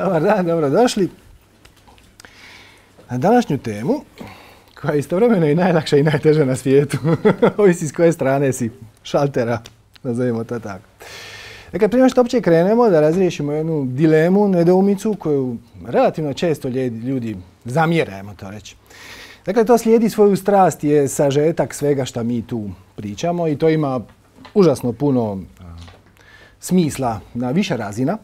Dobar dan, dobrodošli na današnju temu koja je istovremeno i najlakša i najteža na svijetu. Ovisi s koje strane si šaltera, nazovimo to tako. Dakle, prije što uopće krenemo da razriješimo jednu dilemu, nedoumicu koju relativno često ljudi zamjere, ajmo to reći. Dakle, to slijedi svoju strast, je sažetak svega što mi tu pričamo i to ima užasno puno smisla na više razina.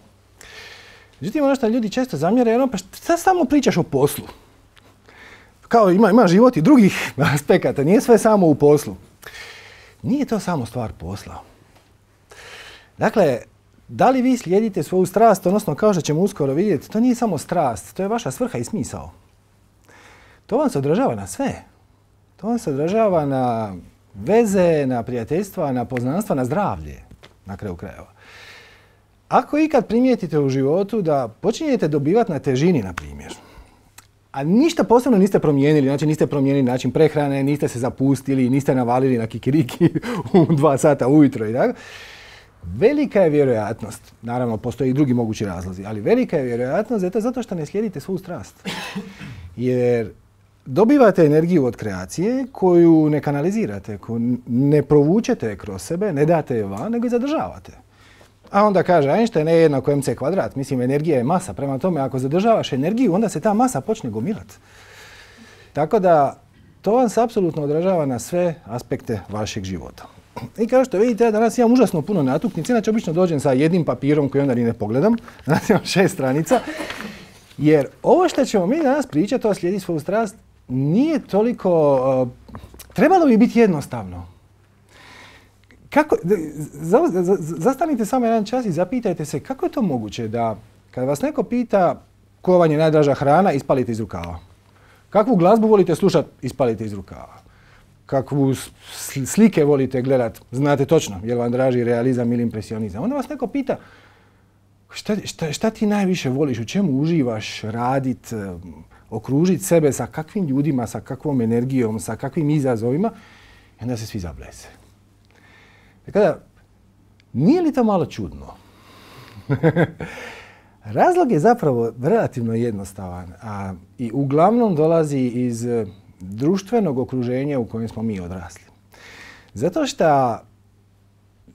Međutim, ono što ljudi često zamjere je ono, pa šta samo pričaš o poslu? Kao ima život i drugih aspekata, nije sve samo u poslu. Nije to samo stvar posla. Dakle, da li vi slijedite svoju strast, odnosno kao što ćemo uskoro vidjeti, to nije samo strast, to je vaša svrha i smisao. To vam se odražava na sve. To vam se odražava na veze, na prijateljstva, na poznanstva, na zdravlje, na kraju krajeva. Ako ikad primijetite u životu da počinjete dobivati na težini, na primjer, a ništa posebno niste promijenili, znači niste promijenili način prehrane, niste se zapustili, niste navalili na kikiriki u 2 sata ujutro i tako, velika je vjerojatnost, naravno postoje i drugi mogući razlozi, ali velika je vjerojatnost da je to zato što ne slijedite svoju strast. Jer dobivate energiju od kreacije koju ne kanalizirate, koju ne provučete kroz sebe, ne date je van, nego je zadržavate. A onda kaže Einstein je jednako mc kvadrat. Mislim, energija je masa. Prema tome, ako zadržavaš energiju, onda se ta masa počne gomilati. Tako da, to vam se apsolutno odražava na sve aspekte vašeg života. I kao što vidite, ja danas imam užasno puno natuknica. Inače, obično dođem sa jednim papirom koji onda ni ne pogledam. Danas imam 6 stranica. Jer ovo što ćemo mi danas pričati, to slijedi svoju strast, nije toliko... trebalo bi biti jednostavno. Zastanite samo jedan čas i zapitajte se kako je to moguće da kad vas neko pita koja vam je najdraža hrana, ispalite iz rukava. Kakvu glazbu volite slušati, ispalite iz rukava. Kakvu slike volite gledati, znate točno, je li vam draži realizam ili impresionizam. Onda vas neko pita šta ti najviše voliš, u čemu uživaš radit, okružiti sebe sa kakvim ljudima, sa kakvom energijom, sa kakvim izazovima, i onda se svi zablese. Tako da, nije li to malo čudno? Razlog je zapravo relativno jednostavan, a i uglavnom dolazi iz društvenog okruženja u kojem smo mi odrasli. Zato što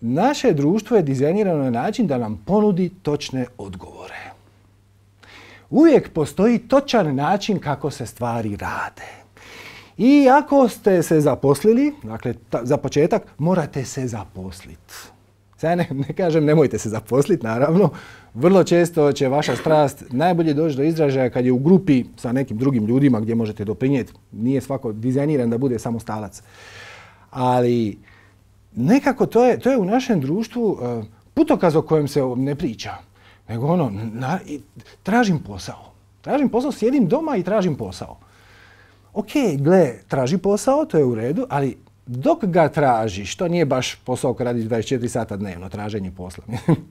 naše društvo je dizajnirano na način da nam ponudi točne odgovore. Uvijek postoji točan način kako se stvari rade. I ako ste se zaposlili, dakle za početak, morate se zaposliti. Sad ne kažem nemojte se zaposliti, naravno. Vrlo često će vaša strast najbolje doći do izražaja kad je u grupi sa nekim drugim ljudima gdje možete doprinijeti. Nije svako dizajniran da bude samostalac. Ali nekako to je u našem društvu putokaz o kojem se ne priča. Nego tražim posao. Tražim posao, sjedim doma i tražim posao. Ok, gle, traži posao, to je u redu, ali dok ga tražiš, to nije baš posao koji radiš 24 sata dnevno, traženje posla.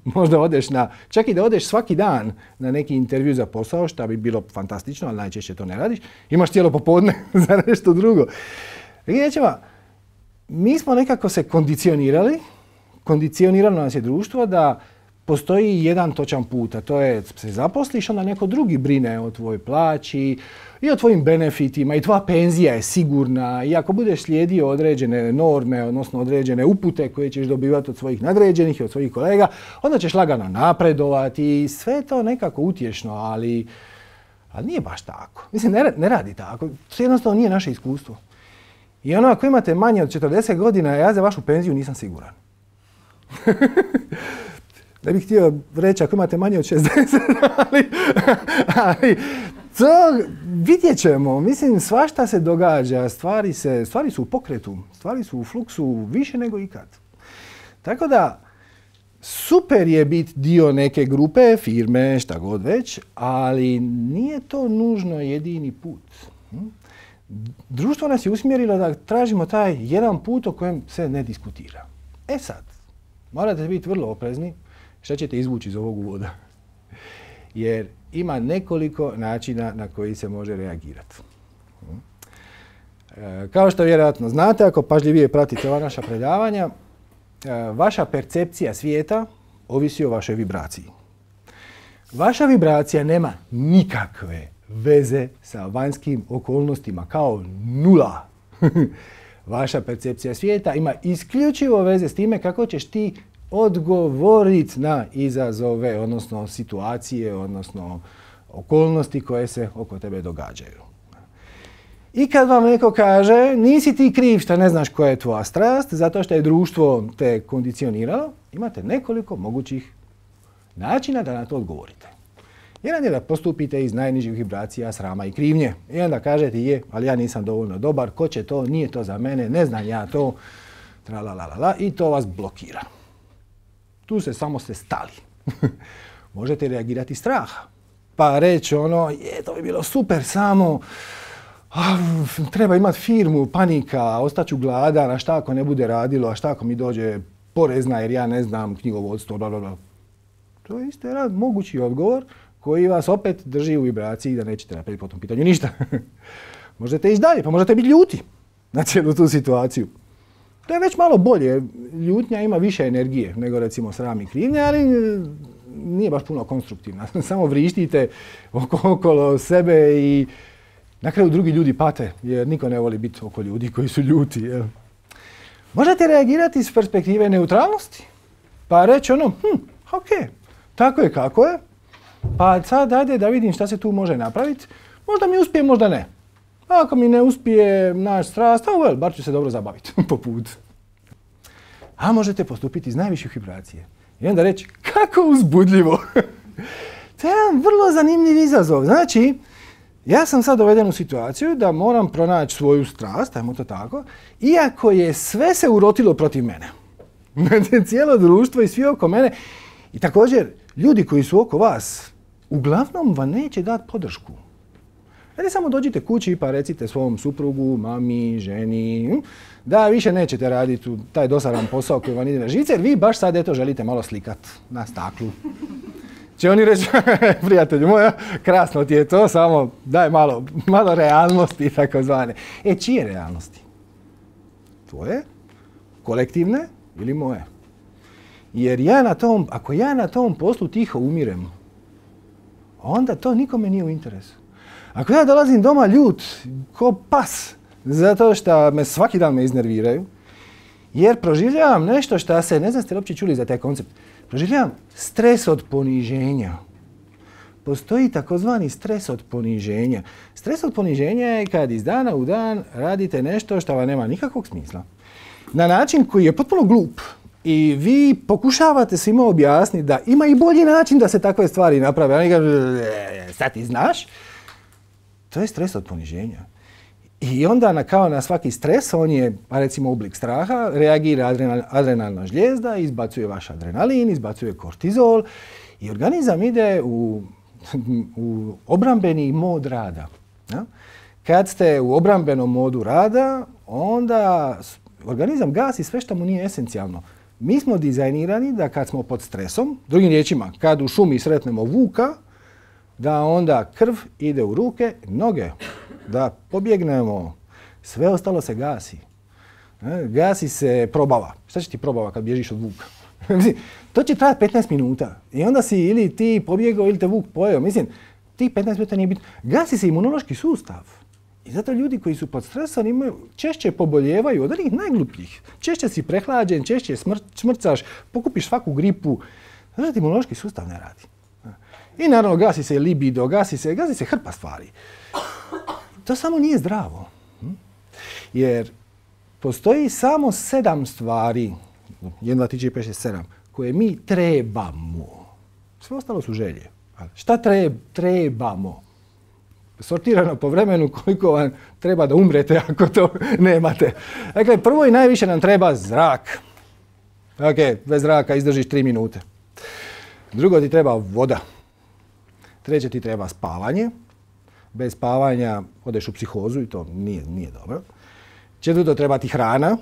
Možda odeš čak i da odeš svaki dan na neki intervju za posao, što bi bilo fantastično, ali najčešće to ne radiš, imaš cijelo popodne za nešto drugo. Mi smo nekako se kondicioniralo nas je društvo da postoji jedan točan put, a to je se zaposliš, onda neko drugi brine o tvojoj plaći i o tvojim benefitima i tvoja penzija je sigurna i ako budeš slijedio određene norme, odnosno određene upute koje ćeš dobivati od svojih nadređenih i od svojih kolega, onda ćeš lagano napredovati i sve to nekako utješno, ali nije baš tako. Mislim, ne radi tako. To jednostavno nije naše iskustvo. I ako imate manje od 40 godina, ja za vašu penziju nisam siguran. Ne bih htio reći ako imate manje od 60, ali to vidjet ćemo. Mislim, svašta se događa, stvari su u pokretu, stvari su u fluksu više nego ikad. Tako da, super je biti dio neke grupe, firme, šta god već, ali nije to nužno jedini put. Društvo nas je usmjerilo da tražimo taj jedan put o kojem se ne diskutira. E sad, morate biti vrlo oprezni šta ćete izvući iz ovog uvoda. Jer ima nekoliko načina na koji se može reagirati. Kao što vjerojatno znate, ako pažljivije pratite ova naša predavanja, vaša percepcija svijeta ovisi o vašoj vibraciji. Vaša vibracija nema nikakve veze sa vanjskim okolnostima, kao nula. Vaša percepcija svijeta ima isključivo veze s time kako ćeš ti odgovoriti na izazove, odnosno situacije, odnosno okolnosti koje se oko tebe događaju. I kad vam neko kaže, nisi ti kriv što ne znaš koja je tvoja strast, zato što je društvo te kondicioniralo, imate nekoliko mogućih načina da na to odgovorite. Jedan je da postupite iz najnižih vibracija srama i krivnje. I onda kažete, je, ali ja nisam dovoljno dobar, ko će to, nije to za mene, ne znam ja to, tralalala, i to vas blokira. Tu se samo ste stali. Možete reagirati straha. Pa reći ono, to bi bilo super, samo treba imati firmu, panika, ostaću gladan, a šta ako ne bude radilo, a šta ako mi dođe porezna jer ja ne znam knjigovodstvo, blablabla. To je isto jedan mogući odgovor koji vas opet drži u vibraciji da nećete napraviti po tom pitanju ništa. Možete ići dalje, pa možete biti ljuti na cijelu tu situaciju. To je već malo bolje. Ljutnja ima više energije nego recimo sram i krivnja, ali nije baš puno konstruktivna. Samo vrištite okolo sebe i na kraju drugi ljudi pate, jer niko ne voli biti oko ljudi koji su ljuti. Jel? Možete reagirati iz perspektive neutralnosti, pa reći ono, ok, tako je kako je, pa sad ajde da vidim šta se tu može napraviti, možda mi uspije, možda ne. Ako mi ne uspije naš strast, bar ću se dobro zabaviti po putu. A možete postupiti iz najviših vibracije. I onda reći, kako uzbudljivo. To je jedan vrlo zanimljiv izazov. Znači, ja sam sad doveden u situaciju da moram pronaći svoju strast, ajmo to tako, iako je sve se urotilo protiv mene. Cijelo društvo i svi oko mene. I također, ljudi koji su oko vas, uglavnom vam neće dati podršku. Ajde samo dođite kući pa recite svom suprugu, mami, ženi, da više nećete raditi taj dosadan posao koji vam ide na živce, jer vi baš sad eto želite malo slikat na staklu. Će oni reći, prijatelju moja, krasno ti je to, samo daj malo realnosti, tako zvane. Čije realnosti? Tvoje, kolektivne ili moje? Jer ako ja na tom poslu tiho umirem, onda to nikome nije u interesu. Ako ja dolazim doma ljut, ko pas, zato što me svaki dan me iznerviraju, jer proživljavam nešto što se, ne znam ste li uopće čuli za taj koncept, proživljavam stres od poniženja. Postoji takozvani stres od poniženja. Stres od poniženja je kad iz dana u dan radite nešto što vam nema nikakvog smisla. Na način koji je potpuno glup. I vi pokušavate svima objasniti da ima i bolji način da se takve stvari naprave. Oni kažu, sad ti znaš. To je stres od poniženja. I onda kao na svaki stres, on je, recimo oblik straha, reagira adrenalna žlijezda, izbacuje vaš adrenalin, izbacuje kortizol i organizam ide u obrambeni mod rada. Ja? Kad ste u obrambenom modu rada, onda organizam gasi sve što mu nije esencijalno. Mi smo dizajnirani da kad smo pod stresom, drugim riječima, kad u šumi sretnemo vuka, da onda krv ide u ruke, noge, da pobjegnemo. Sve ostalo se gasi. Gasi se probava. Šta će ti probava kad bježiš od vuka? To će trajati 15 minuta. I onda si ili ti pobjegao ili te vuk pojeo. Mislim, ti 15 minuta nije bitno. Gasi se imunološki sustav. I zato ljudi koji su pod stresom češće poboljevaju od onih najglupljih. Češće si prehlađen, češće smrcaš, pokupiš svaku gripu. Znači, imunološki sustav ne radi. I naravno gasi se libido, gasi se hrpa stvari. To samo nije zdravo. Jer postoji samo 7 stvari, 1, 2, 3, 4, 5, 6, 7, koje mi trebamo. Sve ostalo su želje. Šta trebamo? Sortirano po vremenu koliko vam treba da umrete ako to nemate. Dakle, prvo i najviše nam treba zrak. Ok, bez zraka izdržiš 3 minute. Drugo ti treba voda. Treće ti treba spavanje. Bez spavanja odeš u psihozu i to nije dobro. Četvrto treba ti hrana.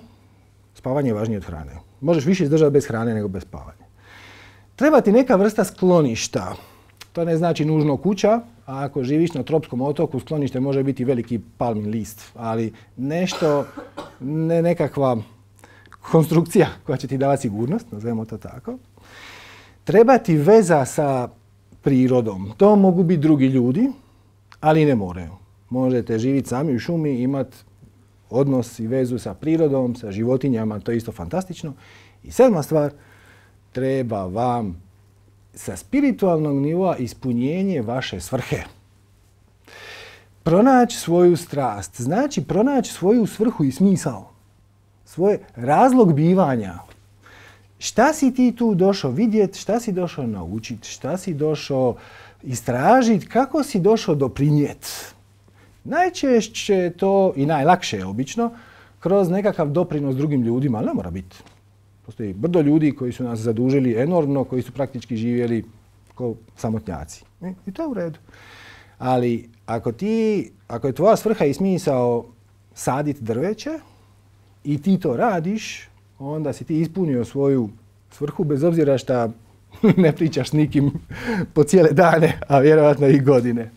Spavanje je važnije od hrane. Možeš više izdržati bez hrane nego bez spavanja. Treba ti neka vrsta skloništa. To ne znači nužno kuća, a ako živiš na tropskom otoku, sklonište može biti veliki palmin list, ali nešto, nekakva konstrukcija koja će ti davati sigurnost, nazovemo to tako. Treba ti veza sa prirodom. To mogu biti drugi ljudi, ali ne moraju. Možete živjeti sami u šumi, imati odnos i vezu sa prirodom, sa životinjama, to je isto fantastično. I 7. stvar, treba vam sa spiritualnog nivoa ispunjenje vaše svrhe. Pronaći svoju strast, znači pronaći svoju svrhu i smisao. Svoj razlog bivanja. Šta si ti tu došao vidjeti, šta si došao naučiti, šta si došao istražiti, kako si došao doprinijeti. Najčešće to, i najlakše je obično, kroz nekakav doprinos drugim ljudima, ali ne mora biti. Postoji brdo ljudi koji su nas zadužili enormno, koji su praktički živjeli kao samotnjaci. I to je u redu. Ali ako je tvoja svrha i smisao saditi drveće i ti to radiš, onda si ti ispunio svoju svrhu bez obzira šta ne pričaš s nikim po cijele dane, a vjerojatno i godine.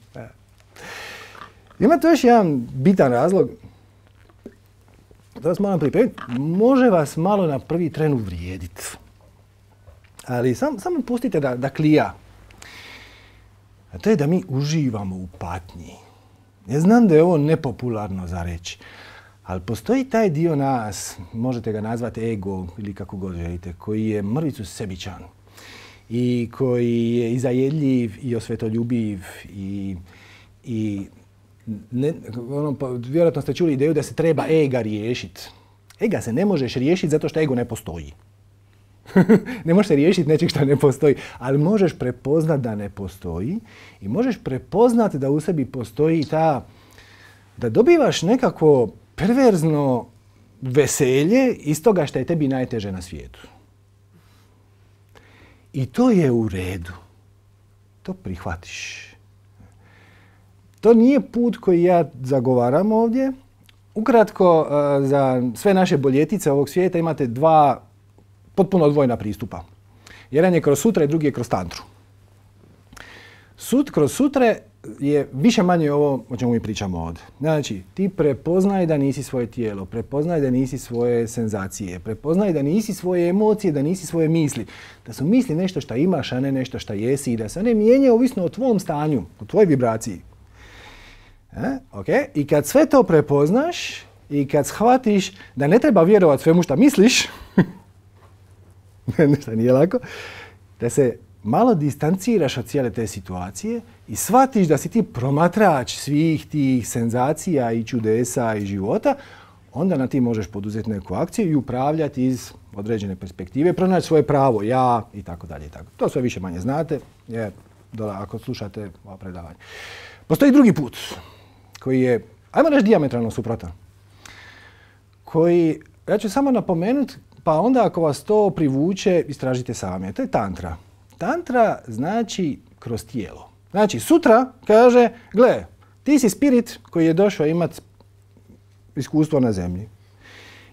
Ima tu još jedan bitan razlog. To vas moram pripremiti. Može vas malo na prvi tren uvrijediti. Ali samo pustite da klija. A to je da mi uživamo u patnji. Ja znam da je ovo nepopularno za reći, ali postoji taj dio nas, možete ga nazvati ego ili kako god želite, koji je mrvicu sebičan i koji je i zajedljiv i osvetoljubiv i vjerojatno ste čuli ideju da se treba ega riješiti. Ega se ne možeš riješiti zato što ego ne postoji. Ne možeš se riješiti nečeg što ne postoji, ali možeš prepoznat da ne postoji i možeš prepoznat da u sebi postoji da dobivaš nekako perverzno veselje iz toga što je tebi najteže na svijetu. I to je u redu. To prihvatiš. To nije put koji ja zagovaram ovdje. Ukratko, za sve naše boljetice ovog svijeta imate 2 potpuno odvojena pristupa. Jedan je kroz sutre, drugi je kroz tantru. Kroz sutre je više manje ovo o čemu mi pričamo ovdje. Znači, ti prepoznaj da nisi svoje tijelo, prepoznaj da nisi svoje senzacije, prepoznaj da nisi svoje emocije, da nisi svoje misli. Da su misli nešto što imaš, a ne nešto što jesi i da se one mijenjaju ovisno o tvom stanju, o tvojoj vibraciji. Okay. I kad sve to prepoznaš i kad shvatiš da ne treba vjerovati svemu što misliš, ništa nije lako, da se malo distanciraš od cijele te situacije i shvatiš da si ti promatrač svih tih senzacija i čudesa i života, onda na ti možeš poduzeti neku akciju i upravljati iz određene perspektive, pronaći svoje pravo, ja i tako dalje. To sve više manje znate, jer ako slušate ova predavanja. Postoji drugi put koji je, ajmo reći, dijametralno suprotan. Koji, ja ću samo napomenuti, pa onda ako vas to privuče, istražite sami. To je tantra. Tantra znači kroz tijelo. Znači, sutra kaže, gle, ti si spirit koji je došao imati iskustvo na zemlji.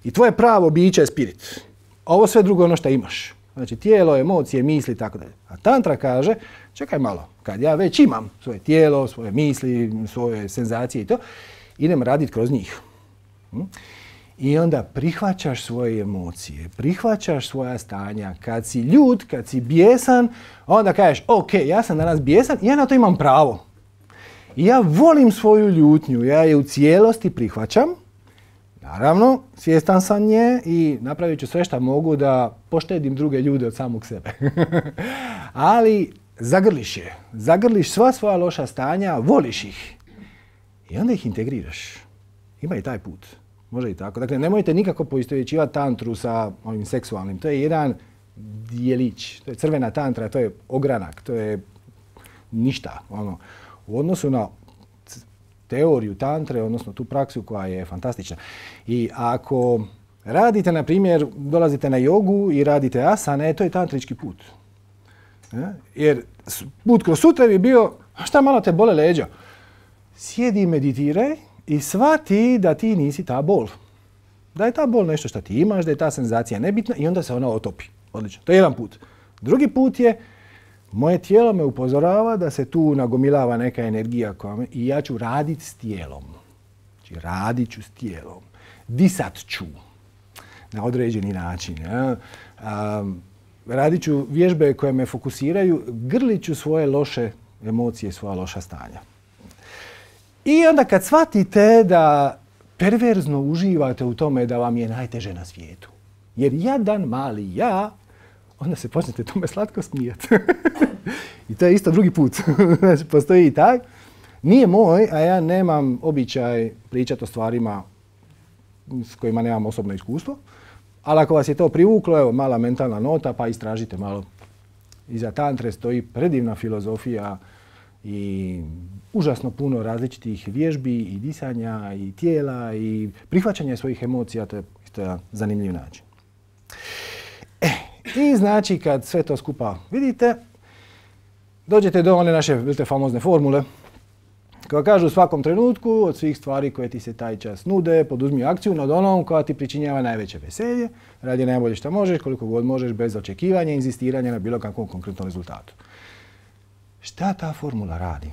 I tvoje pravo biće je spirit. Ovo sve drugo ono što imaš. Znači, tijelo, emocije, misli, tako dalje. A tantra kaže, čekaj malo, kad ja već imam svoje tijelo, svoje misli, svoje senzacije i to, idem raditi kroz njih. I onda prihvaćaš svoje emocije, prihvaćaš svoja stanja. Kad si ljut, kad si bijesan, onda kažeš, ok, ja sam danas bijesan i ja na to imam pravo. I ja volim svoju ljutnju, ja je u cijelosti prihvaćam. Naravno, svjestan sam nje i napravit ću sve što mogu da poštedim druge ljude od samog sebe. Ali zagrliš je, zagrliš sva svoja loša stanja, voliš ih i onda ih integriraš. Ima i taj put. Može i tako. Dakle, nemojte nikako poistovjećivati tantru sa ovim seksualnim. To je jedan dijelić. To je crvena tantra, to je ogranak, to je ništa. U odnosu na teoriju tantre, odnosno tu praksu koja je fantastična. I ako radite, na primjer, dolazite na jogu i radite asane, to je tantrički put. Jer put kroz sutra bi bio, šta malo te bole leđa? Sjedi i meditiraj i shvati da ti nisi ta bol. Da je ta bol nešto što ti imaš, da je ta senzacija nebitna i onda se ona otopi. Odlično. To je jedan put. Drugi put je, moje tijelo me upozorava da se tu nagomilava neka energija i ja ću raditi s tijelom. Znači, radit ću s tijelom. Disat ću na određeni način. radit ću vježbe koje me fokusiraju, grlit ću svoje loše emocije, svoja loša stanja. I onda kad shvatite da perverzno uživate u tome da vam je najteže na svijetu, jer jadan mali ja, onda se počnete tome slatko smijati. I to je isto drugi put. Znači, postoji i taj. Nije moj, a ja nemam običaj pričati o stvarima s kojima nemam osobno iskustvo. Ali ako vas je to privuklo, evo, mala mentalna nota, pa istražite malo. Iza tantre stoji predivna filozofija i užasno puno različitih vježbi i disanja i tijela i prihvaćanja svojih emocija. To je isto jedan zanimljiv način. I znači kad sve to skupa vidite, dođete do one naše famozne formule koja kaže u svakom trenutku od svih stvari koje ti se taj čas nude, poduzmi akciju nad onom koja ti pričinjava najveće veselje, radi najbolje što možeš, koliko god možeš, bez očekivanja i inzistiranja na bilo kakvom konkretnom rezultatu. Šta ta formula radi?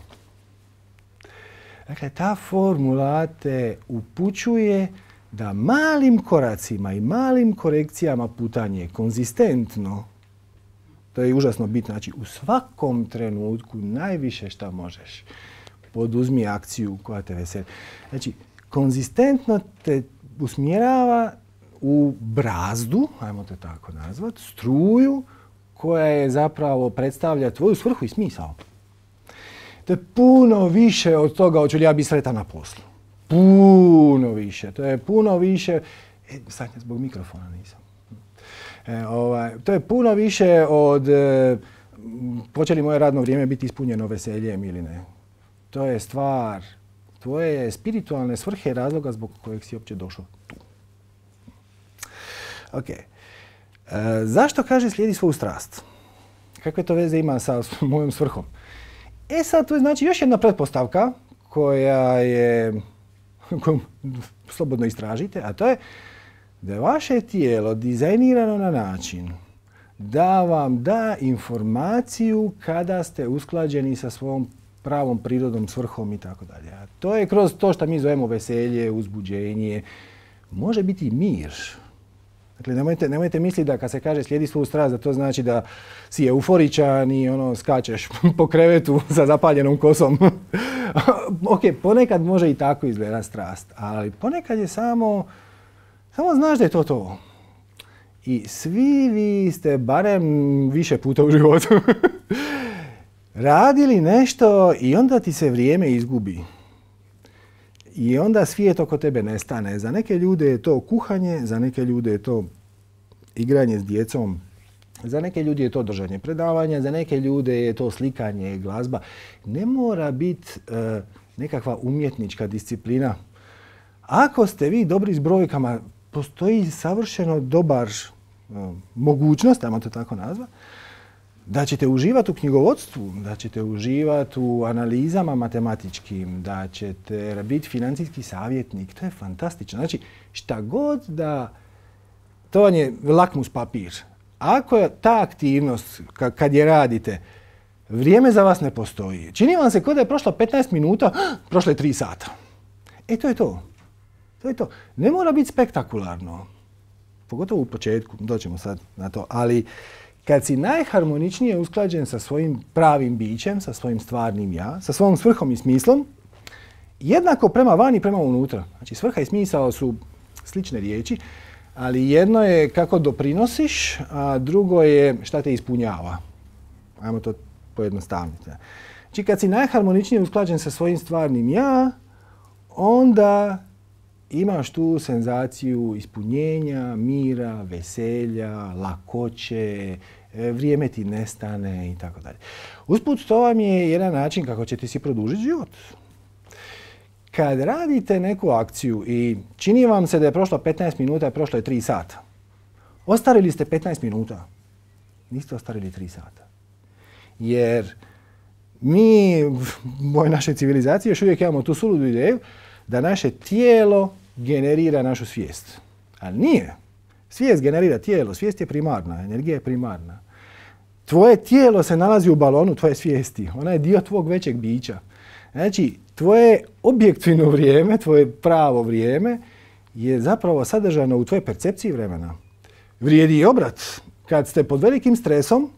Dakle, ta formula te upućuje da malim koracima i malim korekcijama putanje konzistentno, to je užasno bitno, znači u svakom trenutku najviše što možeš, poduzmi akciju koja te veseli. Znači, konzistentno te usmjerava u brazdu, ajmo te tako nazvati, struju koja je zapravo predstavlja tvoju svrhu i smisao. To je puno više od toga hoću li ja biti sretan na poslu. Puno više. To je puno više... sad zbog mikrofona nisam. To je puno više od hoće li moje radno vrijeme biti ispunjeno veseljem ili ne. To je stvar tvoje spiritualne svrhe i razloga zbog kojeg si uopće došao tu. Ok. Zašto kaže slijedi svoju strast? Kakve to veze ima sa mojom svrhom? Sad, to je znači još jedna pretpostavka koja je, koju slobodno istražite, a to je da je vaše tijelo dizajnirano na način da vam da informaciju kada ste usklađeni sa svom pravom prirodom, svrhom i tako dalje. A to je kroz to što mi zovemo veselje, uzbuđenje, može biti i mir. Dakle, nemojte misliti da kad se kaže slijedi svoju strast, da to znači da si euforičan i skačeš po krevetu sa zapaljenom kosom. Ok, ponekad može i tako izgledati strast, ali ponekad je samo znaš da je to to. I svi vi ste barem više puta u životu radili nešto i onda ti se vrijeme izgubi. I onda svijet oko tebe nestane. Za neke ljude je to kuhanje, za neke ljude je to igranje s djecom, za neke ljude je to držanje predavanja, za neke ljude je to slikanje, glazba. Ne mora biti nekakva umjetnička disciplina. Ako ste vi dobri s brojkama, postoji savršeno dobar mogućnost, ajmo to tako nazvati, da ćete uživati u knjigovodstvu, da ćete uživati u analizama matematičkim, da ćete biti financijski savjetnik. To je fantastično. Znači, šta god da... To vam je lakmus papir. Ako je ta aktivnost, kad je radite, vrijeme za vas ne postoji. Čini vam se kao da je prošlo 15 minuta, prošlo je 3 sata. To je to. To je to. Ne mora biti spektakularno. Pogotovo u početku, doćemo sad na to. Ali kad si najharmoničnije usklađen sa svojim pravim bićem, sa svojim stvarnim ja, sa svojom svrhom i smislom, jednako prema van i prema unutra. Znači, svrha i smisao su slične riječi, ali jedno je kako doprinosiš, a drugo je šta te ispunjava. Ajmo to pojednostavniti. Znači, kad si najharmoničnije usklađen sa svojim stvarnim ja, onda imaš tu senzaciju ispunjenja, mira, veselja, lakoće, vrijeme ti nestane i tako dalje. Usput, to vam je jedan način kako ćete si produžiti život. Kad radite neku akciju i čini vam se da je prošlo 15 minuta, a prošlo je 3 sata. Ostarili ste 15 minuta. Niste ostarili 3 sata. Jer mi, u našoj civilizaciji, još uvijek imamo tu suludu ideju da naše tijelo generira našu svijest. Ali nije. Svijest generira tijelo, svijest je primarna, energija je primarna. Tvoje tijelo se nalazi u balonu tvoje svijesti. Ona je dio tvog većeg bića. Znači, tvoje objektivno vrijeme, tvoje pravo vrijeme je zapravo sadržano u tvojoj percepciji vremena. Vrijedi i obrat. kad ste pod velikim stresom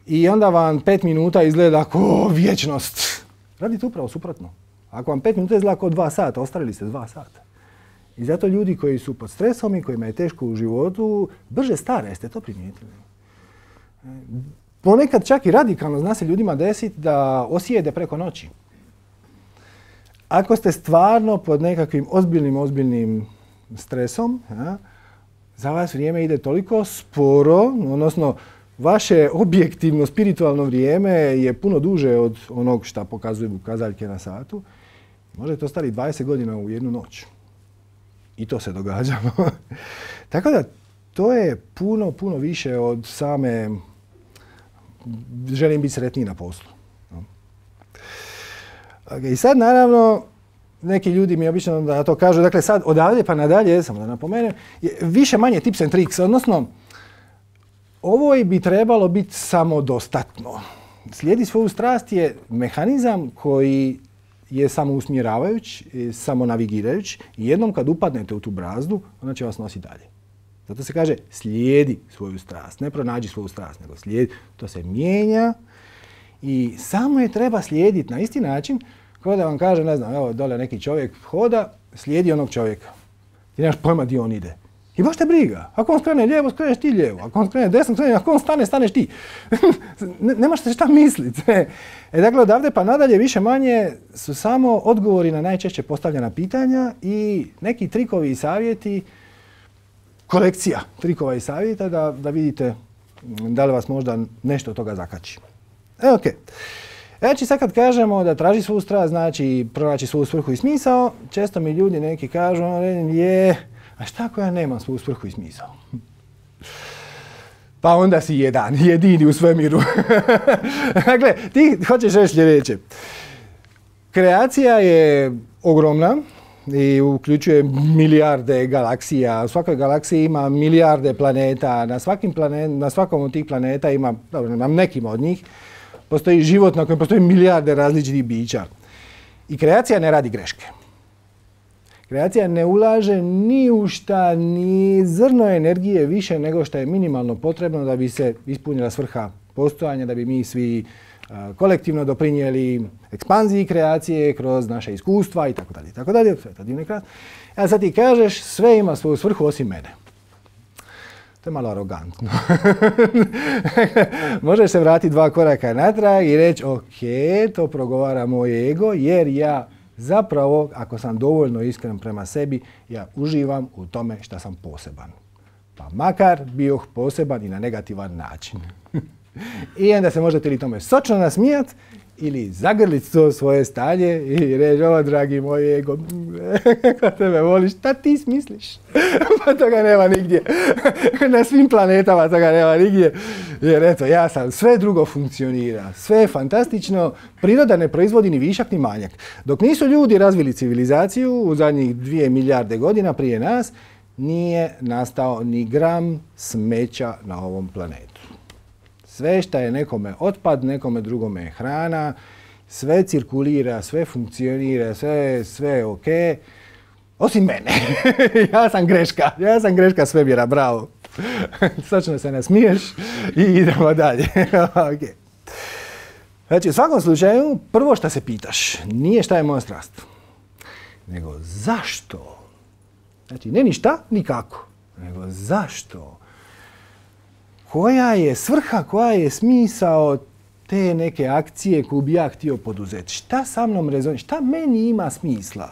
i onda vam 5 minuta izgleda kao vječnost. Radite upravo suprotno. Ako vam 5 minuta izgleda kao 2 sata, ostvarili ste 2 sata. I zato ljudi koji su pod stresom i kojima je teško u životu, brže stare, jeste to primijetili? Ponekad čak i radikalno zna se ljudima desiti da osijede preko noći. Ako ste stvarno pod nekakvim ozbiljnim stresom, za vas vrijeme ide toliko sporo, odnosno vaše objektivno spiritualno vrijeme je puno duže od onog što pokazuju kazaljke na satu. Možete ostati 20 godina u jednu noć. I to se događalo. Tako da to je puno više od same želim biti sretniji na poslu. I sad naravno neki ljudi mi obično da to kažu, dakle sad odavde pa nadalje, samo da napomenem, više manje tips and tricks, odnosno ovo bi trebalo biti samodostatno. Slijedi svoju strast je mehanizam koji je samousmjeravajuć, samonavigirajuć i jednom kad upadnete u tu brazdu, ona će vas nositi dalje. Zato se kaže slijedi svoju strast, ne pronađi svoju strast, nego slijedi. To se mijenja i samo je treba slijediti na isti način kao da vam kaže, ne znam, evo dole neki čovjek hoda, slijedi onog čovjeka. Ti nemaš pojma gdje on ide. I baš te briga. Ako on skrene lijevo, skreneš ti lijevo. Ako on skrene desno, ako on stane, staneš ti. Nemaš se šta misliti. Dakle, odavde pa nadalje više manje su samo odgovori na najčešće postavljena pitanja i neki trikovi i savjeti, kolekcija trikova i savjeta da vidite da li vas možda nešto od toga zakači. Ok. Znači sad kad kažemo da traži svoju strast, znači pronaći svoju svrhu i smisao, često mi ljudi neki kažu, a šta ako ja nemam svoju svrhu i smisao? Pa onda si jedini u svemiru. Dakle, ti hoćeš reći sljedeće. Kreacija je ogromna i uključuje milijarde galaksija. U svakoj galaksiji ima milijarde planeta. Na svakom od tih planeta ima, dobro, na nekim od njih, postoji život na kojem postoji milijarde različitih bića. I kreacija ne radi greške. Kreacija ne ulaže ni u šta, ni zrno energije više nego što je minimalno potrebno da bi se ispunila svrha postojanja, da bi mi svi kolektivno doprinijeli ekspanziji kreacije kroz naše iskustva itd. Sve je to divno i krasno. A sad ti kažeš sve ima svoju svrhu osim mene. To je malo arogantno. Možeš se vratiti 2 koraka natrag i reći ok, to progovara moj ego jer ja zapravo, ako sam dovoljno iskren prema sebi, ja uživam u tome što sam poseban. Pa makar bio poseban i na negativan način. I onda se možete li tome sočno nasmijat ili zagrliti to svoje stanje i reći, o dragi moj ego, kako tebe voliš, šta ti smisliš? Pa toga nema nigdje. Na svim planetama toga nema nigdje. Jer eto, ja sam, sve drugo funkcionira, sve je fantastično, priroda ne proizvodi ni višak ni manjak. Dok nisu ljudi razvili civilizaciju u zadnjih 2 milijarde godina prije nas, nije nastao ni gram smeća na ovom planetu. Sve što je nekome otpad, nekome drugome je hrana, sve cirkulira, sve funkcionira, sve je ok, osim mene. Ja sam greška svemira, bravo. Sočno se nasmiješ i idemo dalje. Okay. Znači, u svakom slučaju, prvo što se pitaš, nije šta je moja strast, nego zašto? Znači, ne ni šta, ni kako, nego zašto? Koja je svrha, koja je smisao te neke akcije koju bi ja htio poduzeti? Šta sa mnom rezonira? Šta meni ima smisla?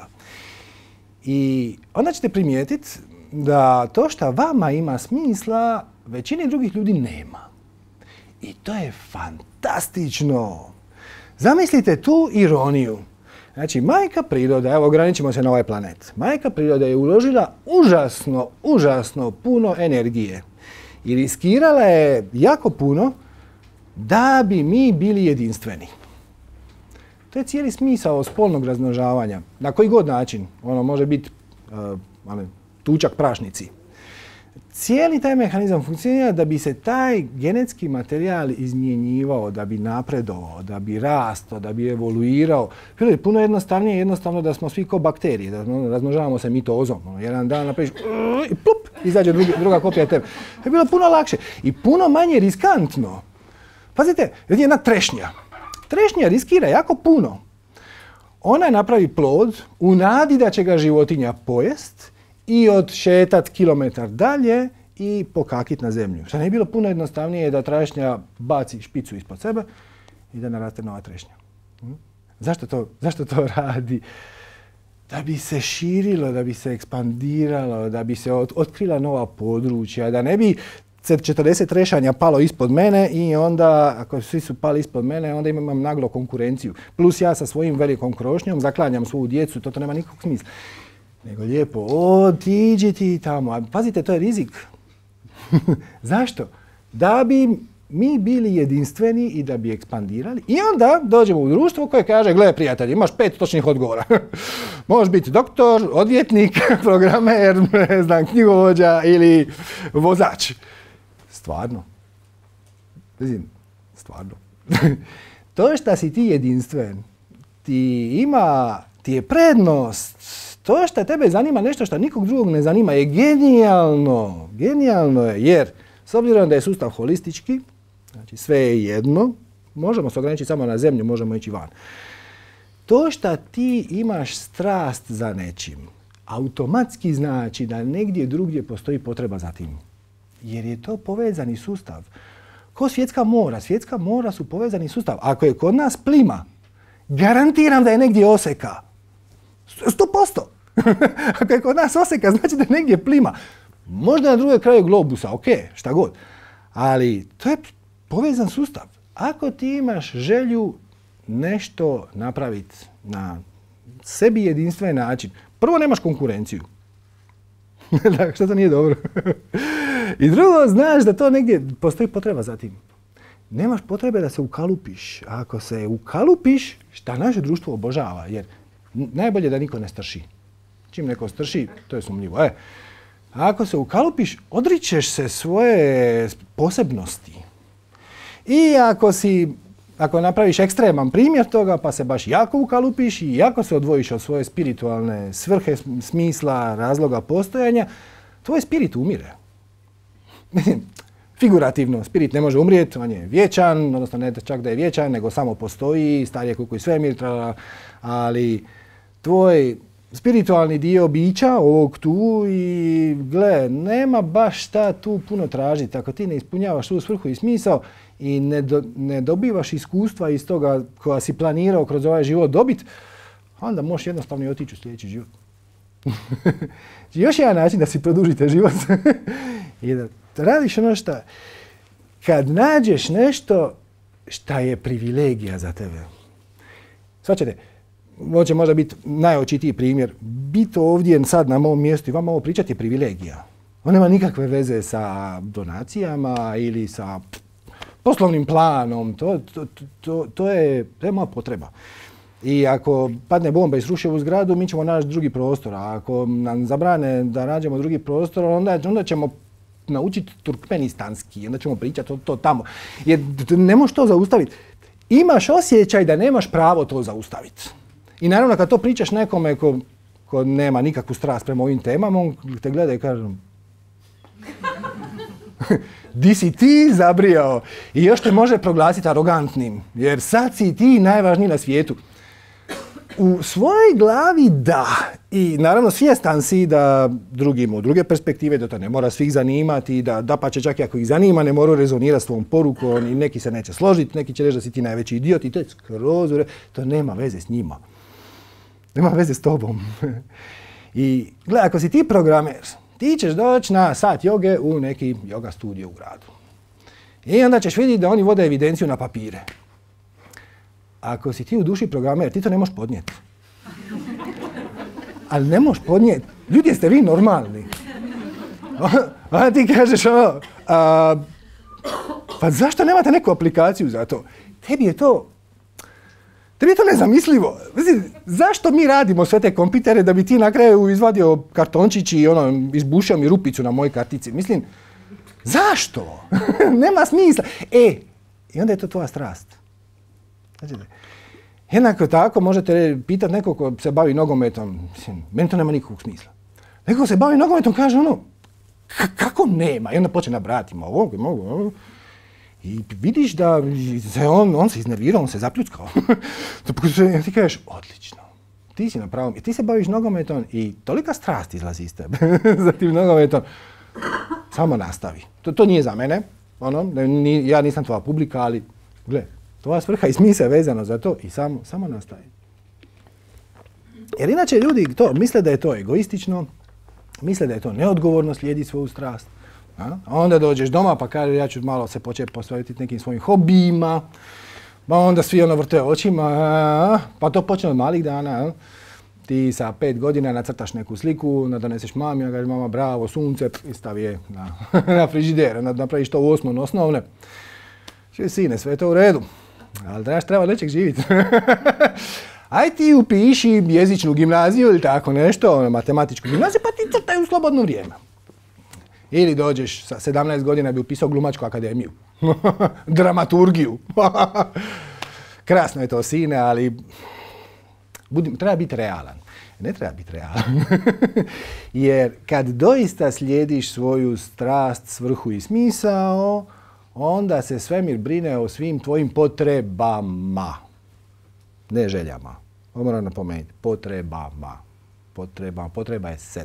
I onda ćete primijetiti da to što vama ima smisla, većini drugih ljudi nema. I to je fantastično. Zamislite tu ironiju. Znači, majka priroda, evo ograničimo se na ovaj planet, majka priroda je uložila užasno puno energije. I riskirala je jako puno da bi mi bili jedinstveni. To je cijeli smisao spolnog razmnožavanja. Na koji god način. Ono može biti tučak prašnici. Cijeli taj mehanizam funkcionira da bi se taj genetski materijal izmjenjivao, da bi napredovao, da bi rastao, da bi evoluirao. Bilo je puno jednostavno da smo svi kao bakterije, da razmnožavamo se mitozom. Jedan dan napraviš i plup, izađe druga kopija tebe. To je bilo puno lakše i puno manje riskantno. Pazite, jedna trešnja. Trešnja riskira jako puno. Ona napravi plod u nadi da će ga životinja pojest i odšetat kilometar dalje i pokakit na zemlju. Što ne bi bilo puno jednostavnije da trešnja baci špicu ispod sebe i da naraste nova trešnja. Zašto to radi? Da bi se širilo, da bi se ekspandiralo, da bi se otkrila nova područja, da ne bi 40 trešanja palo ispod mene i onda, ako svi su pali ispod mene, onda imam naglo konkurenciju. Plus ja sa svojim velikom krošnjom zaklanjam svoju djecu, to nema nikakvog smisla. Nego lijepo, otiđi ti tamo. A pazite, to je rizik. Zašto? Da bi mi bili jedinstveni i da bi ekspandirali. I onda dođemo u društvo koje kaže, gle prijatelji, imaš 5 točnih odgovora. Možeš biti doktor, odvjetnik, programer, ne znam, knjigovođa ili vozač. Stvarno. Stvarno. To što si ti jedinstven, ti je prednost. To što tebe zanima nešto što nikog drugog ne zanima je genijalno. Genijalno je jer s obzirom da je sustav holistički, znači sve je jedno, možemo se ograničiti samo na zemlju, možemo ići van. To što ti imaš strast za nečim, automatski znači da negdje drugdje postoji potreba za tim. Jer je to povezani sustav. Ko svjetska mora? Svjetska mora su povezani sustav. Ako je kod nas plima, garantiram da je negdje oseka. 100%. Ako je kod nas oseka, znači da je negdje plima. Možda na drugoj kraju globusa, ok, šta god. Ali to je povezan sustav. Ako ti imaš želju nešto napraviti na sebi jedinstven način, prvo nemaš konkurenciju. Što to nije dobro. I drugo, znaš da to negdje postoji potreba za tim. Nemaš potrebe da se ukalupiš. Ako se ukalupiš, šta naše društvo obožava, jer najbolje da niko ne strši. Čim neko strši, to je sumnjivo. Ako se ukalupiš, odričeš se svoje posebnosti. I ako napraviš ekstreman primjer toga, pa se baš jako ukalupiš i jako se odvojiš od svoje spiritualne svrhe, smisla, razloga postojanja, tvoj spirit umire. Figurativno, spirit ne može umrijeti, on je vječan, odnosno ne čak da je vječan, nego samo postoji, star je koliko i svemir, ali tvoj spiritualni dio bića ovog tu i gle, nema baš šta tu puno tražiti. Ako ti ne ispunjavaš tu svrhu i smisao i ne dobivaš iskustva iz toga koja si planirao kroz ovaj život dobiti, onda možeš jednostavno i otići u sljedeći život. Još jedan način da si produžite život i da radiš ono što, kad nađeš nešto šta je privilegija za tebe. Svačate, ovo će možda biti najočitiji primjer. Biti ovdje sad na mom mjestu i vam ovo pričati je privilegija. On nema nikakve veze sa donacijama ili sa poslovnim planom. To je moja potreba. I ako padne bomba i sruši ovu zgradu, mi ćemo naći drugi prostor. A ako nam zabrane da nađemo drugi prostor, onda ćemo naučiti turkmenistanski. Onda ćemo pričati to tamo. Jer ne možeš to zaustaviti. Imaš osjećaj da nemaš pravo to zaustaviti. I naravno kad to pričaš nekome ko nema nikakvu strast prema ovim temama, on te gleda i kaže di si ti zabrijao? I još te može proglasiti arogantnim, jer sad si ti najvažniji na svijetu. U svojoj glavi da. I naravno svjestan si da drugim od druge perspektive, da to ne mora svih zanimati, da dapače čak i ako ih zanima, ne moraju rezonirati s tvojom porukom i neki se neće složiti, neki će reći da si ti najveći idiot i to je skroz, to nema veze s njima. Nema veze s tobom. I gledaj, ako si ti programer, ti ćeš doći na sat joge u neki yoga studio u gradu. I onda ćeš vidjeti da oni vode evidenciju na papire. Ako si ti u duši programer, ti to ne možeš podnijeti. Ali ne možeš podnijeti. Ljudi, jeste vi normalni? A ti kažeš ono, pa zašto nemate neku aplikaciju za to? Tebi je to nezamislivo. Zašto mi radimo sve te kompitere da bi ti na kraju izvadio kartončić i izbušio mi rupicu na mojoj kartici? Mislim, zašto? Nema smisla. I onda je to tvoja strast. Znači, jednako tako možete pitati nekog ko se bavi nogometom. Mislim, meni to nema nikakvog smisla. Neko se bavi nogometom kaže kako nema? I onda počne nabrati ovo. I vidiš da se on se iznervirao, on se zapljuckao. Ti kažeš, odlično. Ti si na pravom. I ti se baviš nogometom i tolika strast izlazi iz tebe za tim nogometom. Samo nastavi. To nije za mene. Ja nisam tvoja publika, ali gle, tvoja svrha i smisao je vezano za to i samo nastavi. Jer inače ljudi misle da je to egoistično, misle da je to neodgovorno slijedi svoju strast. A onda dođeš doma pa kaže ja ću malo se početi posvetiti nekim svojim hobijima, pa onda svi vrte očima, pa to počne od malih dana. Ti sa 5 godina nacrtaš neku sliku, doneseš mami, kaže mama bravo, sunce, i stavi je na frižider, napraviš to u 8. osnovne. Sine, sve je to u redu, ali treba nečeg živjeti. Aj ti upiši jezičnu gimnaziju ili tako nešto, matematičku gimnaziju, pa ti crtaj u slobodno vrijeme. Ili dođeš sa 17 godina bi upisao glumačku akademiju. Dramaturgiju. Krasno je to, sine, ali treba biti realan. Ne treba biti realan. Jer kad doista slijediš svoju strast, svrhu i smisao, onda se svemir brine o svim tvojim potrebama. Ne željama. Ovo moram napomenuti. Potrebama. Potreba je 7.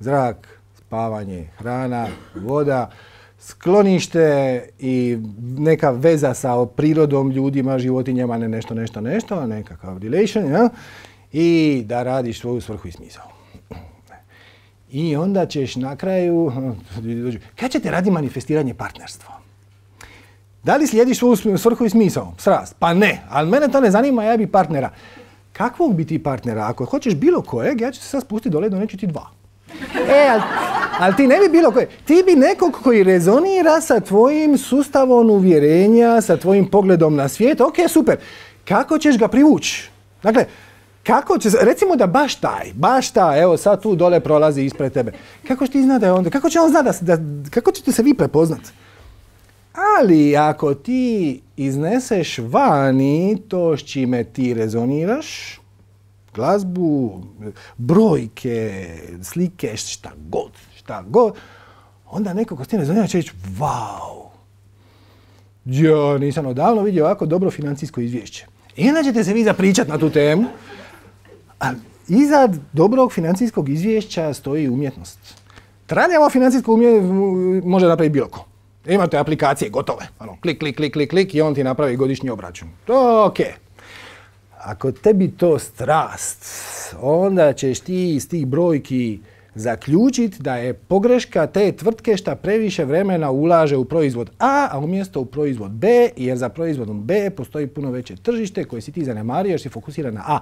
Zrak, spavanje, hrana, voda, sklonište i neka veza sa prirodom, ljudima, životinjama, nešto, nekakav relation, ja? I da radiš svoju svrhu i smisao. I onda ćeš na kraju, kad ćete raditi manifestiranje partnerstva? Da li slijediš svoju svrhu i smisao? Srast? Pa ne, ali mene to ne zanima, ja bi partnera. Kakvog bi ti partnera? Ako hoćeš bilo kojeg, ja ću se sad spustiti dole, doneću ti 2. Ali ti ne bi bilo kojeg. Ti bi nekog koji rezonira sa tvojim sustavom uvjerenja, sa tvojim pogledom na svijet. Ok, super. Kako ćeš ga privući? Dakle, recimo da baš taj, evo sad tu dole prolazi ispred tebe. Kako će ti znati da je onda? Kako će on znati kako ćete se vi prepoznati? Ali ako ti izneseš vani to s čime ti rezoniraš, glazbu, brojke, slike, šta god, onda neko ko s tim rezonira će reći, vau, ja nisam odavno vidio ovako dobro financijsko izvješće. I onda ćete se vi zapričati na tu temu, ali iza dobrog financijskog izvješća stoji umjetnost. Traljavo financijsko može napraviti bilo ko. Imate aplikacije gotove, klik i on ti napravi godišnji obračun. To ok. Ako tebi to strast, onda ćeš ti iz tih brojki zaključiti da je pogreška te tvrtke šta previše vremena ulaže u proizvod A umjesto u proizvod B, jer za proizvodom B postoji puno veće tržište koje si ti zanemario jer si fokusiran na A.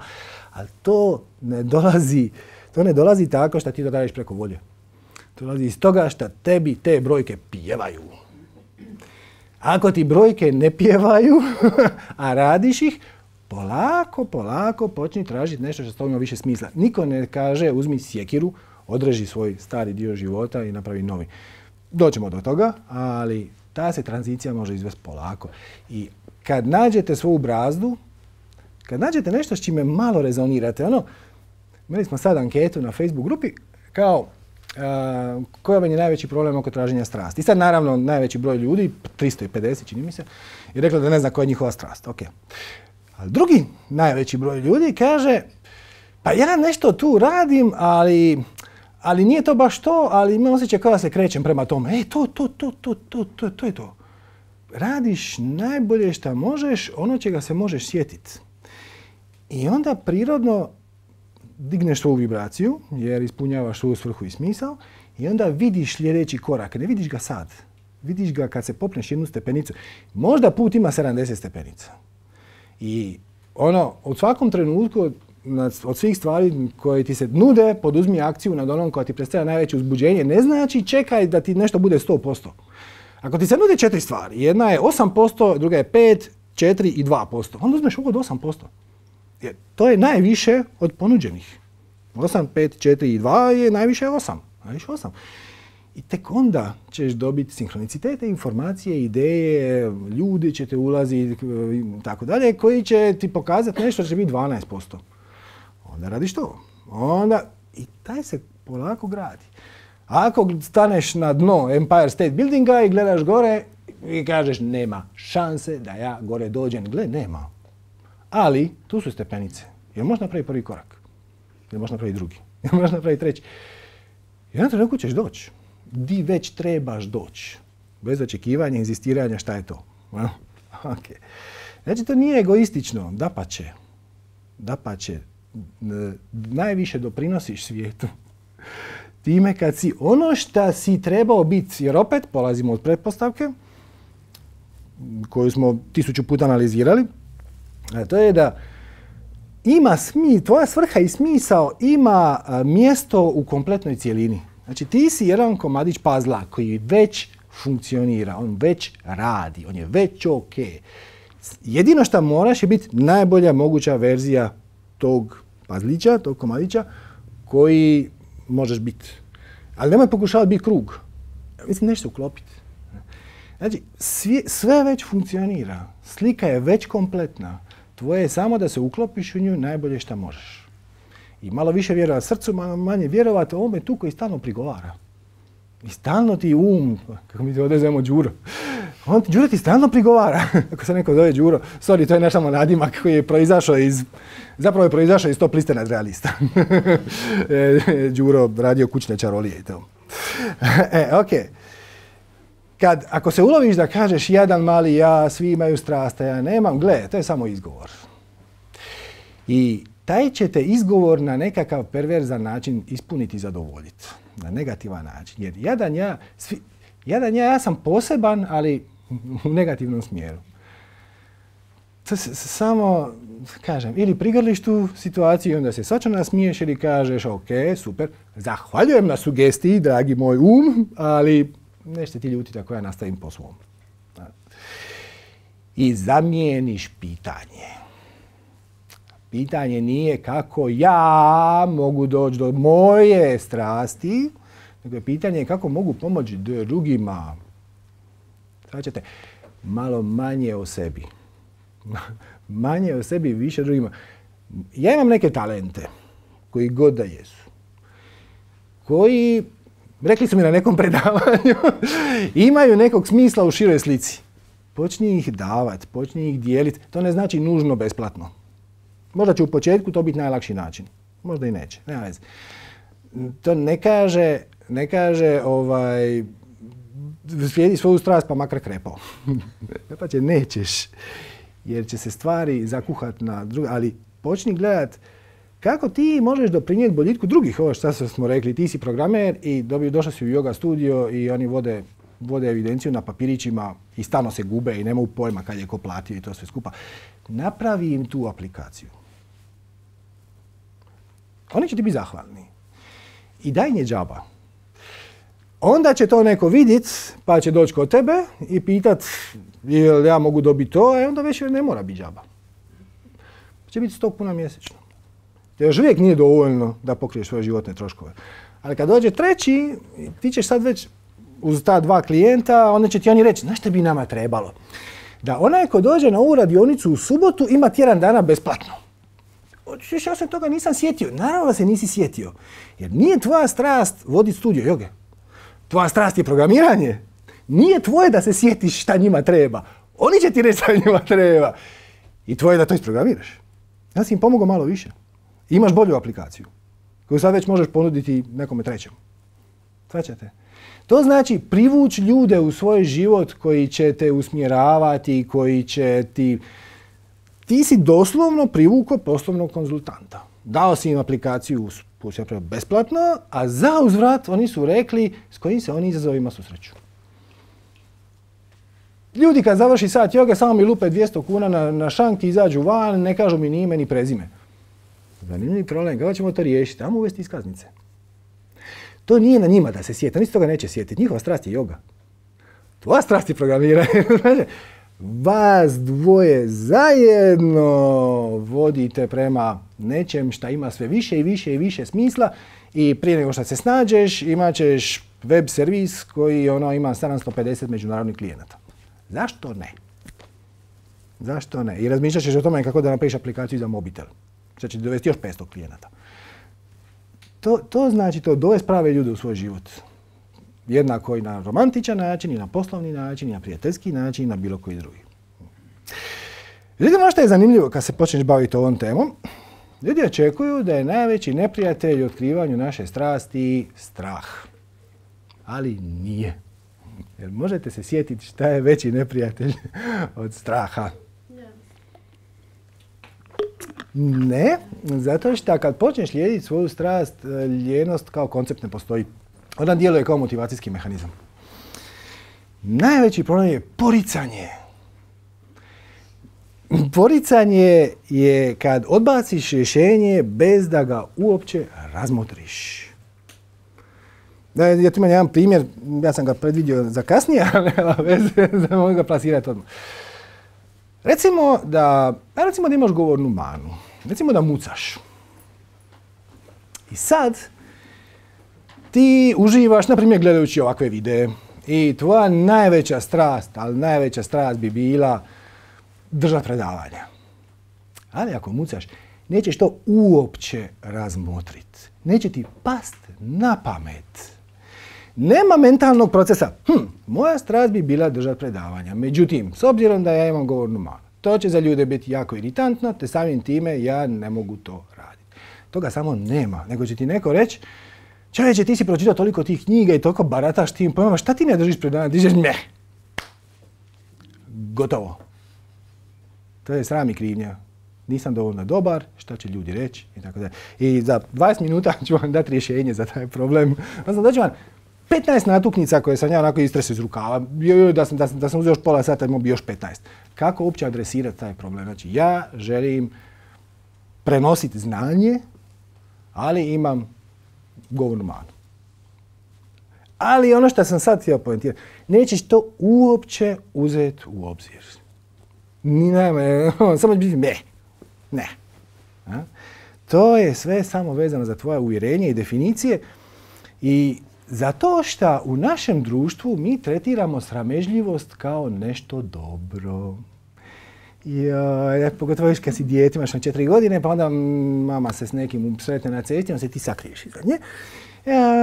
Ali to ne dolazi tako što ti to radiš preko volje. To dolazi iz toga što tebi te brojke pjevaju. Ako ti brojke ne pjevaju, a radiš ih, polako počni tražiti nešto što ima više smisla. Niko ne kaže uzmi sjekiru, odreži svoj stari dio života i napravi novi. Doćemo do toga, ali ta se tranzicija može izvesti polako. I kad nađete svoju brazdu, kad nađete nešto s čime malo rezonirate, imali smo sad anketu na Facebook grupi kao koji vam je najveći problem oko traženja strasti. I sad naravno najveći broj ljudi, 350 čini mi se, je rekla da ne zna koja je njihova strast. Okay. Ali drugi najveći broj ljudi kaže pa ja nešto tu radim, ali nije to baš to, ali imam osjećaj kao da se krećem prema tome. To je to. Radiš najbolje što možeš, ono čega se možeš sjetiti. I onda prirodno digneš svoju vibraciju, jer ispunjavaš svoju svrhu i smisao, i onda vidiš sljedeći korak. Ne vidiš ga sad. Vidiš ga kad se popneš jednu stepenicu. Možda put ima 70 stepenica. I od svakom trenutku, od svih stvari koje ti se nude, poduzmi akciju nad onom koja ti predstavlja najveće uzbuđenje. Ne znači čekaj da ti nešto bude 100%. Ako ti se nude 4 stvari, jedna je 8%, druga je 5%, 4 i 2%. Onda uzmeš od 8%. Jer to je najviše od ponuđenih. 8, 5, 4 i 2 je najviše 8. Najviše 8. I tek onda ćeš dobiti sinhronicitete, informacije, ideje, ljudi će te ulaziti i tako dalje, koji će ti pokazati nešto što će biti 12%. Onda radiš to. Onda i taj se polako gradi. Ako staneš na dno Empire State Buildinga i gledaš gore i kažeš nema šanse da ja gore dođem, gle, nema. Ali tu su stepenice. Jer možeš napraviti prvi korak. Jer možeš napraviti drugi. Jer možeš napraviti treći. I na trenutku ćeš doći. Di već trebaš doći. Bez očekivanja, inzistiranja, šta je to? Okay. Znači, to nije egoistično. Dapače, najviše doprinosiš svijetu. Time kad si ono što si trebao biti, jer opet polazimo od pretpostavke, koju smo 1000 puta analizirali, a to je da tvoja svrha i smisao ima mjesto u kompletnoj cijelini. Znači ti si jedan komadić puzzla koji već funkcionira, on već radi, on je već ok. Jedino što moraš je biti najbolja moguća verzija tog puzzlića, tog komadića koji možeš biti. Ali nemoj pokušavati biti krug. Mislim, nešto uklopiti. Znači, sve već funkcionira. Slika je već kompletna. Tvoje je samo da se uklopiš u nju najbolje što možeš. I malo više vjerovati srcu, malo manje vjerovati ovome tu koji stalno prigovara. I stalno ti kako mi se odezemo Đuro. Đuro ti stalno prigovara. Ako se neko zove Đuro, sorry, to je naš samo nadimak koji je proizašao iz top liste nadrealista. Đuro radio kućne čarolije i to. Okej. Ako se uloviš da kažeš jedan mali ja, svi imaju strast, a ja nemam, gle, to je samo izgovor. I taj će te izgovor na nekakav perverzan način ispuniti i zadovoljiti. Na negativan način. Jer jadan ja sam poseban, ali u negativnom smjeru. Samo, kažem, ili prigrliš tu situaciju i onda se svačano nasmiješ ili kažeš, ok, super, zahvaljujem na sugestiji, dragi moj ali nećete ti ljutiti ako ja nastavim po svom. I zamijeniš pitanje. Pitanje nije kako ja mogu doći do moje strasti, nego je pitanje kako mogu pomoći drugima. Sad ćete malo manje o sebi. Manje o sebi, više drugima. Ja imam neke talente, koji god da jesu, koji, rekli su mi na nekom predavanju, imaju nekog smisla u široj slici. Počni ih davati, počni ih dijeliti. To ne znači nužno besplatno. Možda će u početku to biti najlakši način. Možda i neće. Nema veze. To ne kaže slijedi svoju strast pa makar krepao. Pa će nećeš. Jer će se stvari zakuhati na druge. Ali počni gledat kako ti možeš doprinijeti boljitku drugih. Ovo što smo rekli, ti si programer i došao si u yoga studio i oni vode evidenciju na papirićima i stalno se gube i nemaju pojma kad je ko platio i to sve skupa. Napravi im tu aplikaciju. Oni će ti biti zahvalni. I daj nje džaba. Onda će to neko vidjeti, pa će doći kod tebe i pitat jel ja mogu dobiti to, a onda već ne mora biti džaba. Će biti 100 kuna mjesečno. To još uvijek nije dovoljno da pokriješ svoje životne troškove. Ali kad dođe treći, ti ćeš sad već uz ta 2 klijenta, onda će ti oni reći, znaš što bi nama trebalo? Da onaj ko dođe na ovu radionicu u subotu ima tjedan dana besplatno. Ja se toga nisam sjetio. Naravno da se nisi sjetio. Jer nije tvoja strast voditi studio joge. Tvoja strast je programiranje. Nije tvoje da se sjetiš šta njima treba. Oni će ti reći šta njima treba. I tvoje je da to isprogramiraš. Ja si im pomogao malo više. Imaš bolju aplikaciju koju sad već možeš ponuditi nekome trećem. Svaćate? To znači privući ljude u svoj život koji će te usmjeravati, koji će ti... Ti si doslovno privukao poslovnog konzultanta. Dao si im aplikaciju besplatno, a za uzvrat oni su rekli s kojim se oni izazovima susreću. Ljudi kad završi sat joge samo mi lupe 200 kuna na šank, izađu van, ne kažu mi ni ime ni prezime. Zanimljiv problem, kako ćemo to riješiti? Ajmo uvesti iskaznice. To nije na njima da se sjeti, oni se toga neće sjetiti. Njihova strast je joga. Tvoja strast je programiranje. vas dvoje zajedno vodite prema nečem šta ima sve više i više i više smisla i prije nego što se snađeš imat ćeš web servis koji ima 750 međunarodnih klijenata. Zašto ne? Zašto ne? I razmišljat ćeš o tome kako da napraviš aplikaciju za mobitel. Što će dovesti još 500 klijenata. To znači to dovesti prave ljude u svoj život. Jednako i na romantičan način, i na poslovni način, i na prijateljski način, i na bilo koji drugi. Međutim, ono što je zanimljivo kad se počneš baviti ovom temom, ljudi očekuju da je najveći neprijatelj u otkrivanju naše strasti strah. Ali nije. Jer možete se sjetiti šta je veći neprijatelj od straha? Ne, zato što kad počneš lijediti svoju strast, lijenost kao koncept ne postoji. Ona djeluje kao motivacijski mehanizam. Najveći problem je poricanje. Poricanje je kad odbaciš rješenje bez da ga uopće razmotriš. Ja tu imam jedan primjer, ja sam ga predvidio za kasnije, ali nema veze, da mogu ga plasirati odmah. Recimo da imaš govornu manu. Recimo da mucaš. I sad ti uživaš, na primjer, gledajući ovakve videe. I tvoja najveća strast, ali najveća strast bi bila držati predavanja. Ali ako mucaš, nećeš to uopće razmotriti. Neće ti past na pamet. Nema mentalnog procesa. Moja strast bi bila držati predavanja. Međutim, s obzirom da ja imam govornu manu, to će za ljude biti jako iritantno, te samim time ja ne mogu to raditi. Toga samo nema, nego će ti neko reći, čovječe, ti si pročitao toliko tih knjiga i toliko barataš tim pojmama, šta ti ne držiš predavanja? Dižeš me. Gotovo. To je sram i krivnja. Nisam dovoljno dobar, šta će ljudi reći i tako dalje. I za 20 minuta ću vam dati rješenje za taj problem. Znači, daću vam 15 natuknica koje sam ja onako istresao iz rukava. Da sam uzeo još pola sata, imao bi još 15. Kako uopće adresirati taj problem? Znači, ja želim prenositi znanje, ali imam govornu manu. Ali ono što sam sad htio pojentirati, nećeš to uopće uzeti u obzir. Samo će biti ne. To je sve samo vezano za tvoje uvjerenje i definicije i zato što u našem društvu mi tretiramo sramežljivost kao nešto dobro. Pogotovo još kad si dijete, imaš na 4 godine, pa onda mama se s nekim sretne na cesti, onda se ti sakriješ iza nje.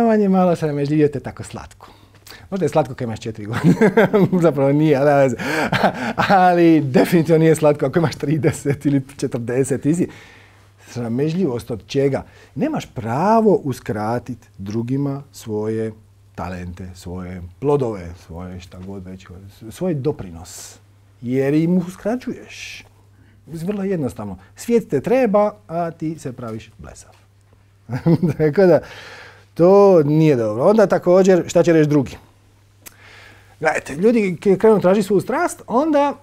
On je malo sramežljivio, te tako slatko. Možda je slatko kad imaš 4 godine, zapravo nije, ali definitivno nije slatko ako imaš 30 ili 40. Ti si sramežljivost od čega? Nemaš pravo uskratiti drugima svoje talente, svoje plodove, svoje šta god već, svoj doprinos. Jer im uskraćuješ. Vrlo jednostavno. Svijet te treba, a ti se praviš blesav. Tako da, to nije dobro. Onda također, šta će reći drugi? Gledajte, ljudi krenu tražiti svoju strast, onda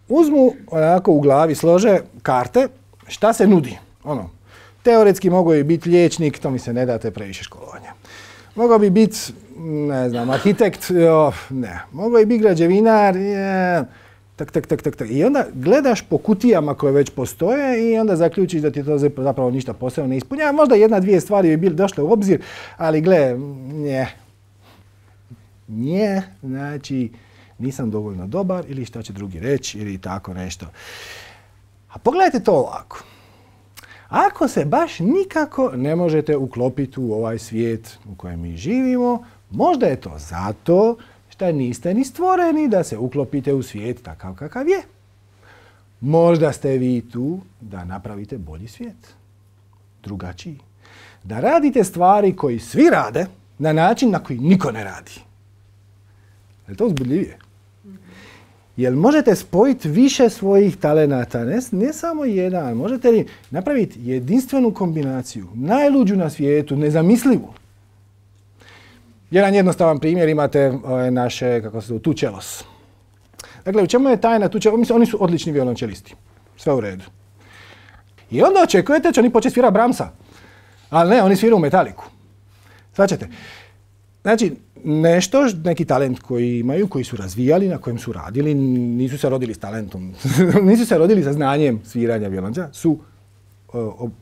uzmu onako u glavi, slože karte, šta se nudi. Teoretski mogu bi biti liječnik, to mi se ne date previše školovanja. Mogao bi biti, ne znam, arhitekt, ne. Mogao bi biti građevinar, tak. I onda gledaš po kutijama koje već postoje i onda zaključiš da ti to zapravo ništa posebno ne ispunjava. Možda 1-2 stvari bi bile došle u obzir, ali gle, nije, znači nisam dovoljno dobar ili šta će drugi reći ili tako nešto. A pogledajte to ovako. Ako se baš nikako ne možete uklopiti u ovaj svijet u kojem mi živimo, možda je to zato što niste ni stvoreni da se uklopite u svijet takav kakav je. Možda ste vi tu da napravite bolji svijet. Drugačiji. Da radite stvari koji svi rade na način na koji niko ne radi. Je li to uzbudljivije? Jel možete spojiti više svojih talenata, ne samo jedan, možete li napraviti jedinstvenu kombinaciju, najluđu na svijetu, nezamislivu. Jedan jednostavan primjer imate naše, tučelos. Dakle, u čemu je tajna tučelos? Oni su odlični violončelisti. Sve u redu. I onda očekujete će oni početi svirati Brahmsa. Ali ne, oni sviraju u metaliku. Svačate. Znači, nešto, neki talent koji imaju, koji su razvijali, na kojem su radili, nisu se rodili s talentom, nisu se rodili sa znanjem sviranja violončela, su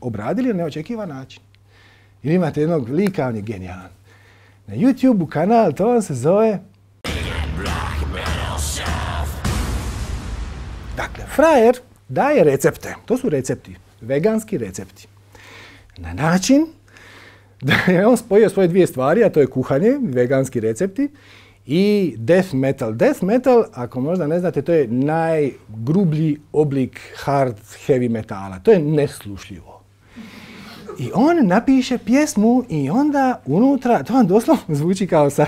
obradili na neočekivan način. Ili imate jednog lika, on je genijalan. Na YouTube-u kanal, to on se zove... Dakle, frajer daje recepte, to su recepti, veganski recepti. Na način da je on spojio svoje dvije stvari, a to je kuhanje, veganski recepti, i death metal. Death metal, ako možda ne znate, to je najgrublji oblik hard heavy metala. To je neslušljivo. I on napiše pjesmu i onda unutra, to vam doslovno zvuči kao sa...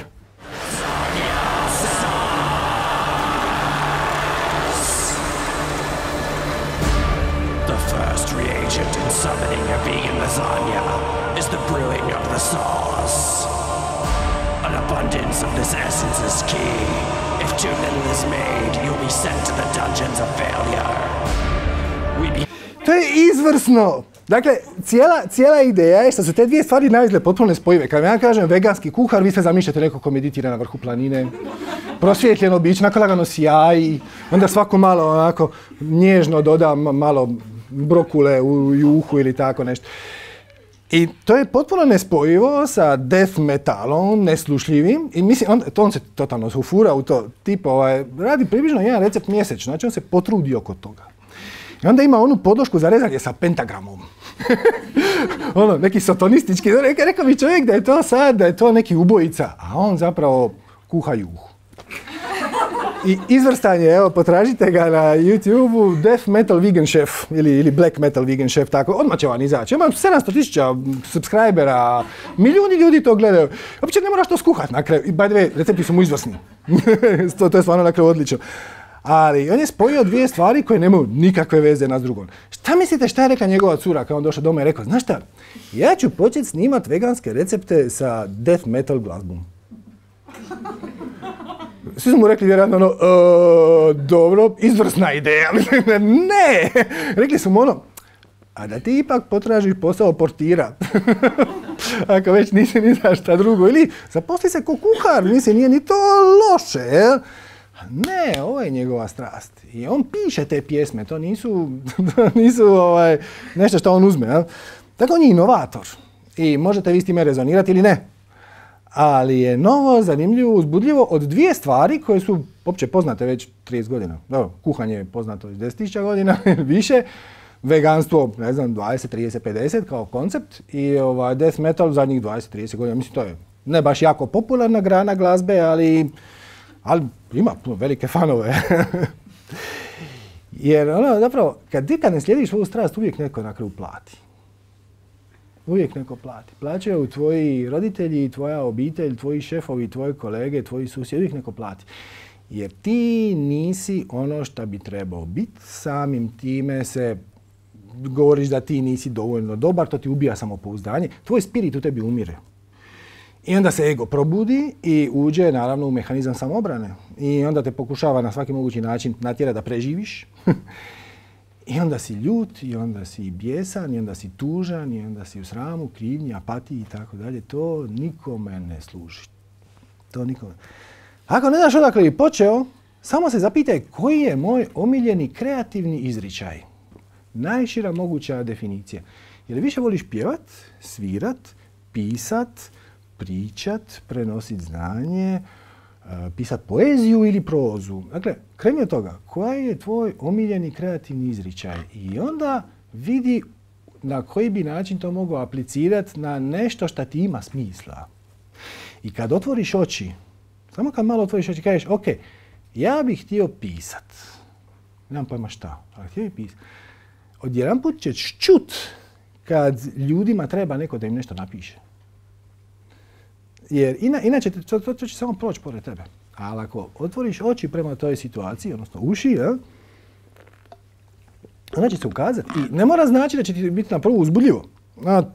Summoning a vegan lasagna is the brewing of the sauce. An abundance of this essence is key. If too little is made, you'll be sent to the dungeons of failure. To je izvrsno! Dakle, cijela ideja je što su te dvije stvari naizgled potpuno nespojive. Kad ja kažem veganski kuhar, vi sve zamišljate neko ko meditira na vrhu planine, prosvjetljeno biće, onako lagano sjaji, onda svako malo onako nježno doda malo brokule u juhu ili tako nešto. I to je potpuno nespojivo sa death metalom, neslušljivim. I mislim, on se totalno ufura u to. Tipo, radi približno jedan recept mjesečno, znači on se potrudi oko toga. I onda ima onu podlošku za rezanje sa pentagramom. Neki satanistički. Rekao mi čovjek da je to sad, da je to neki ubojica, a on zapravo kuha juhu. I izvrstan je, evo, potražite ga na YouTube-u, Death Metal Vegan Chef ili Black Metal Vegan Chef, tako, odmah će vam izaći. Imam 700.000 subscribera, milijuni ljudi to gledaju. Uopće ne moraš to skuhat na kraju. I by the way, recepti su mu izvrsni. To je stvarno na kraju odlično. Ali on je spojio dvije stvari koje nemaju nikakve veze jedna s drugom. Šta mislite šta je rekla njegova cura kad on došao doma i rekao, znaš šta, ja ću početi snimat veganske recepte sa death metal glazbom. Svi su mu rekli vjerojatno dobro, izvrsna ideja. Ne! Rekli su mu a da ti ipak potražiš posao portira. Ako već nisi ni za šta drugo. Ili zaposli se ko kuhar, mislim, nije ni to loše, jel? Ne, ovo je njegova strast. I on piše te pjesme, to nisu nešto što on uzme, jel? Tako on je inovator. I možete vi s time rezonirati ili ne. Ali je novo, zanimljivo, uzbudljivo od dvije stvari koje su opće poznate već 30 godina. Dobro, kuhanje je poznato iz 10.000 godina ili više, veganstvo, ne znam, 20, 30, 50 kao koncept i death metal zadnjih 20, 30 godina. Mislim, to je ne baš jako popularna grana glazbe, ali ima velike fanove. Jer zapravo, kad ne slijediš ovu strast, uvijek neko na kraju plati. Uvijek neko plati. Plaćaju tvoji roditelji, tvoja obitelj, tvoji šefovi, tvoji kolege, tvoji susjedi, uvijek neko plati. Jer ti nisi ono što bi trebao biti, samim time se govoriš da ti nisi dovoljno dobar, to ti ubija samopouzdanje, tvoj spirit u tebi umire. I onda se ego probudi i uđe naravno u mehanizam samoobrane. I onda te pokušava na svaki mogući način natjerati da preživiš. I onda si ljut, i onda si bijesan, i onda si tužan, i onda si u sramu, krivnji, apatiji i tako dalje. To nikome ne služi. To nikome. Ako ne znaš odakle bi počeo, samo se zapitaj koji je moj omiljeni kreativni izričaj. Najšira moguća definicija. Je li više voliš pjevat, svirat, pisat, pričat, prenosit znanje, pisat poeziju ili prozu? Dakle, kreni od toga, koji je tvoj omiljeni kreativni izričaj? I onda vidi na koji bi način to mogao aplicirati na nešto što ti ima smisla. I kad otvoriš oči, samo kad malo otvoriš oči, kažeš, ok, ja bih htio pisat. Nemam pojma šta, ali htio bih pisat. Odjedanput ćeš čut kad ljudima treba neko da im nešto napiše. Jer inače to će samo proći pored tebe. Ali ako otvoriš oči prema toj situaciji, odnosno uši, onda će se ukazati. I ne mora znači da će ti biti na prvu uzbudljivo.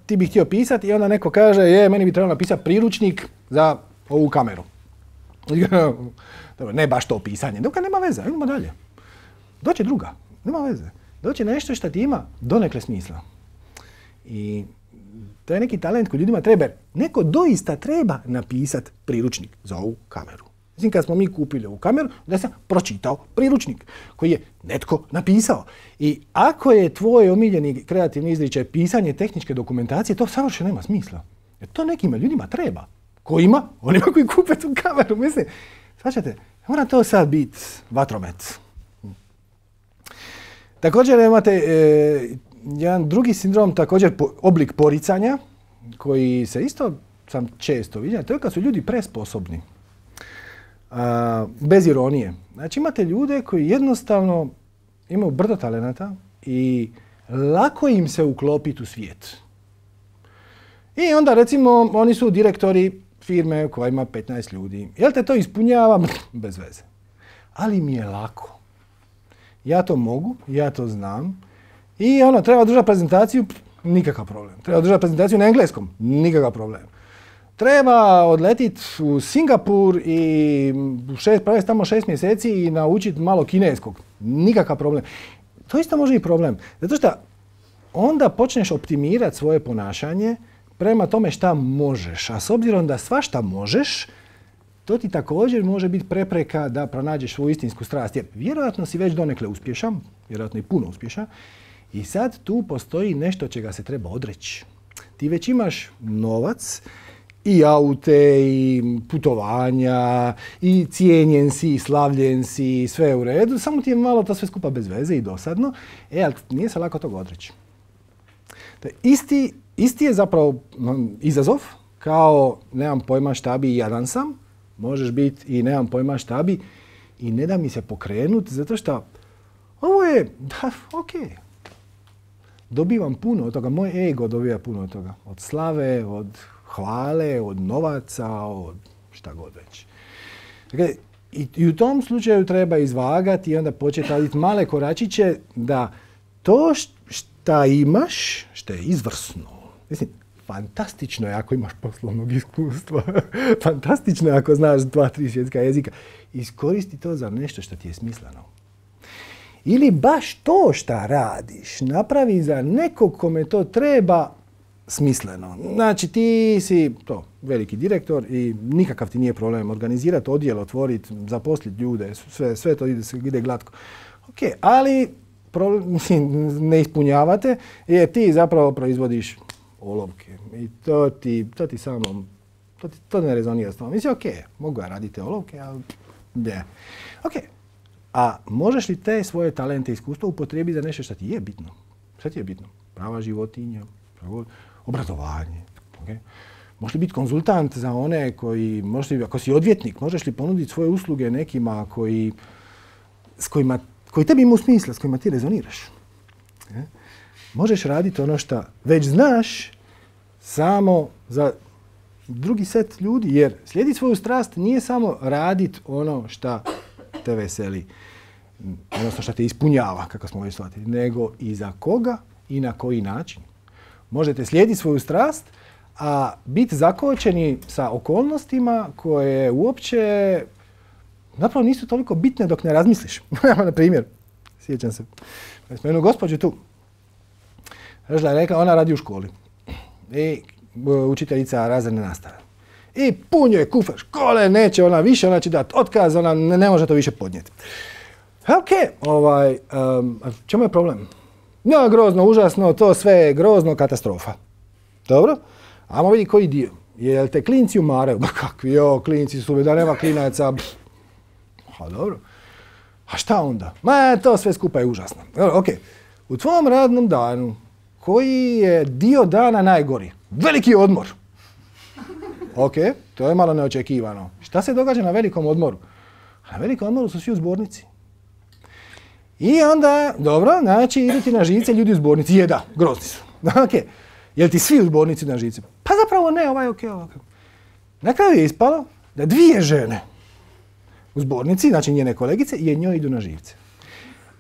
Ti bi htio pisati i onda neko kaže, meni bi trebalo napisati priručnik za ovu kameru. Ne baš to pisanje. Dok nema veze, idemo dalje. Doće druga, nema veze. Doće nešto što ti ima donekle smisla. I to je neki talent koji ljudima treba. Neko doista treba napisati priručnik za ovu kameru. Mislim, kad smo mi kupili ovu kameru, da sam pročitao priručnik koji je netko napisao. I ako je tvoj omiljeni kreativni izričaj pisanje tehničke dokumentacije, to savršeno nema smisla. Jer to nekima ljudima treba. Kojima? Onima koji kupe tu kameru. Mislim, svačate, mora to sad biti vatromet. Također imate jedan drugi sindrom, također oblik poricanja, koji se isto sam često vidio. To je kad su ljudi presposobni. Bez ironije. Znači imate ljude koji jednostavno imaju brdo talenata i lako im se uklopiti u svijet. I onda recimo oni su direktori firme koja ima 15 ljudi. Jel te to ispunjava? Bez veze. Ali mi je lako. Ja to mogu, ja to znam. I treba održati prezentaciju, nikakav problem. Treba održati prezentaciju na engleskom, nikakav problem. Treba odletiti u Singapur i provesti tamo 6 mjeseci i naučiti malo kineskog. Nikakav problem. To isto može i problem. Zato što onda počneš optimirati svoje ponašanje prema tome šta možeš. A s obzirom da svašta možeš, to ti također može biti prepreka da pronađeš svoju istinsku strast. Jer vjerojatno si već donekle uspješan, vjerojatno i puno uspješan, i sad tu postoji nešto čega se treba odreći. Ti već imaš novac, i aute, i putovanja, i cijenjen si, i slavljen si, sve je u redu, samo ti je malo to sve skupa bez veze i dosadno, ali nije se lako toga odreći. Isti je zapravo izazov, kao nemam pojma šta bi i jadan sam, možeš biti i nemam pojma šta bi i ne da mi se pokrenuti, zato što ovo je, dobivam puno od toga, moj ego dobiva puno od toga, od slave, od hvale, od novaca, od šta god već. Dakle, i u tom slučaju treba izvagati i onda početi raditi male koračiće da to šta imaš, što je izvrsno, mislim, fantastično je ako imaš poslovnog iskustva, fantastično je ako znaš 2-3 svjetska jezika, iskoristi to za nešto što ti je smisleno. Ili baš to šta radiš napravi za nekog kome to treba smisleno. Znači ti si veliki direktor i nikakav ti nije problem organizirati odjel, otvoriti, zaposliti ljude, sve to ide glatko. Ok, ali ne ispunjavate jer ti zapravo proizvodiš olovke i to ti samo, to ne rezonira s tom. Mislim, ok, mogu ja raditi olovke, ali ne. Ok, a možeš li te svoje talente i iskustva upotrijebiti za nešto što ti je bitno? Što ti je bitno? Prava životinja, obrazovanje. Okay? Možeš li biti konzultant za one koji, ako si odvjetnik, možeš li ponuditi svoje usluge nekima koji tebi imaju smisla, s kojima ti rezoniraš. Možeš raditi ono što već znaš samo za drugi set ljudi, jer slijediti svoju strast nije samo raditi ono što te veseli, odnosno što te ispunjava, kako smo već shvatili, nego i za koga i na koji način. Možete slijediti svoju strast, a biti zakočeni sa okolnostima koje uopće zapravo nisu toliko bitne dok ne razmisliš. Na primjer, sjećam se, smo jednu gospođu tu. Ona radi u školi i učiteljica razredne nastave. I pun je kufer škole, neće ona više, ona će dati otkaz, ona ne može to više podnijeti. Ok, čemu je problem? Ja, grozno, užasno, to sve je grozno, katastrofa. Dobro? Ajmo vidi koji dio. Jel te klinci umaraju? Kakvi, klinci su, da nema klinaca. Dobro. A šta onda? To sve skupa je užasno. Ok, u tvom radnom danu, koji je dio dana najgori? Veliki odmor. Ok, to je malo neočekivano. Šta se događa na velikom odmoru? Na velikom odmoru su svi u zbornici. I onda, dobro, znači idu ti na živce ljudi u zbornici. Je, da, grozni su. Ok, jel ti svi u zbornici na živce? Pa zapravo ne, ok. Na kraju je ispalo da 2 žene u zbornici, znači njene kolegice, i njoj idu na živce.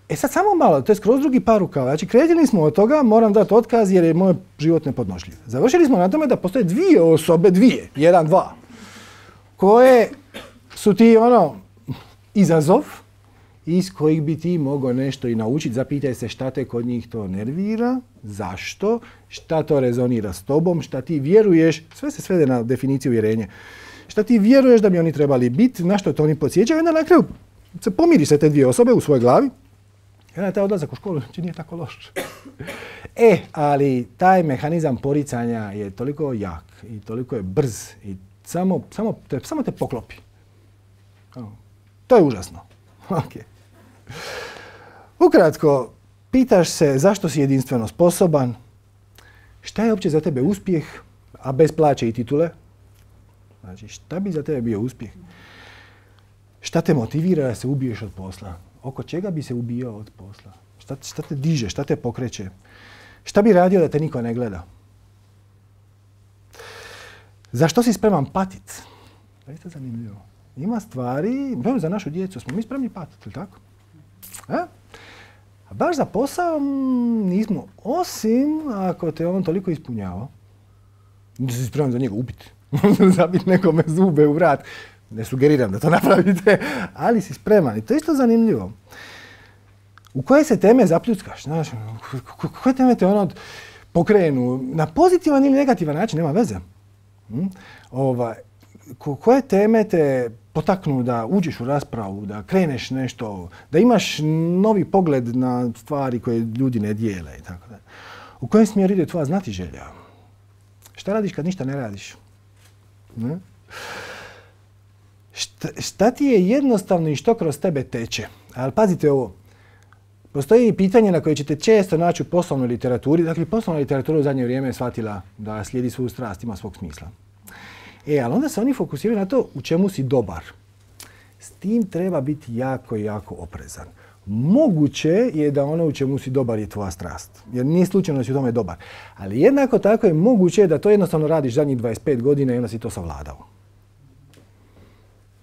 E sad samo malo, to je skroz drugi par rukava. Znači krenuli smo od toga, moram dati otkaz jer je moj život nepodnošljiv. Završili smo na tome da postoje 2 osobe, 2, koje su ti izazov iz kojih bi ti mogao nešto i naučiti. Zapitaj se šta te kod njih to nervira, zašto, šta to rezonira s tobom, šta ti vjeruješ, sve se svede na definiciju vjerenja. Šta ti vjeruješ da bi oni trebali biti, na što to oni podsjećaju, i onda na kraju se pomiri se te dvije osobe u svojoj glavi. I onda taj odlazak u školu nije tako loš. Ali taj mehanizam poricanja je toliko jak i toliko je brz i samo te poklopi. To je užasno. Okay. Ukratko, pitaš se zašto si jedinstveno sposoban, šta je uopće za tebe uspjeh, a bez plaće i titule. Znači, šta bi za tebe bio uspjeh? Šta te motivira da se ubiješ od posla? Oko čega bi se ubijao od posla? Šta te diže, šta te pokreće? Šta bi radio da te niko ne gleda? Zašto si spreman patit? To je isto zanimljivo. Ima stvari, za našu djecu smo mi spremni patiti, ili tako? A baš za posao nismo, osim ako te on toliko ispunjava. Da si spreman za njega ubiti. Zabiti nekome zube u vrat. Ne sugeriram da to napravite, ali si spreman. I to je isto zanimljivo. U koje se teme zapljuckaš? Znaš, koje teme te pokrenu? Na pozitivan ili negativan način, nema veze. Koje teme te potaknu da uđeš u raspravu, da kreneš nešto, da imaš novi pogled na stvari koje ljudi ne dijele i tako da. U kojem smjeru ide tvoja znatiželja? Šta radiš kad ništa ne radiš? Ne? Šta ti je jednostavno i što kroz tebe teče? Ali pazite ovo. Postoji pitanje na koje ćete često naći u poslovnoj literaturi. Dakle, poslovna literatura u zadnje vrijeme je shvatila da slijedi svoju strast, ima svog smisla. Ali onda se oni fokusiraju na to u čemu si dobar. S tim treba biti jako, jako oprezan. Moguće je da ono u čemu si dobar je tvoja strast. Jer nije slučajno da si u tome dobar. Ali jednako tako je moguće da to jednostavno radiš zadnjih 25 godina i onda si to savladao.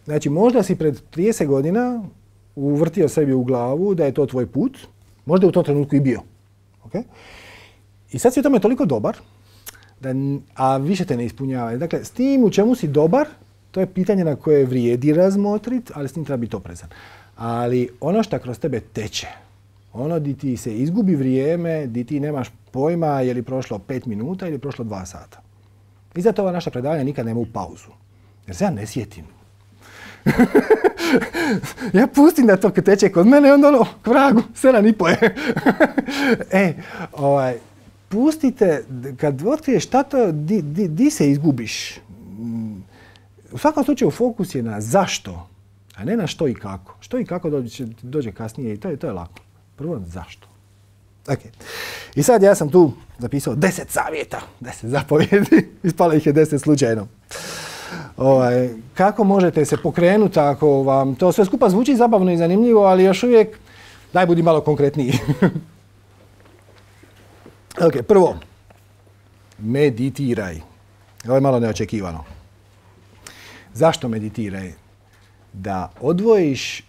Znači, možda si pred 30 godina uvrtio sebi u glavu da je to tvoj put. Možda je u tom trenutku i bio. Okay? I sad si u tome toliko dobar, a više te ne ispunjava. Dakle, s tim u čemu si dobar, to je pitanje na koje vrijedi razmotriti, ali s tim treba biti oprezan. Ali ono što kroz tebe teče, ono di ti se izgubi vrijeme, di ti nemaš pojma je li prošlo 5 minuta ili prošlo 2 sata. I zato ova naša predavanja nikad nema u pauzu. Jer se ja ne sjetim. Ja pustim da to teče kod mene i onda k vragu, 7,5 je. Pustite, kad otkriješ šta to, di se izgubiš. U svakom slučaju fokus je na zašto, a ne na što i kako. Što i kako dođe kasnije i to je lako. Prvo zašto. Okay. I sad ja sam tu zapisao 10 savjeta, 10 zapovjedi, ispalo ih je 10 slučajno. Kako možete se pokrenuti ako vam to sve skupa zvuči zabavno i zanimljivo, ali još uvijek daj budi malo konkretniji. Prvo, meditiraj. Ovo je malo neočekivano. Zašto meditiraj? Da odvojiš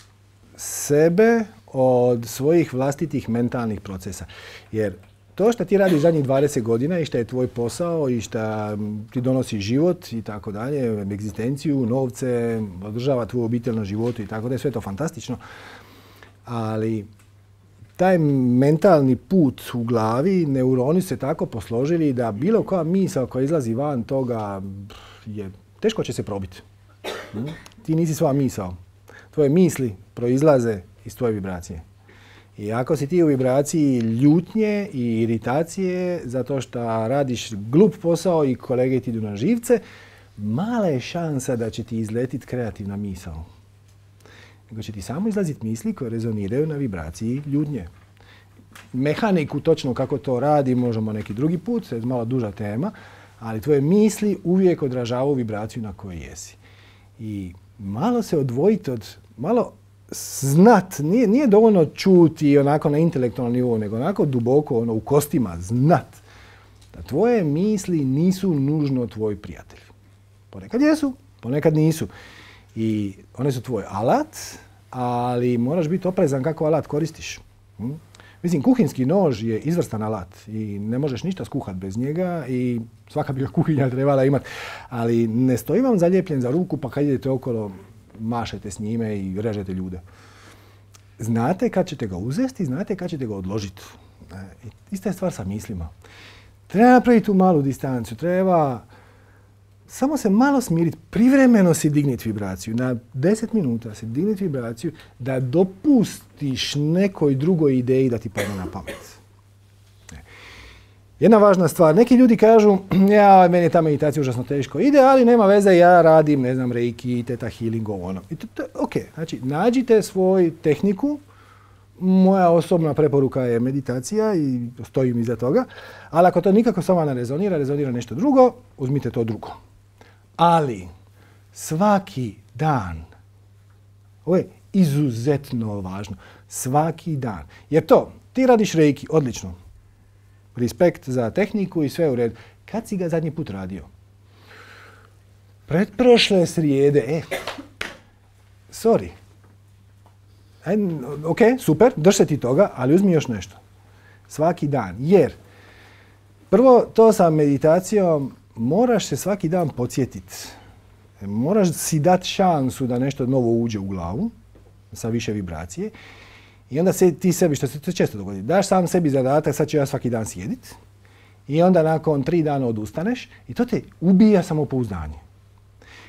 sebe od svojih vlastitih mentalnih procesa. Jer to što ti radiš zadnjih 20 godina i što je tvoj posao i što ti donosi život i tako dalje, egzistenciju, novce, održava tvoju obitelj na životu i tako dalje, sve je to fantastično. Ali taj mentalni put u glavi, neuroni se tako posložili da bilo koja misao koja izlazi van toga teško će se probiti. Ti nisi svoja misao. Tvoje misli proizlaze iz tvoje vibracije. I ako si ti u vibraciji ljutnje i iritacije zato što radiš glup posao i kolege ti idu na živce, mala je šansa da će ti izletiti kreativna misao. Nego će ti samo izlaziti misli koje rezoniraju na vibraciji ljutnje. Mehaniku točno kako to radi možemo neki drugi put, to je malo duža tema, ali tvoje misli uvijek odražavaju vibraciju na kojoj jesi. I malo se odvojiti malo znat, nije dovoljno čuti onako na intelektualnom nivou, nego onako duboko u kostima znat da tvoje misli nisu nužno tvoji prijatelji. Ponekad jesu, ponekad nisu. I one su tvoj alat, ali moraš biti oprezan kako alat koristiš. Mislim, kuhinski nož je izvrstan alat i ne možeš ništa skuhati bez njega i svaka bi ga kuhinja trebala imati. Ali ne stoji vam zalijepljen za ruku pa kad idete okolo mašete s njime i režete ljude. znate kad ćete ga uzeti, znate kad ćete ga odložiti. Ista je stvar sa mislima. Treba napraviti tu malu distancu, treba samo se malo smiriti, privremeno si digniti vibraciju, na 10 minuta si digniti vibraciju da dopustiš nekoj drugoj ideji da ti padne na pamet. Jedna važna stvar, neki ljudi kažu, meni je ta meditacija užasno teško ide, ali nema veze, ja radim, ne znam, reiki, theta healing, ono. I to je ok, znači nađite svoju tehniku, moja osobna preporuka je meditacija i stojim iza toga, ali ako to nikako s vama ne rezonira nešto drugo, uzmite to drugo. Ali svaki dan, ovo je izuzetno važno, svaki dan, jer to, ti radiš reiki, odlično, respekt za tehniku i sve u redu. Kad si ga zadnji put radio? Pretprošle srijede, sorry. Ok, super, drž se ti toga, ali uzmi još nešto. Svaki dan, jer prvo to sa meditacijom moraš se svaki dan podsjetiti. Moraš si dati šansu da nešto novo uđe u glavu sa više vibracije. I onda ti sebi, što se to često dogodi, daš sam sebi zadatak, sad ću ja svaki dan sjediti. I onda nakon 3 dana odustaneš i to te ubija samopouzdanje.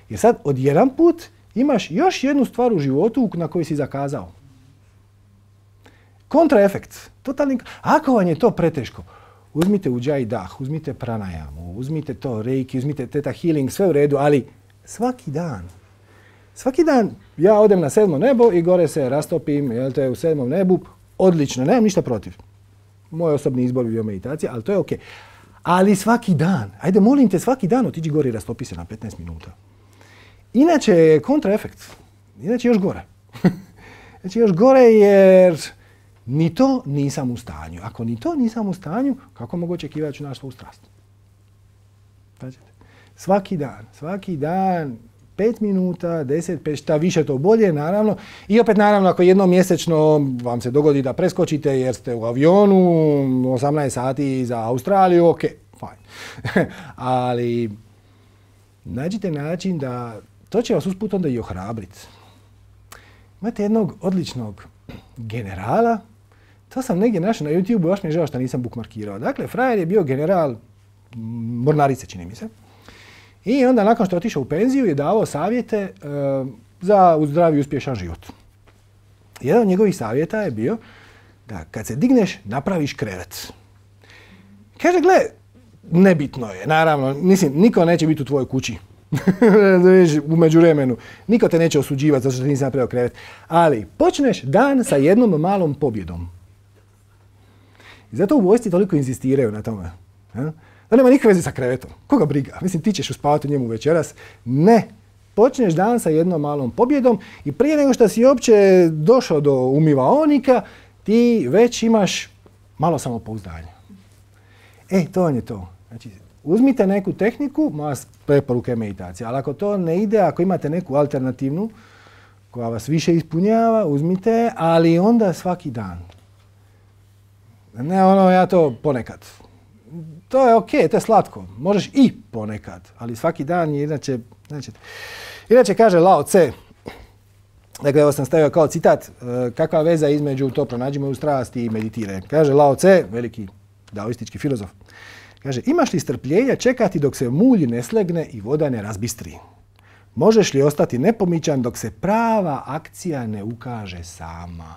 Jer sad odjedan put imaš još jednu stvar u životu na koju si zakazao. Kontraefekt. Ako vam je to preteško, uzmite Ujjayi dah, uzmite pranayamu, uzmite to reiki, uzmite theta healing, sve u redu, ali svaki dan. Svaki dan ja odem na 7. nebo i gore se rastopim, jel te, u 7. nebu, odlično, nemam ništa protiv. Moj osobni izbor je bio meditacija, ali to je ok. Ali svaki dan, ajde molim te svaki dan otiđi gore i rastopi se na 15 minuta. Inače je kontraefekt, inače još gore. Znači još gore jer ni to nisam u stanju. Ako ni to nisam u stanju, kako mogu očekivati da ću naći svoju strast? Svaki dan, 5 minuta, 10, 5, šta više to bolje, naravno. I opet, naravno, ako jednom mjesečno vam se dogodi da preskočite jer ste u avionu 18 sati za Australiju, ok, fine. Ali nađite način da to će vas usput onda i ohrabriti. Imate jednog odličnog generala, to sam negdje našao na YouTube, baš mi je žao što nisam bookmarkirao. Dakle, frajer je bio general mornarice, čini mi se. I onda nakon što je otišao u penziju je davao savjete za zdravi i uspješan život. Jedan od njegovih savjeta je bio da kad se digneš napraviš krevet. Kaže, gle, nebitno je, naravno, mislim, niko neće biti u tvojoj kući. U međuvremenu. Niko te neće osuđivati zato što nisi napravio krevet. Ali počneš dan sa jednom malom pobjedom. I zato u vojsci toliko insistiraju na tome. Da nema nikakve veze sa krevetom. Koga briga? Mislim, ti ćeš uspavati u njemu večeras. Ne. Počneš dan sa jednom malom pobjedom i prije nego što si uopće došao do umivaonika, ti već imaš malo samopouzdanja. To vam je to. Znači, uzmite neku tehniku, moja preporuka je meditacija, ali ako to ne ide, ako imate neku alternativnu koja vas više ispunjava, uzmite, ali onda svaki dan. Ne ja to ponekad. To je ok, to je slatko. Možeš i ponekad, ali svaki dan je inače kaže Lao Tse, dakle ovo sam stavio kao citat, kakva veza između to pronađi moju strast i meditiraj. Kaže Lao Tse, veliki daoistički filozof, kaže, imaš li strpljenja čekati dok se mulj ne slegne i voda ne razbistri? Možeš li ostati nepomičan dok se prava akcija ne ukaže sama?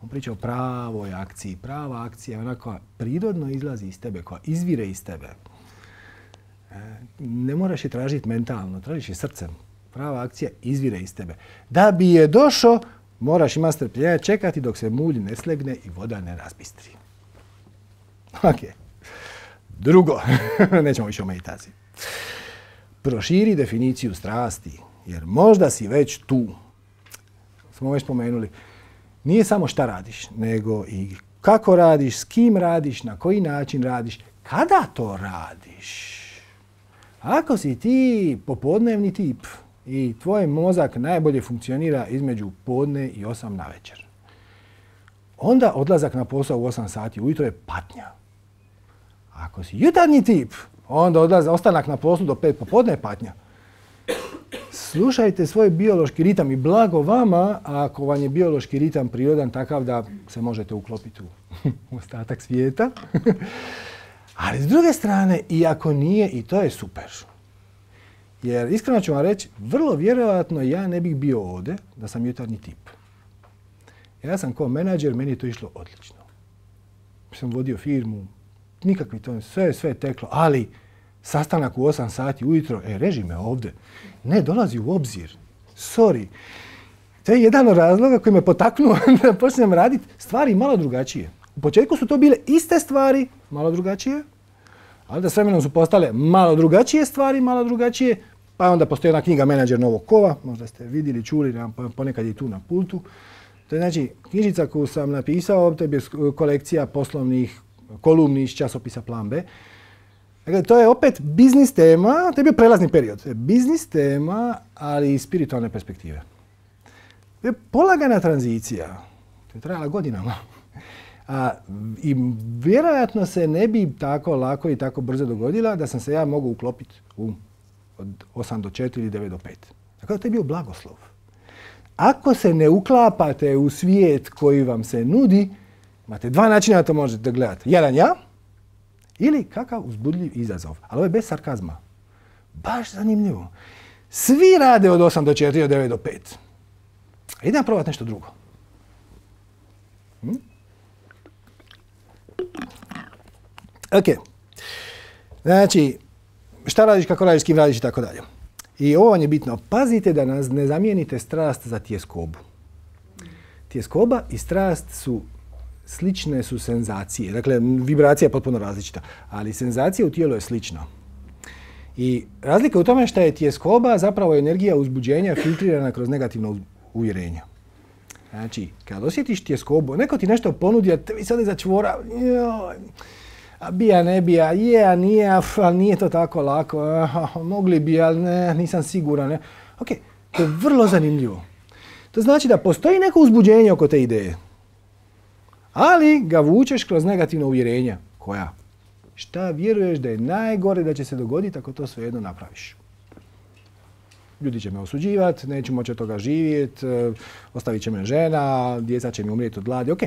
On priča o pravoj akciji. Prava akcija je ona koja prirodno izlazi iz tebe, koja izvire iz tebe. Ne moraš je tražiti mentalno, tražiš je srcem. Prava akcija izvire iz tebe. Da bi je došao, moraš imati strpljenja čekati dok se mulj ne slegne i voda ne razbistri. Ok. Drugo, nećemo više o meditaciji. Proširi definiciju strasti, jer možda si već tu. Smo već spomenuli. Nije samo šta radiš, nego i kako radiš, s kim radiš, na koji način radiš, kada to radiš. Ako si ti popodnevni tip i tvoj mozak najbolje funkcionira između podne i 8 navečer, onda odlazak na posao u 8 sati ujutro je patnja. Ako si jutarnji tip, onda ostanak na poslu do 5 popodne je patnja. slušajte svoj biološki ritam i blago vama ako vam je biološki ritam prirodan takav da se možete uklopiti u ostatak svijeta. Ali s druge strane, i ako nije, i to je super. Jer iskreno ću vam reći, vrlo vjerojatno ja ne bih bio ovdje da sam jutarnji tip. Ja sam kao menadžer, meni je to išlo odlično. Sam vodio firmu, nikakvi to, sve je teklo, ali sastanak u 8 sati ujutro, reži me ovdje, ne dolazi u obzir, sorry. To je jedan od razloga koji me potaknuo da počnem raditi stvari malo drugačije. U početku su to bile iste stvari, malo drugačije, ali da s vremenom su postale malo drugačije stvari, malo drugačije, pa onda postoji jedna knjiga Menadžer novog kova, možda ste vidjeli, čuli, ponekad je tu na pultu. To je znači knjižica koju sam napisao, to je kolekcija poslovnih kolumni iz časopisa Plan B. Dakle, to je opet biznis tema, to je bio prelazni period. To je biznis tema, ali iz spiritualne perspektive. To je polagana tranzicija, to je trajala godinama. I vjerojatno se ne bi tako lako i tako brzo dogodila da sam se ja mogao uklopiti od 8 do 4 ili 9 do 5. Dakle, to je bio blagoslov. Ako se ne uklapate u svijet koji vam se nudi, imate dva načina da to možete gledati. Jedan ja ili kakav uzbudljiv izazov. Ali ovo je bez sarkazma. Baš zanimljivo. Svi rade od 8 do 4, od 9 do 5. Idem probati nešto drugo. Ok. Znači, šta radiš, kako radiš, s kim radiš i tako dalje. I ovo vam je bitno. Pazite da nas ne zamijenite strast za tjeskobu. Tjeskoba i strast su slične su senzacije. Dakle, vibracija je potpuno različita, ali senzacija u tijelu je slična. I razlika u tome što je tjeskoba zapravo energija uzbuđenja filtrirana kroz negativno uvjerenja. Znači, kad osjetiš tjeskobu, neko ti nešto ponudi, a tebi sad začvora, a bija, ne bija, a nije, ali nije to tako lako, mogli bi, ali ne, nisam siguran. Ne. Ok, to je vrlo zanimljivo. To znači da postoji neko uzbuđenje oko te ideje, ali ga vučeš kroz negativna uvjerenja. Koja? Šta vjeruješ da je najgore da će se dogoditi ako to svejedno napraviš? Ljudi će me osuđivati, neću moći od toga živjeti, ostavit će me žena, djeca će mi umrijeti od gladi. Ok,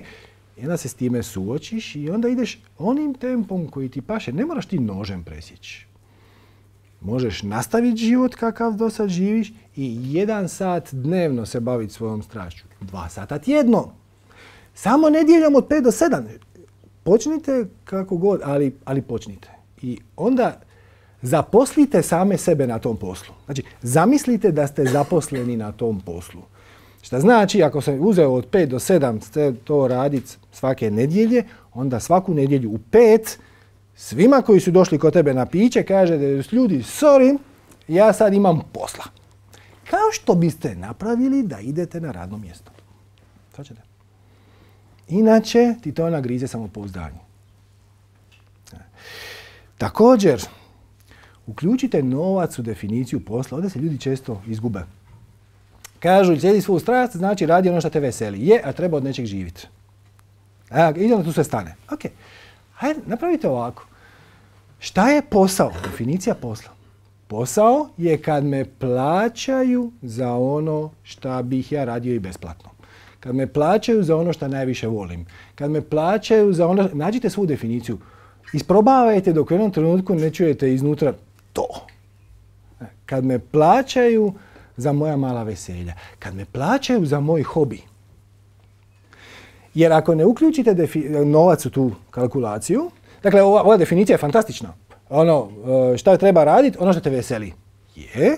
i onda se s time suočiš i onda ideš onim tempom koji ti paše. Ne moraš ti nožem presjeći. Možeš nastaviti život kakav do sad živiš i 1 sat dnevno se baviti svojom strašću. 2 sata tjedno. Samo nedjeljom od 5 do 7. Počnite kako god, ali počnite. I onda zaposlite same sebe na tom poslu. Znači, zamislite da ste zaposleni na tom poslu. Šta znači, ako sam uzeo od 5 do 7 to raditi svake nedjelje, onda svaku nedjelju u 5 svima koji su došli kod tebe na piće kaže da ljudi, sorry, ja sad imam posla. Kao što biste napravili da idete na radno mjesto. Svačate? Inače ti to nagrize samopouzdanje. Također, uključite novac u definiciju posla. Ovdje se ljudi često izgube. Kažu, slijedi svoju strast, znači radi ono što te veseli. Je, a treba od nečeg živjeti. I onda tu sve stane. Ok, hajde, napravite ovako. Šta je posao? Definicija posla. Posao je kad me plaćaju za ono što bih ja radio i besplatno. Kad me plaćaju za ono što najviše volim. Kad me plaćaju za ono... Nađite svu definiciju. Isprobavajte dok u jednom trenutku ne čujete iznutra to. Kad me plaćaju za moja mala veselja. Kad me plaćaju za moj hobi. Jer ako ne uključite novac u tu kalkulaciju, dakle ova definicija je fantastična. Ono, šta treba raditi, ono što te veseli. Je.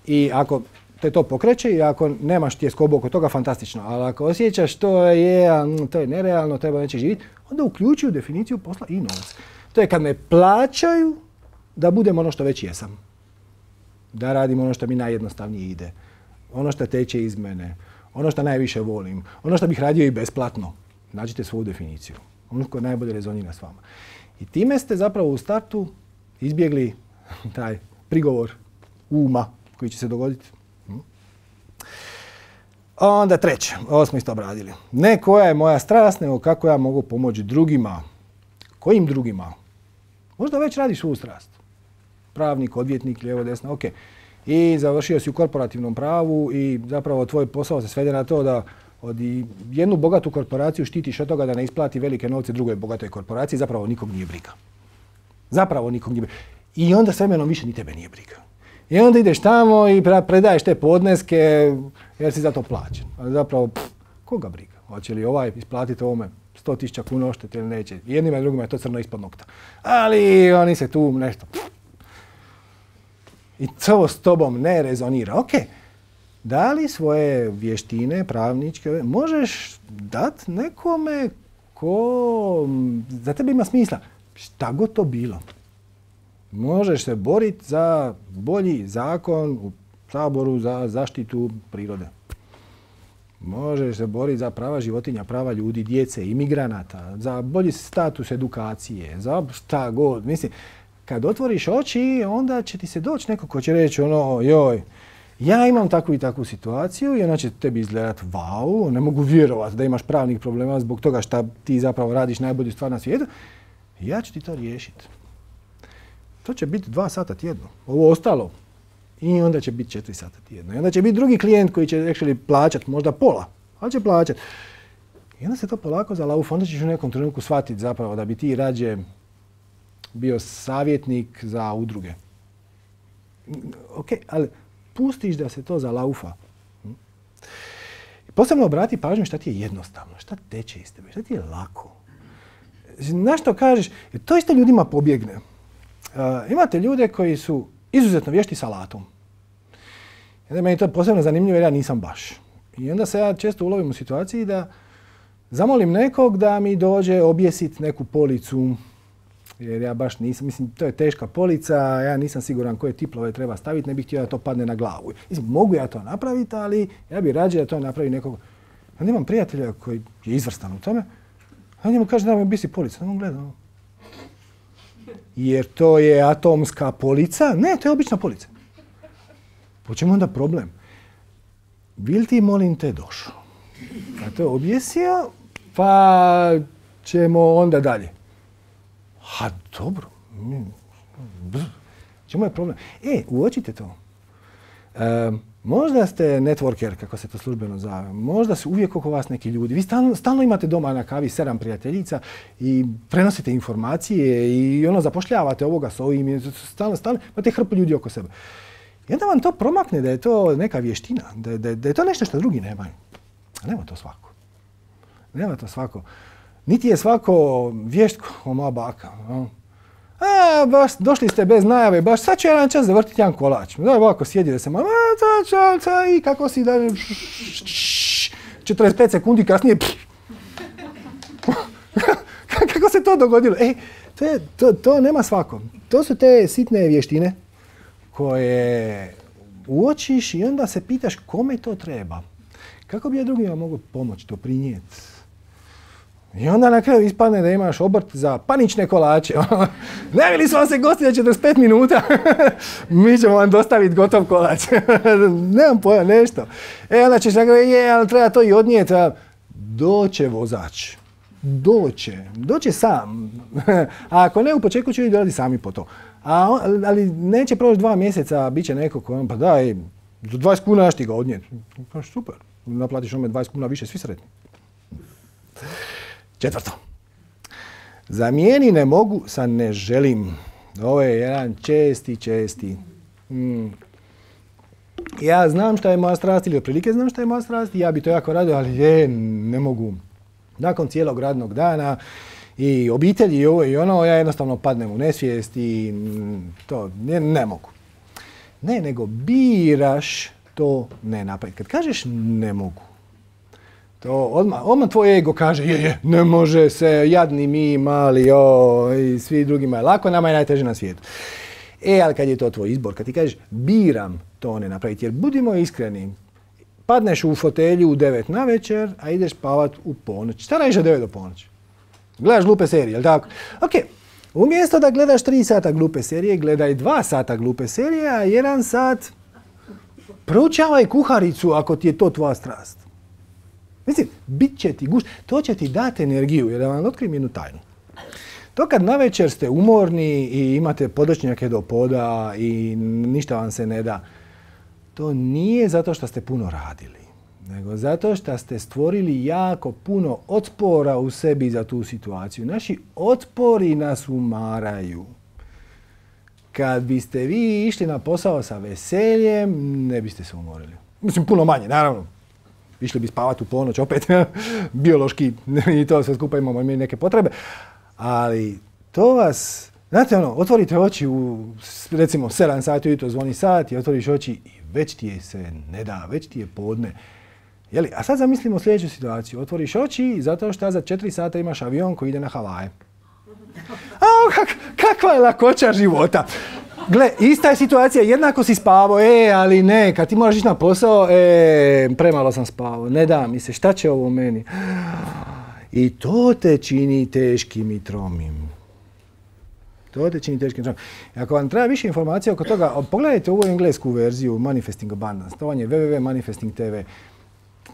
I ako te to pokreće i ako nemaš tjeskobu oko toga, fantastično. Ali ako osjećaš to je nerealno, treba neće živjeti, onda uključuju definiciju posla i novac. To je kad me plaćaju da budem ono što već jesam. Da radim ono što mi najjednostavnije ide. Ono što teče iz mene. Ono što najviše volim. Ono što bih radio i besplatno. Nađite svoju definiciju. Ono koje najbolje rezonira s vama. I time ste zapravo u startu izbjegli taj prigovor uma koji će se dogoditi. Onda treće, ovo smo isto obradili. Ne koja je moja strast, nego kako ja mogu pomoći drugima. Kojim drugima? Možda već radiš svoju strast. Pravnik, odvjetnik, lijevo, desno, ok. i završio si u korporativnom pravu i zapravo tvoj posao se svede na to da od jednu bogatu korporaciju štitiš od toga da ne isplati velike novce drugoj bogatoj korporaciji, zapravo nikog nije briga. Zapravo nikog nije briga. I onda s vremenom više ni tebe nije briga. I onda ideš tamo i predaješ te podneske jer si za to plaćen. Ali zapravo, koga briga? Hoće li ovaj isplatiti ovome 100.000 kuna odštete ili neće? Jednima i drugima je to crno ispod nokta. Ali oni se tu nešto... I to s tobom ne rezonira. Ok, da li svoje vještine pravničke možeš dati nekome ko za tebe ima smisla? Šta god to bilo. Možeš se boriti za bolji zakon u Saboru za zaštitu prirode. Možeš se boriti za prava životinja, prava ljudi, djece, imigranata, za bolji status edukacije, za šta god. Mislim, kad otvoriš oči, onda će ti se doći neko ko će reći ono, joj, ja imam takvu i takvu situaciju i ona će tebi izgledati, vau, ne mogu vjerovati da imaš pravnih problema zbog toga šta ti zapravo radiš najbolju stvar na svijetu. Ja ću ti to riješiti. To će biti 2 sata tjedno. Ovo ostalo. I onda će biti 4 sata tjedno. I onda će biti drugi klijent koji će actually plaćati, možda pola, ali će plaćati. I onda se to polako zalaufa. Onda ćeš u nekom trenutku shvatiti zapravo da bi ti rađe bio savjetnik za udruge. Ok, ali pustiš da se to zalaufa. Posebno obrati pažnju šta ti je jednostavno, šta teče iz tebe, šta ti je lako. Na što kažeš, to isto ljudima pobjegne. Imate ljude koji su izuzetno vješti s alatom. I onda meni je to posebno zanimljivo jer ja nisam baš. I onda se ja često ulovim u situaciji da zamolim nekog da mi dođe objesiti neku policu. Jer ja baš nisam, mislim, to je teška polica, ja nisam siguran koje tiplove treba staviti, ne bih htio da to padne na glavu. Mislim, mogu ja to napraviti, ali ja bih rađe da to napravi nekog. Onda imam prijatelja koji je izvrstan u tome, a njemu kaže da mi objesi policu. Onda on gleda. Jer to je atomska polica? Ne, to je obična polica. Po čemu onda problem? Bil ti, molim te, došao? A to je objesio, pa ćemo onda dalje. Ha, dobro. Čemu je problem? Uočite to. Možda ste networker, kako se to službeno zove. Možda su uvijek oko vas neki ljudi. Vi stalno imate doma na kavi 7 prijateljica i prenosite informacije i zapošljavate ovoga s ovim. Stalno imate hrpu ljudi oko sebe. I onda vam to promakne da je to neka vještina, da je to nešto što drugi nemaju. A nema to svako. Nema to svako. Niti je svako vješt kao moja baka. Baš došli ste bez najave, baš sad ću jedan čas zavrtiti jedan kolač. Da, ovako sjedi da se malo, i kako si da... 45 sekundi kasnije... Kako se to dogodilo? To nema svako. To su te sitne vještine koje uočiš i onda se pitaš kome to treba. Kako bi ja drugima mogu pomoći, doprinijeti? I onda na kraju ispadne da imaš obrt za panične kolače. Najavili smo vam se gosti za 45 minuta. Mi ćemo vam dostaviti gotov kolač. Nemam pojma, nešto. Onda ćeš nagrati, ali treba to i odnijeti. Doće vozač. Doće sam. A ako ne, u početku će ljudi sami po to. Ali neće proći 2 mjeseca, bit će neko koji pa daj, za 20 kuna ja ti ga odnijeti. Super, naplatiš ome 20 kuna više, svi sretni. 4. Zamijeni ne mogu sa ne želim. Ovo je jedan česti. Ja znam šta je moja strast ili otprilike znam šta je moja strast i ja bi to jako radio, ali ne mogu. Nakon cijelog radnog dana i obitelji i ovo i ono, ja jednostavno padnem u nesvijest i to ne mogu. Ne, nego biraš to ne napraviti. Kad kažeš ne mogu, to odmah tvoj ego kaže ne može se, jadni mi, mali, i svi drugima je lako, nama je najteže na svijetu. Ali kad je to tvoj izbor, kad ti kažeš biram to ne napraviti, jer budimo iskreni, padneš u fotelju u 9 navečer, a ideš spavat u ponoć. Šta radiš od 9 do ponoći? Gledaš glupe serije, jel tako? Ok, umjesto da gledaš 3 sata glupe serije, gledaj 2 sata glupe serije, a 1 sat proučavaj kuharicu ako ti je to tvoja strast. Mislim, bit će ti gušt, to će ti dati energiju, jer da vam otkrijem jednu tajnu. To kad navečer ste umorni i imate podočnjake do poda i ništa vam se ne da, to nije zato što ste puno radili, nego zato što ste stvorili jako puno otpora u sebi za tu situaciju. Naši otpori nas umaraju. Kad biste vi išli na posao sa veseljem, ne biste se umorili. Mislim, puno manje, naravno. Išli bi spavati u ponoć, opet, biološki, i to sve skupa imamo neke potrebe. Ali to vas, znate otvorite oči u, recimo, 7 sati ujutro zvoni sat i otvoriš oči i već ti je se ne da, već ti je podne. Jeli? A sad zamislimo sljedeću situaciju. Otvoriš oči zato što za 4 sata imaš avion koji ide na Havaje. Kakva je lakoća života. Gle, ista je situacija, jednako si spavao, ali ne, kad ti moraš ići na posao, premalo sam spavao, ne da mi se, šta će ovo meni? I to te čini teškim i tromim. To te čini teškim i tromim. I ako vam treba više informacija oko toga, pogledajte ovu englesku verziju Manifesting Abundance, to vam je www.manifesting.tv.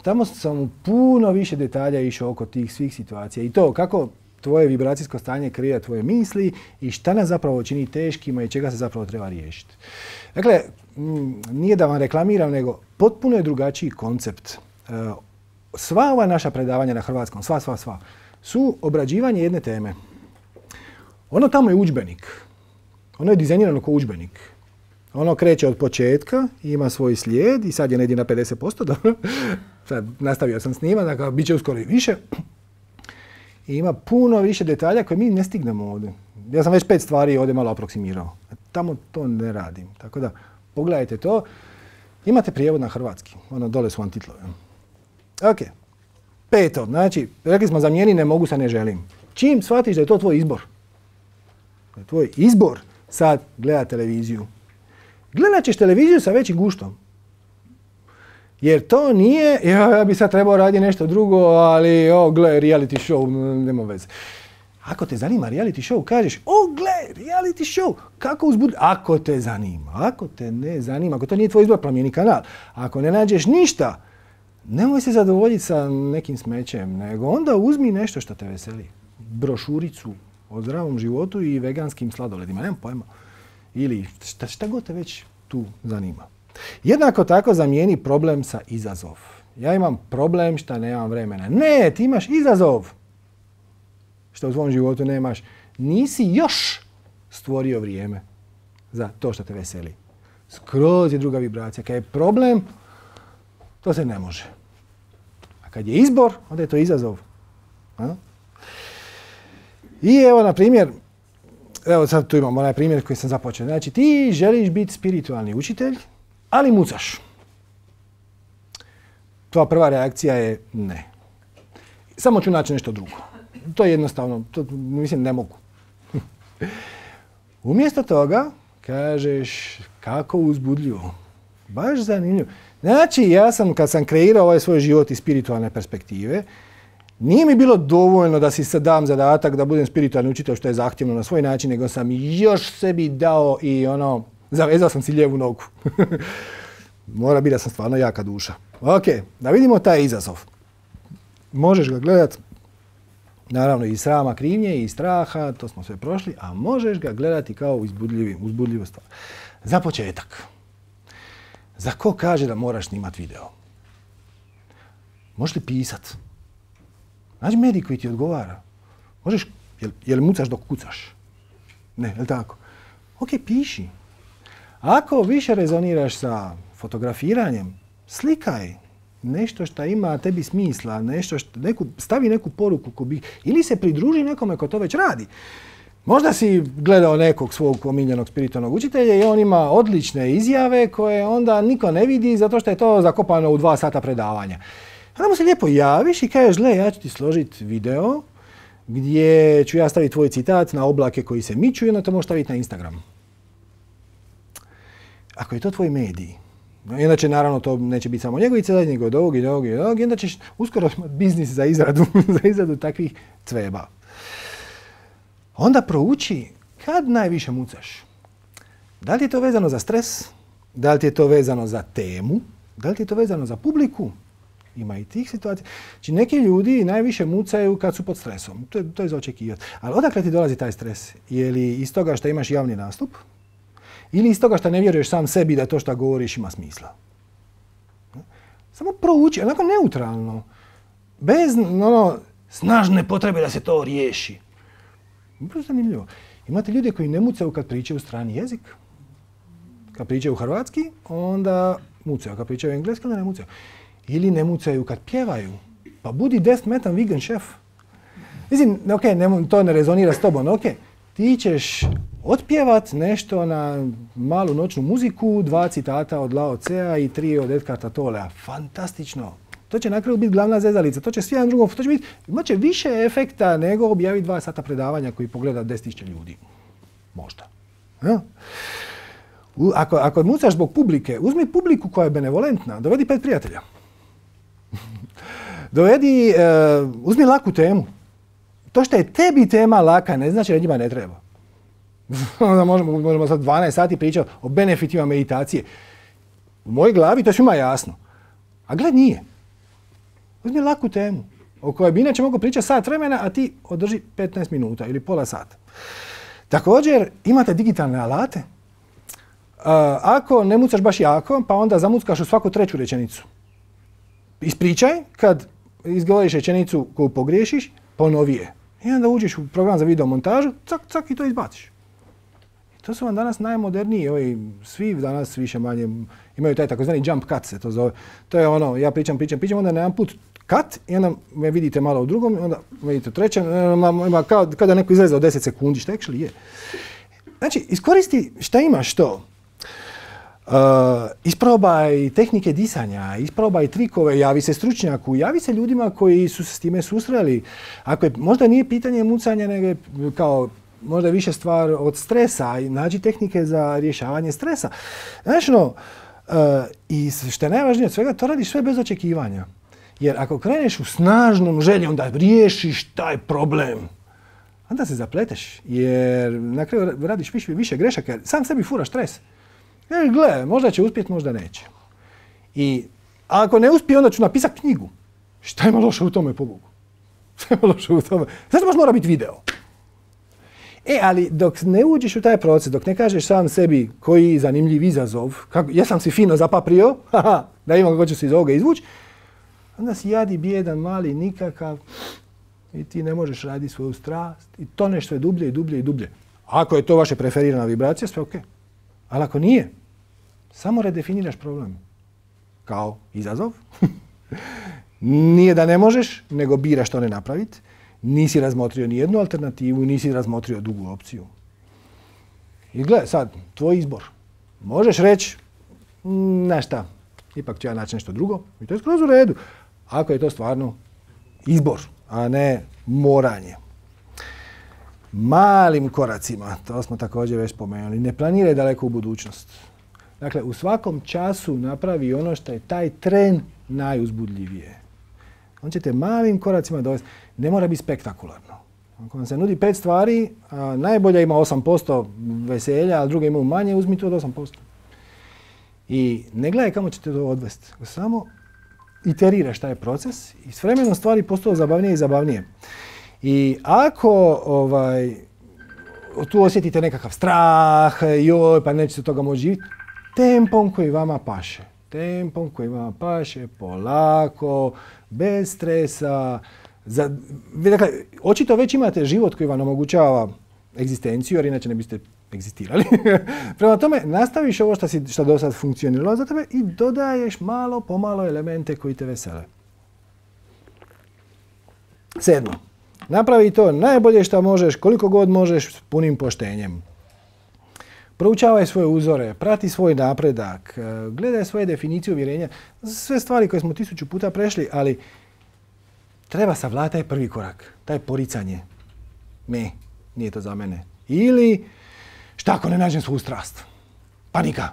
Tamo sam u puno više detalja išao oko tih svih situacija i to kako tvoje vibracijsko stanje kreira tvoje misli i šta nas zapravo čini teškima i čega se zapravo treba riješiti. Dakle, nije da vam reklamiram, nego potpuno je drugačiji koncept. Sva ova naša predavanja na hrvatskom, sva, su obrađivanje jedne teme. Ono tamo je udžbenik. Ono je dizajnirano kao udžbenik. Ono kreće od početka, ima svoj slijed i sad je negdje na 50%, dobro. Sad nastavio sam snimati, dakle, bit će uskoro i više. I ima puno više detalja koje mi ne stignemo ovdje. Ja sam već 5 stvari ovdje malo aproksimirao. Tamo to ne radim. Tako da, pogledajte to. Imate prijevod na hrvatski. Ono, dole su vam titlovi. Ok. 5. Znači, rekli smo zamijeni ne mogu sa ne želim. Čim shvatiš da je to tvoj izbor. Da je tvoj izbor sad gledati televiziju. Gledat ćeš televiziju sa većim guštom. Jer to nije, ja bi sad trebao raditi nešto drugo, ali gle, reality show, nema veze. Ako te zanima reality show, kažeš, gle, reality show, kako uzbuditi? Ako te zanima, ako te ne zanima, ako to nije tvoj izbor, promijeni kanal. Ako ne nađeš ništa, nemoj se zadovoljiti sa nekim smećem, nego onda uzmi nešto što te veseli. Brošuricu o zdravom životu i veganskim sladoledima, nemam pojma. Ili šta god te već tu zanima. Jednako tako zamijeni problem sa izazov. Ja imam problem što nemam vremena. Ne, ti imaš izazov. Što u svom životu nemaš. Nisi još stvorio vrijeme za to što te veseli. Skroz je druga vibracija. Kad je problem, to se ne može. A kad je izbor, onda je to izazov. I evo, na primjer, evo sad tu imamo onaj primjer koji sam započeo. Znači, ti želiš biti spiritualni učitelj, ali mucaš. Tvoja prva reakcija je ne. Samo ću naći nešto drugo. To je jednostavno, to mislim ne mogu. Umjesto toga kažeš kako uzbudljivo. Baš zanimljivo. Znači, ja sam, kad sam kreirao ovaj svoj život iz spiritualne perspektive, nije mi bilo dovoljno da si sad dam zadatak da budem spiritualni učitelj što je zahtjevno na svoj način, nego sam još sebi dao i zavezao sam si lijevu nogu. Mora biti da sam stvarno jaka duša. Ok, da vidimo taj izazov. Možeš ga gledat, naravno iz srama, krivnje i straha, to smo sve prošli, a možeš ga gledati kao uzbudljivu stvar. Za početak. Za ko kaže da moraš snimati video? Možeš li pisat? Nađi medij koji ti odgovara. Možeš, jel mucaš dok kucaš? Ne, jel tako? Ok, piši. Ako više rezoniraš sa fotografiranjem, slikaj nešto što ima tebi smisla, stavi neku poruku ili se pridruži nekome ko to već radi. Možda si gledao nekog svog omiljenog spiritualnog učitelja i on ima odlične izjave koje onda niko ne vidi zato što je to zakopano u 2 sata predavanja. Onda mu se lijepo javiš i kažeš, gle, ja ću ti složiti video gdje ću ja staviti tvoj citat na oblake koji se miču i onda to možeš staviti na Instagram. Ako je to tvoj medij, inače naravno to neće biti samo njegovi citat, nego od ovog i ovog i ovog, i onda ćeš uskoro imati biznis za izradu takvih cveba. Onda prouči kad najviše mucaš. Da li je to vezano za stres? Da li ti je to vezano za temu? Da li ti je to vezano za publiku? Ima i tih situacija. Znači, neki ljudi najviše mucaju kad su pod stresom. To je za očekivati. Ali odakle ti dolazi taj stres? Je li iz toga što imaš javni nastup? Ili iz toga što ne vjeruješ sam sebi da to što govoriš ima smisla? Samo prouči, onako neutralno. Bez snažne potrebe da se to riješi. Vrlo zanimljivo. Imate ljude koji ne mucaju kad pričaju strani jezik. Kad pričaju hrvatski, onda mucaju. Kad pričaju engleski, onda ne mucaju. Ili ne mucaju kad pjevaju. Pa budi death metal vegan šef. Mislim, to ne rezonira s tobom, ti ćeš otpjevat nešto na malu noćnu muziku, 2 citata od Lao Tsea i 3 od Edkarta Tollea. Fantastično. To će na kraju biti glavna zezalica. To će svi jedan drugom, to će biti, imat će više efekta nego objaviti 2 sata predavanja koji pogleda 10.000 ljudi. Možda. Ja? Ako mucaš zbog publike, uzmi publiku koja je benevolentna, dovedi 5 prijatelja. Uzmi laku temu. To što je tebi tema laka ne znači da njima ne treba. Onda možemo sad 12 sati pričati o benefitima meditacije. U mojoj glavi to je svima jasno. A gled nije. Uzmi laku temu o kojoj bi inače mogu pričati sat vremena, a ti održi 15 minuta ili pola sata. Također imate digitalne alate. Ako ne mucaš baš jako, pa onda zamuckaš u svaku 3. rečenicu. Ispričaj, kad izgovoriš rečenicu koju pogriješiš, ponovi je. I onda uđeš u program za video montažu, cak i to izbaciš. I to su vam danas najmoderniji, svi danas više manje imaju taj takozvani jump cut se to zove. To je ja pričam, onda na jedan put cut i onda me vidite malo u drugom, onda me vidite u trećem, ima kao da neko izleze od 10 sekundi, što actually je. Znači, iskoristi šta imaš to. Isprobaj tehnike disanja, isprobaj trikove, javi se stručnjaku, javi se ljudima koji su se s time susreli. Ako možda nije pitanje mucanja, nego je kao možda više stvar od stresa i nađi tehnike za rješavanje stresa. Znači, i što je najvažnije od svega, to radiš sve bez očekivanja. Jer ako kreneš u snažnom željom da riješiš taj problem, onda se zapleteš, jer na kraju radiš više grešaka, jer sam sebi furaš stres. Gle, možda će uspjeti, možda neće. I ako ne uspije, onda ću napisati knjigu. Šta ima loše u tome, pobogu? Šta ima loše u tome? Znači baš mora biti video. Ali dok ne uđeš u taj proces, dok ne kažeš sam sebi koji zanimljiv izazov, jesam si fino zapaprio, da imam kako ću se iz ovoga izvući, onda si jadi, bijedan, mali, nikakav i ti ne možeš raditi svoju strast i toneš sve dublje i dublje i dublje. Ako je to vaša preferirana vibracija, sve ok. Ali ako nije, samo redefiniraš problem. Kao izazov. Nije da ne možeš, nego biraš to ne napraviti. Nisi razmotrio ni jednu alternativu, nisi razmotrio drugu opciju. I gledaj sad, tvoj izbor. Možeš reći, znaš šta, ipak ću ja naći nešto drugo. I to je skroz u redu. Ako je to stvarno izbor, a ne moranje. Malim koracima, to smo također već spomenuli, ne planiraj daleko u budućnost. Dakle, u svakom času napravi ono što je taj tren najuzbudljivije. On će te malim koracima dovesti. Ne mora biti spektakularno. Ako vam se nudi 5 stvari, a najbolja ima 8% veselja, a druge imaju manje, uzmi to od 8%. I ne gledaj kamo ćete to odvesti. Samo iteriraš taj proces i s vremenom stvari postaju zabavnije i zabavnije. I ako tu osjetite nekakav strah, joj, pa nećete toga moći živjeti, tempom koji vama paše. Tempom koji vama paše, polako, bez stresa. Dakle, očito već imate život koji vam omogućava egzistenciju, jer inače ne biste egzistirali. Prema tome, nastaviš ovo što do sad funkcioniralo za tebe i dodaješ malo pomalo elemente koji te vesele. 7. Napravi to najbolje što možeš, koliko god možeš, s punim poštenjem. Proučavaj svoje uzore, prati svoj napredak, gledaj svoje definicije uvjerenja. Sve stvari koje smo 1000 puta prešli, ali treba savladati taj prvi korak, taj poricanje. Nije to za mene. Ili, šta ako ne nađem svoju strast? Panika.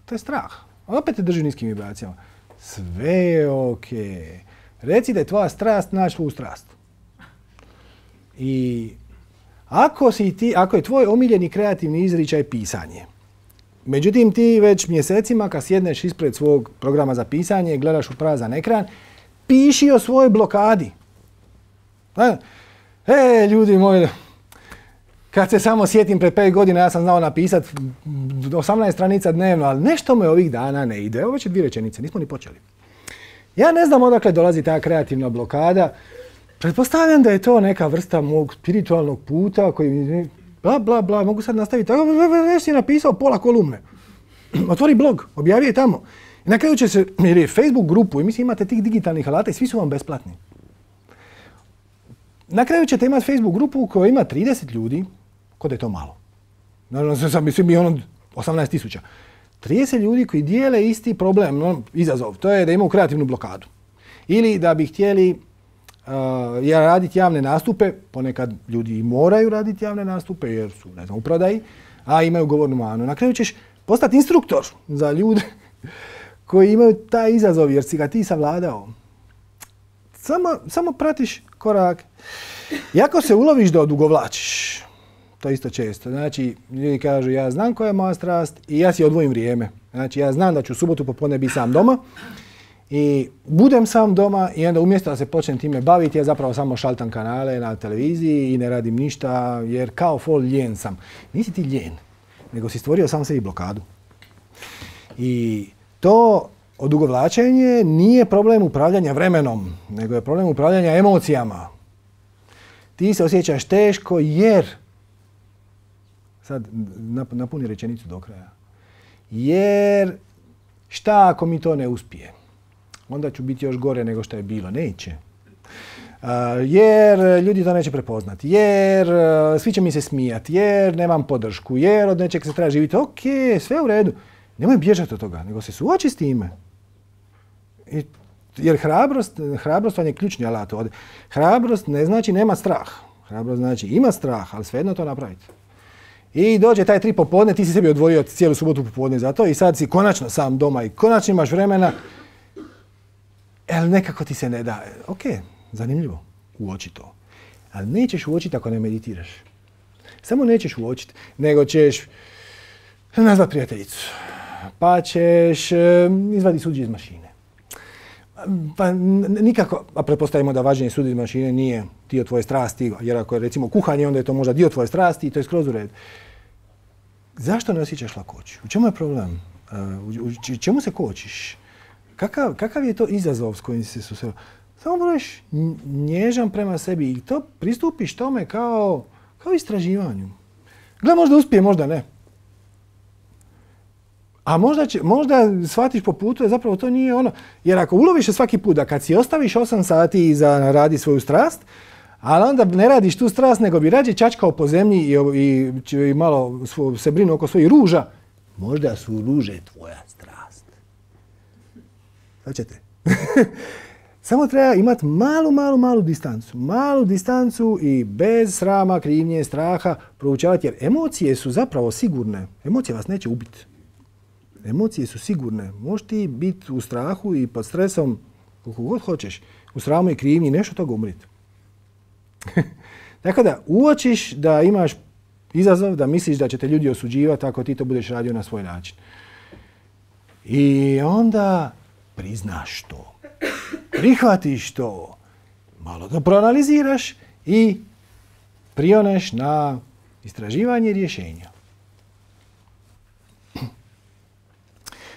To je strah. Opet te drži u niskim vibracijama. Sve je okej. Reci da je tvoja strast naći svoju strast. I ako je tvoj omiljeni kreativni izričaj pisanje, međutim ti već mjesecima kad sjedneš ispred svog programa za pisanje, gledaš u prazan ekran, piši o svojoj blokadi. Ljudi moji, kad se samo sjetim pred 5 godina, ja sam znao napisati 18 stranica dnevno, ali nešto me ovih dana ne ide. Ovo već je 2 rečenice, nismo ni počeli. Ja ne znam odakle dolazi ta kreativna blokada. Pretpostavljam da je to neka vrsta mog spiritualnog puta koji bla bla bla, mogu sad nastaviti. Već si napisao pola kolumne. Otvori blog, objavi je tamo. I na kraju će se, jer je Facebook grupu i mislim imate tih digitalnih alata i svi su vam besplatni. Na kraju ćete imati Facebook grupu koja ima 30 ljudi, kod je to malo. Naravno, sad mislim i ono 18.000. 30 ljudi koji dijele isti problem, izazov, to je da imaju kreativnu blokadu. Ili da bi htjeli raditi javne nastupe, ponekad ljudi moraju raditi javne nastupe jer su, ne znam, u prodaji, a imaju govornu manu. Na kraju ćeš postati instruktor za ljude koji imaju taj izazov jer si ga ti savladao. Samo pratiš korak. I ako se uloviš da odugovlačiš, to isto često. Znači, ljudi kažu ja znam koja je moja strast i ja si odvojim vrijeme. Znači, ja znam da ću u subotu popodne biti sam doma i budem sam doma i onda umjesto da se počnem time baviti, ja zapravo samo šaltam kanale na televiziji i ne radim ništa jer kao fol ljen sam. Nisi ti ljen, nego si stvorio sam sebi blokadu. I to odugovlačenje nije problem upravljanja vremenom, nego je problem upravljanja emocijama. Ti se osjećaš teško jer, sad napuni rečenicu do kraja, jer šta ako mi to ne uspije? Onda ću biti još gore nego što je bilo. Neće. Jer ljudi to neće prepoznati, jer svi će mi se smijati, jer nemam podršku, jer od nečeg se treba živjeti. Ok, sve u redu. Nemoj bježati od toga, nego se suoči s time. Jer hrabrost vam je ključni alat ovdje. Hrabrost ne znači nema strah. Hrabrost znači ima strah, ali svejedno to napraviti. I dođe taj 3 popodne, ti si sebi odvojio cijelu subotu popodne za to i sad si konačno sam doma i konačno imaš vremena. Ali nekako ti se ne da. Ok, zanimljivo, uoči to. Ali nećeš uočiti ako ne meditiraš. Samo nećeš uočiti, nego ćeš nazvat prijateljicu. Pa ćeš izvaditi suđe iz mašine. Pa nikako, a pretpostavimo da vađenje suđe iz mašine nije dio tvoje strasti, jer ako je recimo kuhanje, onda je to možda dio tvoje strasti i to je skroz u red. Zašto ne osjećaš lakoću? U čemu je problem? U čemu se kočiš? Kakav je to izazov s kojim si se susreo? Samo budeš nježan prema sebi i to pristupiš tome kao istraživanju. Gle, možda uspije, možda ne. A možda shvatiš po putu da zapravo to nije ono. Jer ako uloviš svaki put da kad si ostaviš 8 sati za radi svoju strast, ali onda ne radiš tu strast nego bi rađe čačkao po zemlji i malo se brinu oko svojih ruža, možda su ruže tvoja strast. Hoćete? Samo treba imati malu distancu. Malu distancu i bez srama, krivnje, straha proučavati jer emocije su zapravo sigurne. Emocije vas neće ubiti. Emocije su sigurne. Možeš ti biti u strahu i pod stresom koliko god hoćeš. U sramu i krivnji nešto toga umriti. Tako da uočiš da imaš izazov, da misliš da će te ljudi osuđivati ako ti to budeš radio na svoj način. I onda priznaš to. Prihvatiš to. Malo to proanaliziraš i prioneš na istraživanje rješenja.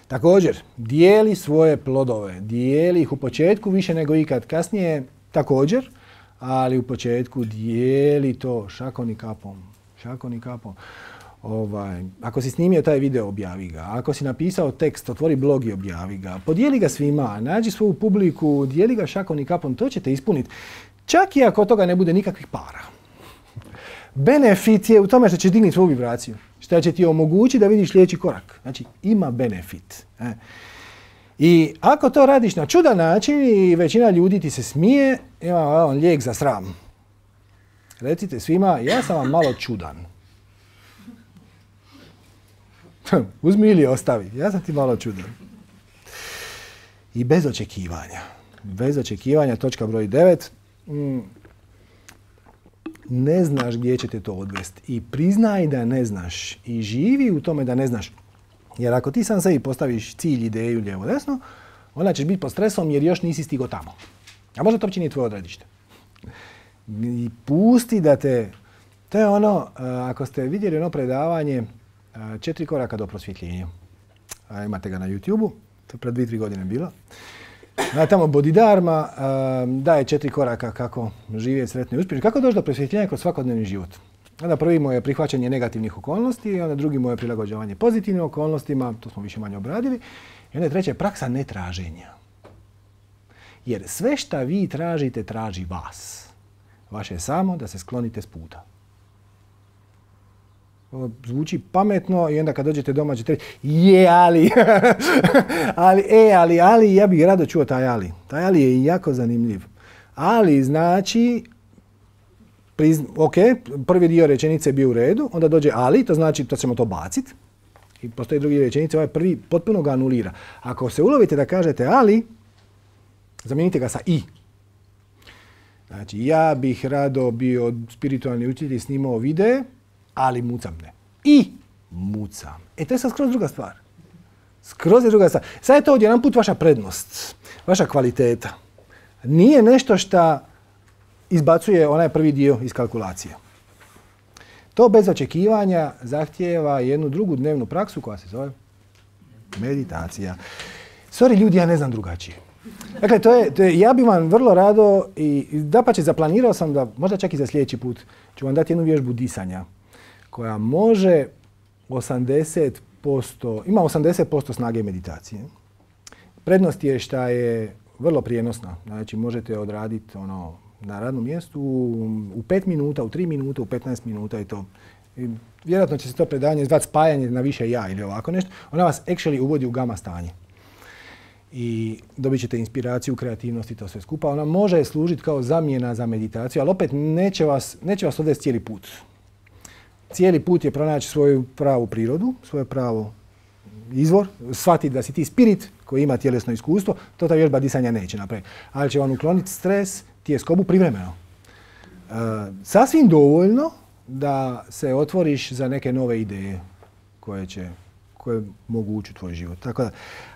Također, dijeli svoje plodove. Dijeli ih u početku više nego ikad kasnije također, ali u početku dijeli to šakom i kapom. Šakom i kapom. Ako si snimio taj video, objavi ga. Ako si napisao tekst, otvori blog i objavi ga. Podijeli ga svima, nađi svoju publiku, dijeli ga šakom i kapom, to ćete ispuniti. Čak i ako od toga ne bude nikakvih para. Benefit je u tome što će dignuti svoju vibraciju. Što će ti omogućiti da vidiš sljedeći korak. Znači, ima benefit. I ako to radiš na čudan način i većina ljudi ti se smije, ima lijek za sram. Recite svima, ja sam vam malo čudan. Uzmi ili ostavi, ja sam ti malo čudan. I bez očekivanja. Bez očekivanja, točka broj 9. Ne znaš gdje će te to odvesti. I priznaj da ne znaš. I živi u tome da ne znaš. Jer ako ti sam sebi postaviš cilj, ideju, lijevo, desno, onda ćeš biti pod stresom jer još nisi stigo tamo. A možda to uopće nije tvoje odredište. I pusti da te... To je ono, ako ste vidjeli ono predavanje 4 koraka do prosvjetljenja. Imate ga na YouTube-u, to je pred 2-3 godine bilo. Tamo Bodhidharma daje 4 koraka kako živjeti sretno i uspješno. Kako doći do prosvjetljenja kroz svakodnevni život. Onda prvi mu je prihvaćanje negativnih okolnosti, onda drugi mu je prilagođavanje pozitivnim okolnostima, to smo više manje obradili. I onda treće, praksa netraženja. Jer sve šta vi tražite, traži vas. Vaše je samo da se sklonite s puta. Ovo zvuči pametno i onda kad dođete doma ćete reći ali, ja bih rado čuo taj ali. Taj ali je jako zanimljiv. Ali znači, ok, prvi dio rečenice je bio u redu, onda dođe ali, to znači to ćemo to baciti. I postoji drugi rečenice, ovaj prvi potpuno ga anulira. Ako se ulovite da kažete ali, zamijenite ga sa i. Znači, ja bih rado bio spiritualni učitelj i snimao videe, ali mucam ne. I mucam. To je sad skroz druga stvar. Skroz je druga stvar. Sad je to odjedanput vaša prednost, vaša kvaliteta. Nije nešto što izbacuje onaj prvi dio iz kalkulacije. To bez očekivanja zahtijeva jednu drugu dnevnu praksu koja se zove meditacija. Sorry ljudi, ja ne znam drugačije. Dakle, ja bih vam vrlo rado i dapače zaplanirao sam da možda čak i za sljedeći put ću vam dati jednu vježbu disanja koja može ima 80% snage meditacije. Prednost je što je vrlo prijenosna. Znači, možete odraditi na radnom mjestu u 5 minuta, u 3 minuta, u 15 minuta i to. I vjerojatno će se to predavanje zvati spajanje na više ja ili ovako nešto. Ona vas actually uvodi u gama stanje. I dobit ćete inspiraciju, kreativnost i to sve skupa. Ona može služiti kao zamjena za meditaciju, ali opet neće vas odvesti cijeli put. Cijeli put je pronaći svoju pravu prirodu, svoje pravo izvor, shvatiti da si ti spirit koji ima tjelesno iskustvo, to ta vježba disanja neće napraviti. Ali će vam ukloniti stres, tjeskobu privremeno. Sasvim dovoljno da se otvoriš za neke nove ideje koje mogu ući u tvoj život. Tako da,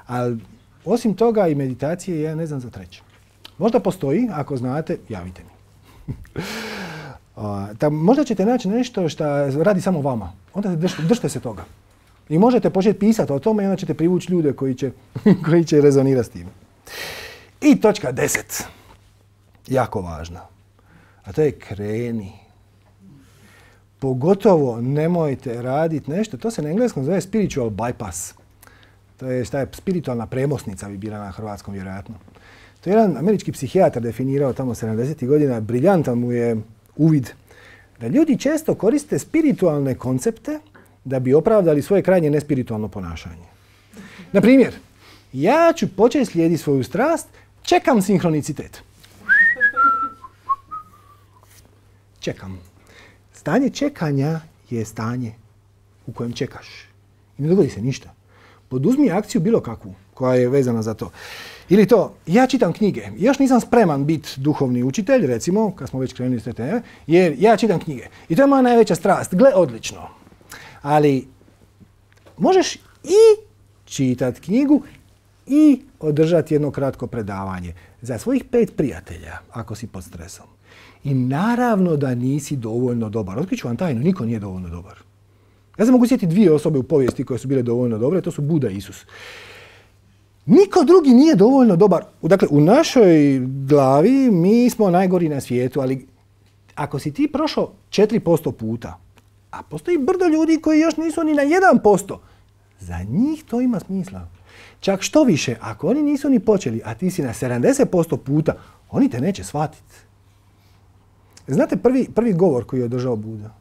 ali osim toga i meditacije ja ne znam za treće. Možda postoji, ako znate, javite mi. Možda ćete naći nešto što radi samo vama. Onda držite se toga. I možete početi pisati o tome i onda ćete privući ljude koji će rezonirati s tim. I točka 10. Jako važna. A to je kreni. Pogotovo nemojte raditi nešto, to se na engleskom zove spiritual bypass. To je spiritualna premosnica bi bila na hrvatskom vjerojatno. To je jedan američki psihijatar definirao tamo 70. godina, briljantan mu je uvid da ljudi često koriste spiritualne koncepte da bi opravdali svoje krajnje nespiritualno ponašanje. Na primjer, ja ću početi slijediti svoju strast, čekam sinhronicitet. Čekam. Stanje čekanja je stanje u kojem čekaš. I ne dogodi se ništa. Poduzmi akciju bilo kakvu koja je vezana za to. Ili to, ja čitam knjige. Još nisam spreman biti duhovni učitelj, recimo, kad smo već krenuli s te teme, jer ja čitam knjige. I to je moja najveća strast. Gle, odlično. Ali možeš i čitati knjigu i održati jedno kratko predavanje za svojih 5 prijatelja, ako si pod stresom. I naravno da nisi dovoljno dobar. Otkriću vam tajnu, niko nije dovoljno dobar. Ja se mogu sjetiti 2 osobe u povijesti koje su bile dovoljno dobre, to su Buda i Isus. Niko drugi nije dovoljno dobar. Dakle, u našoj glavi mi smo najgori na svijetu, ali ako si ti prošao 4% puta, a postoji brdo ljudi koji još nisu ni na 1%, za njih to ima smisla. Čak što više, ako oni nisu ni počeli, a ti si na 70% puta, oni te neće shvatiti. Znate prvi govor koji je održao Buda?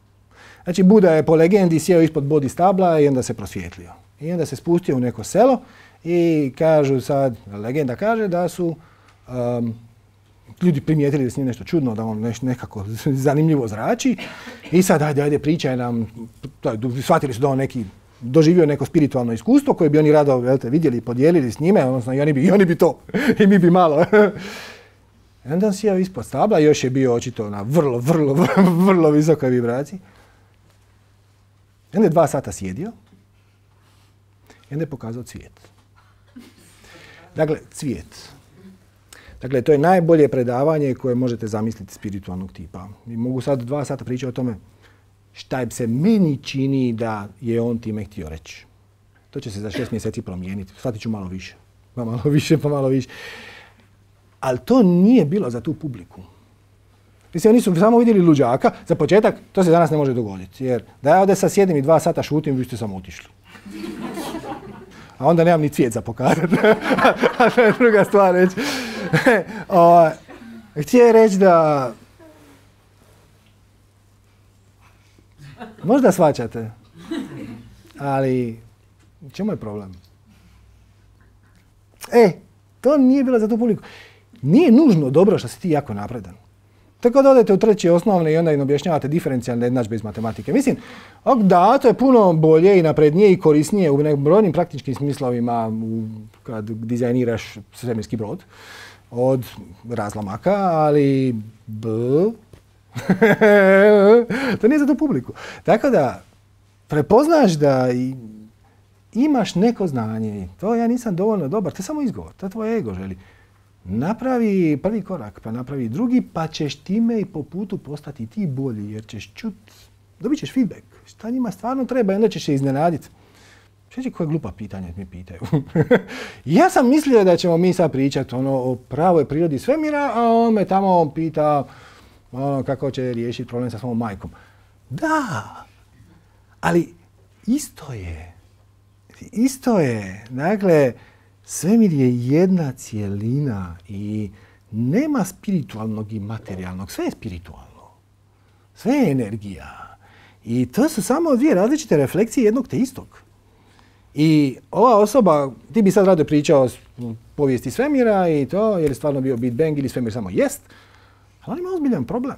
Znači, Buda je po legendi sjeo ispod Bodhi stabla i onda se prosvjetlio. I onda se spustio u neko selo i kažu sad, legenda kaže da su ljudi primijetili da s njim nešto čudno, da on nekako zanimljivo zrači. I sad, ajde, pričaj nam, shvatili su da on doživio neko spiritualno iskustvo koje bi oni rado vidjeli i podijelili s njime, odnosno i oni bi to, i mi bi malo. I onda on sjeo ispod stabla, još je bio očito na vrlo visokoj vibraciji. I onda je 2 sata sjedio i onda je pokazao cvijet. Dakle, cvijet. Dakle, to je najbolje predavanje koje možete zamisliti spiritualnog tipa. I mogu sad 2 sata pričati o tome šta se meni čini da je on time htio reći. To će se za 6 mjeseci promijeniti. Shvatit ću malo više. Pa malo više. Ali to nije bilo za tu publiku. Mislim, oni su samo vidjeli luđaka. Za početak, to se danas ne može dogoditi. Jer da ja ovdje sad sjedim i 2 sata šutim, vi ste samo otišli. A onda nemam ni cvijet za pokazati. A to je druga stvar reći. Htio reći da... Možda shvaćate. Ali, čemu je problem? To nije bilo za tu publiku. Nije nužno dobro što si ti jako napredan. Tako da odete u 3. osnovne i onda im objašnjavate diferencijalne jednadžbe iz matematike. Mislim, da, to je puno bolje i naprednije i korisnije u brojnim praktičkim smislovima kad dizajniraš svemirski brod od razlomaka, ali to nije za tu publiku. Tako da prepoznaš da imaš neko znanje. To ja nisam dovoljno dobar, to je samo izgovor, to tvoj ego želi. Napravi prvi korak, pa napravi drugi, pa ćeš time i po putu postati ti bolji, jer ćeš dobit ćeš feedback. Šta njima stvarno treba i onda ćeš se iznenaditi. Šeći koje glupa pitanja mi pitaju. Ja sam mislio da ćemo mi sad pričati o pravoj prirodi svemira, a on me tamo pita kako će riješiti problem sa svojom majkom. Da, ali isto je. Dakle, svemir je jedna cjelina i nema spiritualnog i materijalnog. Sve je spiritualno. Sve je energija. I to su samo 2 različite refleksije jednog te istog. I ova osoba, ti bi sad rado pričao o povijesti svemira i to, jer je stvarno bio Big Bang ili svemir samo jest, ali on ima ozbiljan problem.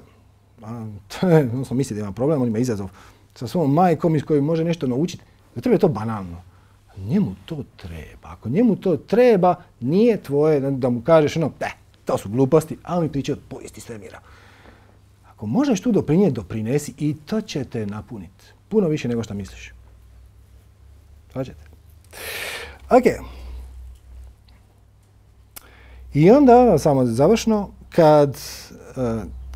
Odnosno misli da ima problem, on ima izazov sa svojom majkom iz kojoj može nešto naučiti. Za tebe je to banalno. Njemu to treba. Ako njemu to treba, nije tvoje da mu kažeš to su gluposti, a on mi priča o povijesti svemira. Ako možeš tu doprinijeti, doprinesi i to će te napuniti. Puno više nego što misliš. Hoćete? Ok. I onda, samo završno, kad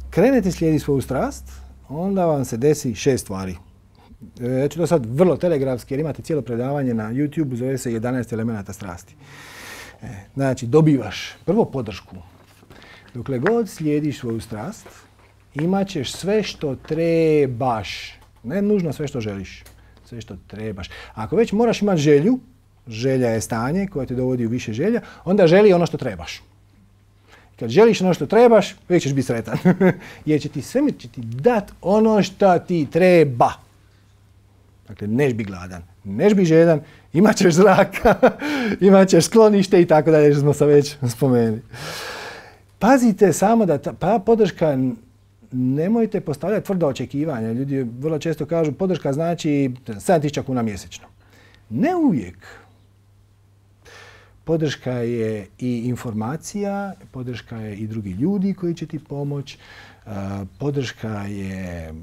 krenete slijediti svoju strast, onda vam se desi 6 stvari. Ja ću to sad vrlo telegrafski, jer imate cijelo predavanje na YouTube, zove se 11 elemenata strasti. Znači, dobivaš prvo podršku. Dokle god slijediš svoju strast, imat ćeš sve što trebaš. Ne nužno sve što želiš. Sve što trebaš. Ako već moraš imati želju, želja je stanje koje te dovodi u više želja, onda želi ono što trebaš. Kad želiš ono što trebaš, uvijek ćeš biti sretan. Jer će ti svemir dat ono što ti treba. Dakle, neš bi gladan, neš bi žedan, imat ćeš zraka, imat ćeš sklonište i tako dalje, što smo se već spomenuli. Pazite samo da ta podrška, nemojte postavljati tvrda očekivanja. Ljudi vrlo često kažu podrška znači 7.000 kuna mjesečno. Ne uvijek. Podrška je i informacija, podrška je i drugi ljudi koji će ti pomoći. Podrška je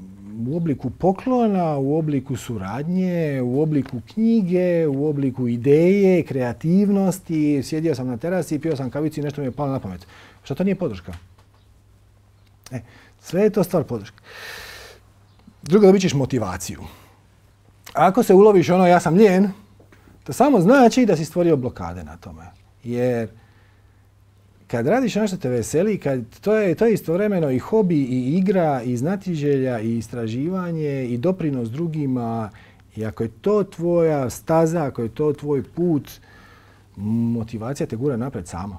u obliku poklona, u obliku suradnje, u obliku knjige, u obliku ideje, kreativnosti. Sjedio sam na terasi, pio sam kavicu i nešto mi je palo na pamet. Što to nije podrška? Sve je to stvar podrške. Drugo, dobit ćeš motivaciju. Ako se uloviš ja sam lijen, to samo znači da si stvorio blokade na tome. Jer kad radiš ono što te veseli, to je istovremeno i hobi, i igra, i znatiželja, i istraživanje, i doprinos drugima. I ako je to tvoja staza, ako je to tvoj put, motivacija te gura napred sama.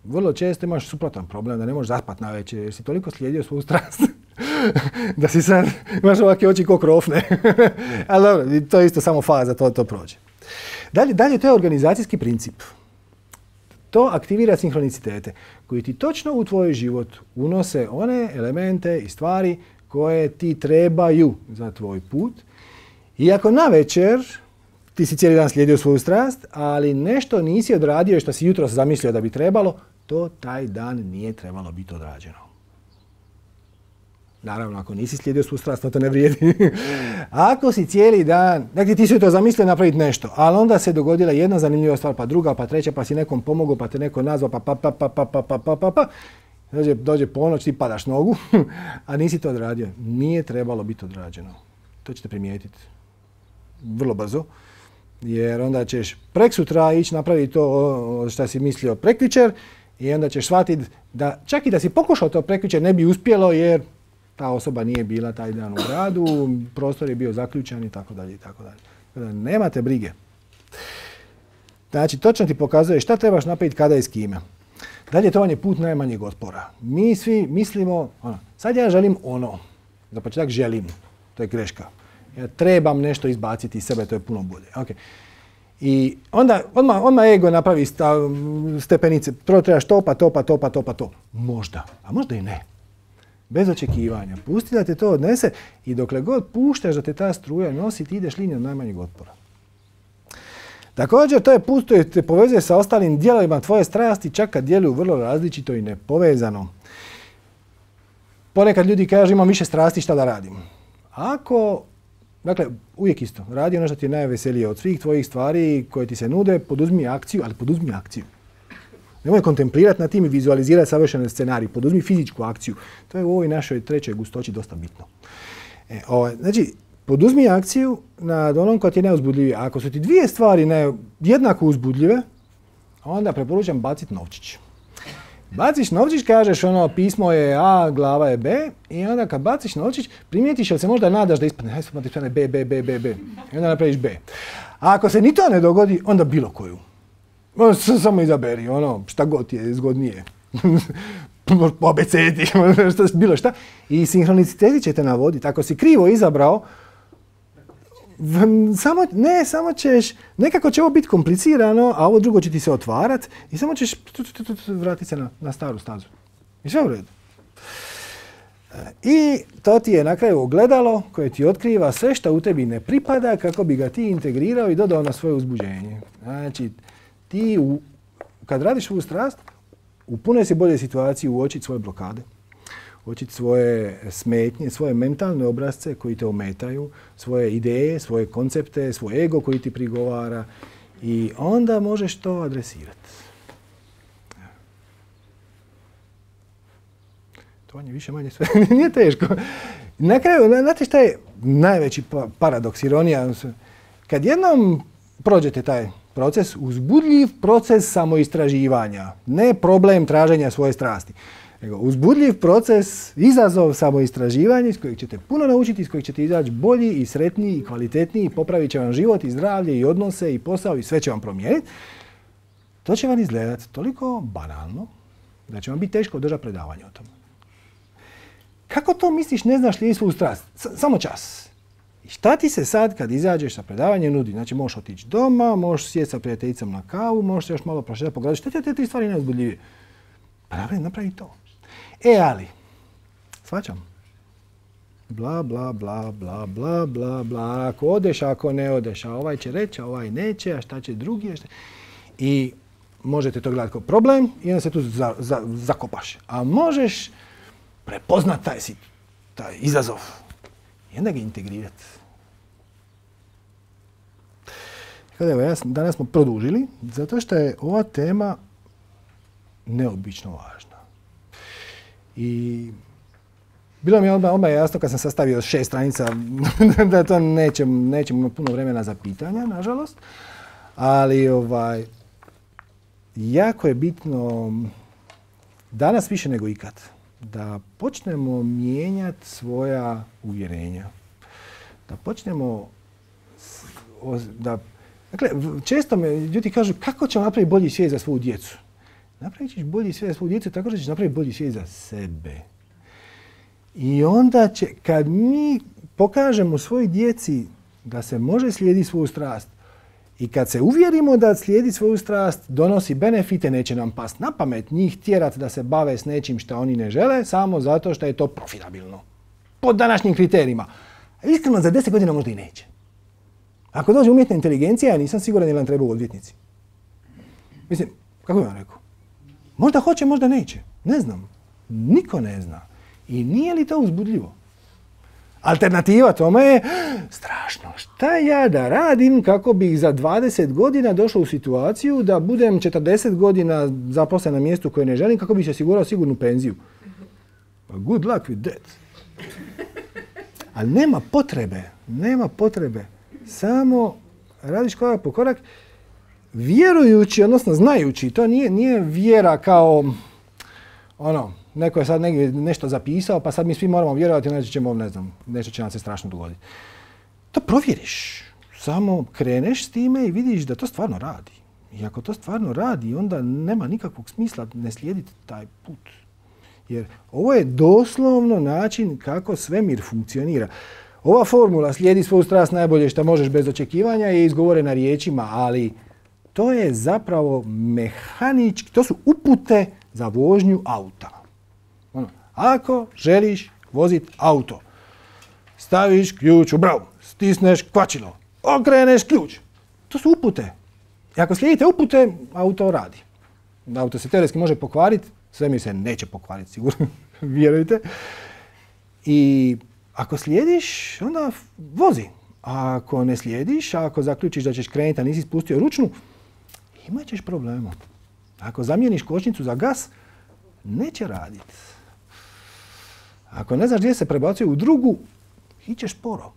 Vrlo često imaš suprotan problem, da ne možeš zaspati navečer jer si toliko slijedio svoju strast da si sad imaš ovakve oči ko krofne. Ali dobro, to je isto samo faza, to prođe. Dalje, to je organizacijski princip. To aktivira sinhronicitete koji ti točno u tvoj život unose one elemente i stvari koje ti trebaju za tvoj put. I ako navečer ti si cijeli dan slijedio svoju strast, ali nešto nisi odradio što si jutros zamislio da bi trebalo, to taj dan nije trebalo biti odrađeno. Naravno, ako nisi slijedio svoju strast, to ne vrijedi. Ako si cijeli dan, dakle ti si to zamislio napraviti nešto, ali onda se dogodila jedna zanimljiva stvar, pa druga, pa treća, pa si nekom pomogao, pa te neko nazvao, pa. Dođe ponoć, ti padaš nogu, a nisi to odradio. Nije trebalo biti odrađeno. To ćete primijetiti vrlo brzo. Jer onda ćeš preksutra ići napraviti to što si mislio prekjučer I onda ćeš shvatiti da čak i da si pokušao to prekjučer ne bi uspjelo jer ta osoba nije bila taj dan u gradu, prostor je bio zaključan i tako dalje i tako dalje. Nemate brige. Znači, točno ti pokazuje šta trebaš napraviti kada i s kime. Dalje, to vam je put najmanjeg otpora. Mi svi mislimo, sad ja želim ono. Za početak želim. To je greška. Ja trebam nešto izbaciti iz sebe, to je puno bolje. Okay. I onda odmah ego napravi stepenice. Prvo trebaš to. Možda. A možda i ne. Bez očekivanja. Pusti da te to odnese i dokle god puštaš da te ta struja nosi, ti ideš linijom najmanjeg otpora. Također, to je put koji te povezuje sa ostalim dijelovima tvoje strasti, čak kad djeluju vrlo različito i nepovezano. Ponekad ljudi kažu imam više strasti, šta da radim? Dakle, uvijek isto. Radi ono što ti je najveselije od svih tvojih stvari koje ti se nude, poduzmi akciju, ali poduzmi akciju. Nemoj kontemplirati na tim i vizualizirati savršen scenarij. Poduzmi fizičku akciju. To je u ovoj našoj trećoj gustoći dosta bitno. Znači, poduzmi akciju nad onom koja ti je najuzbudljivija. Ako su ti dvije stvari jednako uzbudljive, onda preporučam baciti novčić. Baciš novčić, kažeš pismo je A, glava je B i onda kad baciš novčić primijetiš jel se možda nadaš da ispadne B. I onda napraviš B. A ako se ni to ne dogodi, onda bilo koju. Samo izaberi, šta god ti je zgodnije. Obeceti, bilo šta. I sinhroniciteti će te navoditi. Ako si krivo izabrao, samo ćeš, nekako će ovo biti komplicirano, a ovo drugo će ti se otvarati i samo ćeš vratiti se na staru stazu. I sve u redu. I to ti je na kraju ogledalo koje ti otkriva sve što u tebi ne pripada kako bi ga ti integrirao i dodao na svoje uzbuđenje. Znači, ti kad radiš ovu strast, u punoj si bolje situaciji uočiti svoje blokade, uočiti svoje smetnje, svoje mentalne obrazce koji te ometaju, svoje ideje, svoje koncepte, svoj ego koji ti prigovara i onda možeš to adresirati. To je više manje sve. Nije teško. Na kraju, znate šta je najveći paradoks, ironija? Kad jednom prođete taj proces, uzbudljiv proces samoistraživanja, ne problem traženja svoje strasti, nego uzbudljiv proces, izazov samoistraživanja iz kojeg ćete puno naučiti, iz kojeg ćete izaći bolji i sretniji i kvalitetniji, popravit će vam život i zdravlje i odnose i posao i sve će vam promijeniti. To će vam izgledati toliko banalno da će vam biti teško održati predavanje o tome. Kako to misliš ne znaš li svoju strast? Samo čas. I šta ti se sad kad izađeš sa predavanjem nudi? Znači možeš otići doma, možeš sjeti sa prijateljicom na kavu, možeš se još malo prošetati po gradu. Šta ti te tri stvari najuzbudljivije? Pa napravi to. Ali, shvaćam. Bla, bla, bla, bla, bla, bla, bla. Ako odeš, ako ne odeš, a ovaj će reći, a ovaj neće, a šta će drugi? I možete to gledati kao problem i onda se tu zakopaš. A možeš prepoznat taj izazov i onda ga integrirati. Danas smo produžili zato što je ova tema neobično važna. I bilo mi je odmah jasno kad sam sastavio 6 stranica da to nećemo imati puno vremena za pitanja, nažalost. Ali jako je bitno danas više nego ikad da počnemo mijenjati svoja uvjerenja. Da počnemo dakle, često me ljudi kažu kako ćemo napraviti bolji svijet za svoju djecu. Napravit ćeš bolji svijet za svoju djecu tako da ćeš napraviti bolji svijet za sebe. I onda kad mi pokažemo svojoj djeci da se može slijediti svoju strast i kad se uvjerimo da slijedi svoju strast donosi benefite, neće nam past na pamet njih tjerati da se bave s nečim što oni ne žele samo zato što je to profitabilno. Po današnjim kriterijima. Iskreno, za 10 godina možda i neće. Ako dođe umjetna inteligencija, ja nisam siguran da nam trebaju odvjetnici. Mislim, kako bih vam rekao? Možda hoće, možda neće. Ne znam. Niko ne zna. I nije li to uzbudljivo? Alternativa tome je strašno. Šta ja da radim kako bih za 20 godina došao u situaciju da budem 40 godina zaposlen na mjestu koje ne želim kako bih se osigurao sigurnu penziju? Good luck with that. Ali nema potrebe. Samo radiš korak po korak. vjerujući, odnosno znajući, to nije vjera kao neko je sad negdje nešto zapisao, pa sad mi svi moramo vjerovati, nešto će nam se strašno dogoditi. To provjeriš. Samo kreneš s time i vidiš da to stvarno radi. I ako to stvarno radi, onda nema nikakvog smisla ne slijediti taj put. Jer ovo je doslovno način kako svemir funkcionira. Ova formula slijedi svoju strast najbolje što možeš bez očekivanja je izgovorena riječima, ali to je zapravo mehanički, to su upute za vožnju auta. Ako želiš voziti auto, staviš ključ u bravu, stisneš kvačilo, okreneš ključ. To su upute. I ako slijedite upute, auto radi. Auto se teoretski može pokvariti, svemir se neće pokvariti, sigurno, vjerujte. I ako slijediš, onda vozi. A ako ne slijediš, ako zaključiš da ćeš krenuti, a nisi spustio ručnu, imat ćeš problema. Ako zamijeniš kočnicu za gas, neće raditi. Ako ne znaš gdje se prebacuje u drugu, ićeš sporo.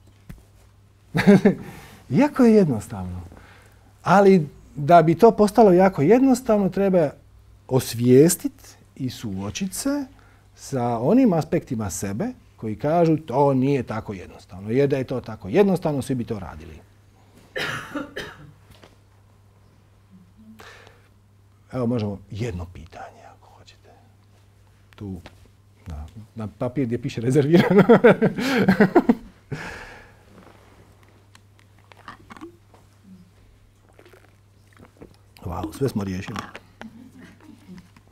Jako je jednostavno. Ali da bi to postalo jako jednostavno, treba osvijestiti i suočiti se sa onim aspektima sebe koji kažu to nije tako jednostavno. Jer da je to tako jednostavno, svi bi to radili. Evo možemo jedno pitanje ako hoćete. Tu na papir gdje piše rezervirano. Wow, sve smo riješili.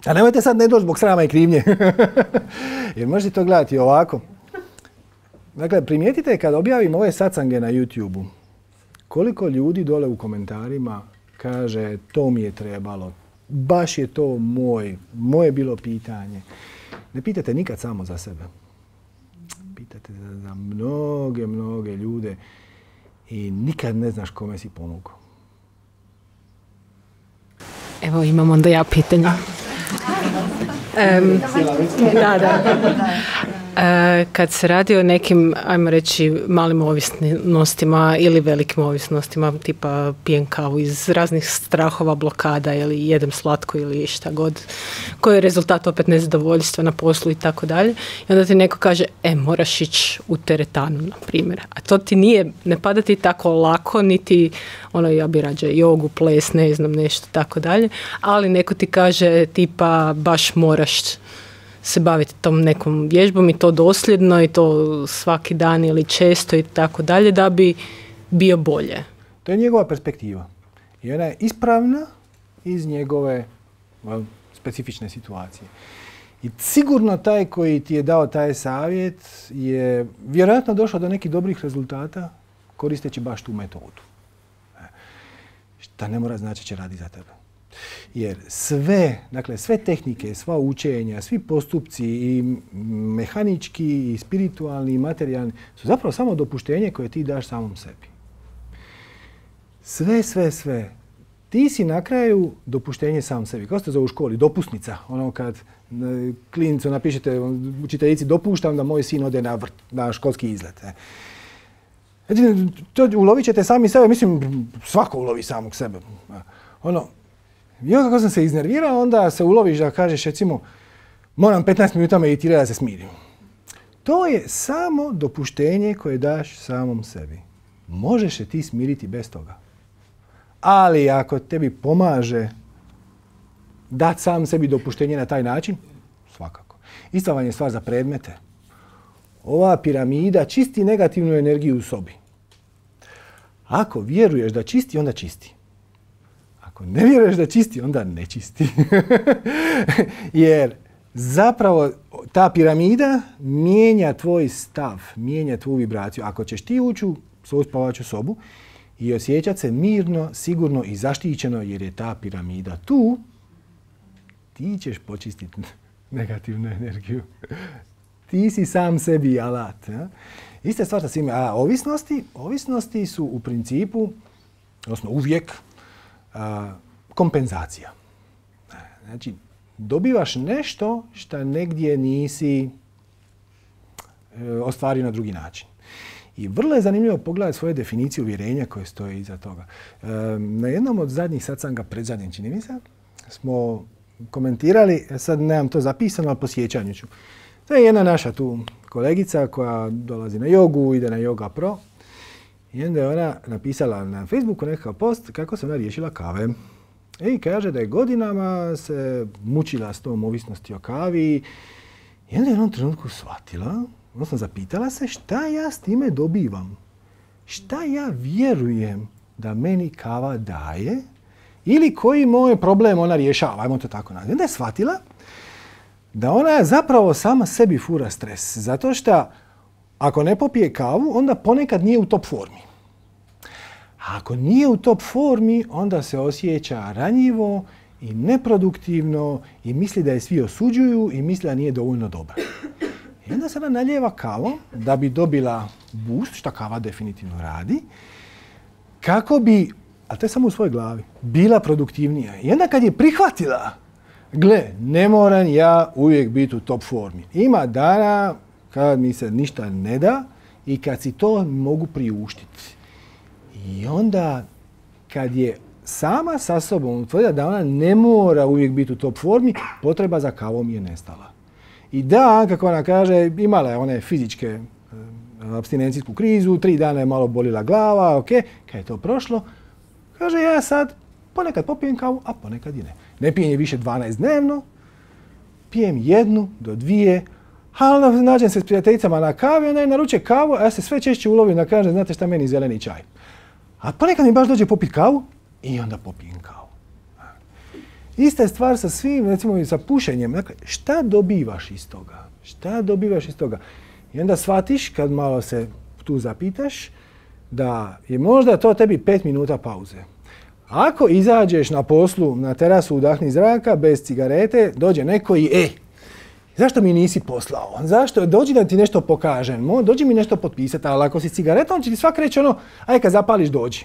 A nemojte sad ne doći zbog srama i krivnje. Jer možete to gledati ovako. Dakle, primijetite kad objavim ove satsange na YouTube-u, koliko ljudi dole u komentarima kaže to mi je trebalo, baš je to moje bilo pitanje. Ne pitate nikad samo za sebe. Pitate za mnoge ljude i nikad ne znaš kome si ponukao. Evo imam onda ja pitanja. Kad se radi o nekim, ajmo reći, malim ovisnostima ili velikim ovisnostima, tipa pijem kavu iz raznih strahova, blokada ili jedem slatko ili šta god, koji je rezultat opet nezadovoljstva na poslu i tako dalje. I onda ti neko kaže, moraš ići u teretanu, na primjer. A to ti ne pada ti tako lako, niti ja bi rađe jogu, ples, ne znam, nešto tako dalje. Ali neko ti kaže, tipa, baš moraš se baviti tom nekom vježbom i to dosljedno i to svaki dan ili često i tako dalje da bi bio bolje. To je njegova perspektiva. I ona je ispravna iz njegove specifične situacije. I sigurno taj koji ti je dao taj savjet je vjerojatno došao do nekih dobrih rezultata koristeći baš tu metodu. Šta ne mora znači će radi za tebe. Jer sve tehnike, sva učenja, svi postupci i mehanički, i spiritualni, i materijalni su zapravo samo dopuštenje koje ti daš samom sebi. Sve. Ti si na kraju dopuštenje sam sebi. Kao ste zove u školi, dopusnica. Kad klinicu napišete učiteljici dopuštam da moj sin ode na školski izlet. To ulovit ćete sami sebe, mislim svako ulovi samog sebe. I kako sam se iznervirao, onda se uloviš da kažeš, recimo, moram 15 minuta meditirati da se smirim. To je samo dopuštenje koje daš samom sebi. Možeš se ti smiriti bez toga. Ali ako tebi pomaže dati sam sebi dopuštenje na taj način, svakako. Ista vam je stvar za predmete. Ova piramida čisti negativnu energiju u sobi. Ako vjeruješ da čisti, onda čisti. Ako ne vjeruješ da čisti, onda ne čisti. Jer zapravo ta piramida mijenja tvoj stav, mijenja tvoju vibraciju. Ako ćeš ti ući u svoju spavaču sobu i osjećati se mirno, sigurno i zaštićeno jer je ta piramida tu, ti ćeš počistiti negativnu energiju. Ti si sam sebi alat. Ja? Ista stvar sa svime. A ovisnosti su u principu, odnosno uvijek, kompenzacija. Znači, dobivaš nešto što negdje nisi ostvario na drugi način. I vrlo je zanimljivo pogledati svoje definicije uvjerenja koje stoje iza toga. Na jednom od zadnjih satsanga, predzadnjim čini mi se, smo komentirali, sad nemam to zapisano, ali po sjećanju ću. To je jedna naša tu kolegica koja dolazi na jogu, ide na Yoga Pro. I onda je ona napisala na Facebooku nekakav post kako se ona riješila kave. I kaže da je godinama se mučila s tom ovisnosti o kavi. I onda je u jednom trenutku shvatila, odnosno zapitala se šta ja s time dobivam. Šta ja vjerujem da meni kava daje ili koji moj problem ona rješava, ajmo to tako nazvati. Onda je shvatila da ona zapravo sama sebi fura stres. Zato što ako ne popije kavu, onda ponekad nije u top formi. A ako nije u top formi, onda se osjeća ranjivo i neproduktivno i misli da je svi osuđuju i misli da nije dovoljno dobra. I onda se ona naljeva kavom da bi dobila boost, što kava definitivno radi, kako bi, a to je samo u svojoj glavi, bila produktivnija. I onda kad je prihvatila, gle, ne moram ja uvijek biti u top formi. Ima dana kad mi se ništa ne da i kad si to mogu priuštiti. I onda kad je sama sa sobom utvrdila da ona ne mora uvijek biti u top formi, potreba za kavom je nestala. I da, kako ona kaže, imala je one fizičke apstinencijsku krizu, 3 dana je malo bolila glava, ok, kad je to prošlo, kaže ja sad ponekad popijem kavu, a ponekad i ne. Ne pijem je više 12 dnevno, pijem 1 do 2, ali nađem se s prijateljicama na kavi, onda je naruče kavu, a ja se sve češće ulovim da kažem, znate šta, meni zeleni čaj. A ponekad mi baš dođe popiti kavu i onda popijem kavu. Ista je stvar sa svim, recimo i sa pušenjem. Dakle, šta dobivaš iz toga? Šta dobivaš iz toga? I onda shvatiš, kad malo se tu zapitaš, da je možda to tebi 5 minuta pauze. Ako izađeš na poslu, na terasu, udahni zraka, bez cigarete, dođe neko i zašto mi nisi poslao? Zašto? Dođi da ti nešto pokažem. Dođi mi nešto potpisati, ali ako si cigaretom, će ti svak reći ono, aj kad zapališ dođi.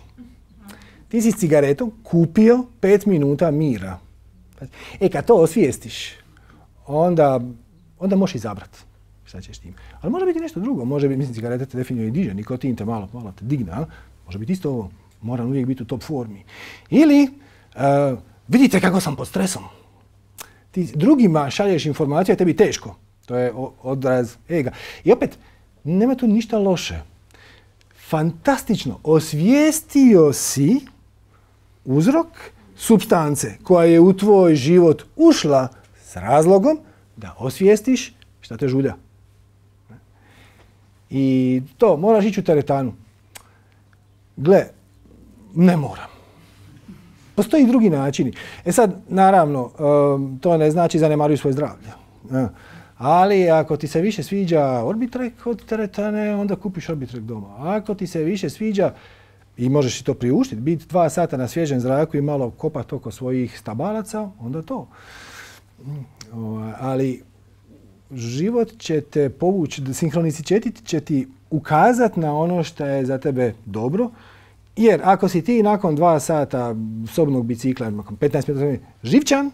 Ti si s cigaretom kupio 5 minuta mira. Kad to osvijestiš, onda možeš izabrati šta ćeš tim. Ali može biti nešto drugo. Može biti, mislim, cigareta te definitivno i diže, nikotin te malo te digne. Može biti isto ovo. Moram uvijek biti u top formi. Ili, vidite kako sam pod stresom. Ti drugima šalješ informaciju, a tebi teško. To je odraz ega. I opet, nema tu ništa loše. Fantastično. Osvijestio si uzrok supstance koja je u tvoj život ušla s razlogom da osvijestiš šta te žulja. I to, moraš ići u teretanu. Gle, ne moram. Postoji i drugi načini. Sad, naravno, to ne znači zanemaruj svoje zdravlje. Ali ako ti se više sviđa Orbitrek od teretane, onda kupiš Orbitrek doma. Ako ti se više sviđa i možeš i to priuštiti, biti 2 sata na svježem zraku i malo kopati oko svojih stabalaca, onda to. Ali život će te povući, sinhronicitet će ti ukazati na ono što je za tebe dobro. Jer ako si ti nakon 2 sata sobnog bicikla, nakon 15 minuta živčan,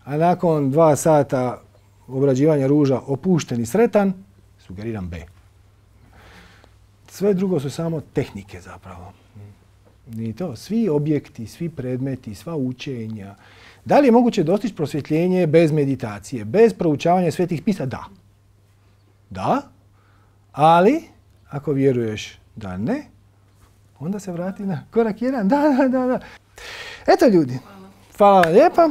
a nakon 2 sata obrađivanja ruža opušten i sretan, sugeriram B. Sve drugo su samo tehnike zapravo. I to, svi objekti, svi predmeti, sva učenja. Da li je moguće dostići prosvjetljenje bez meditacije, bez proučavanja svetih pisa? Da. Da, ali ako vjeruješ da ne, onda se vrati na korak 1. Da. Eto ljudi, hvala vam lijepa.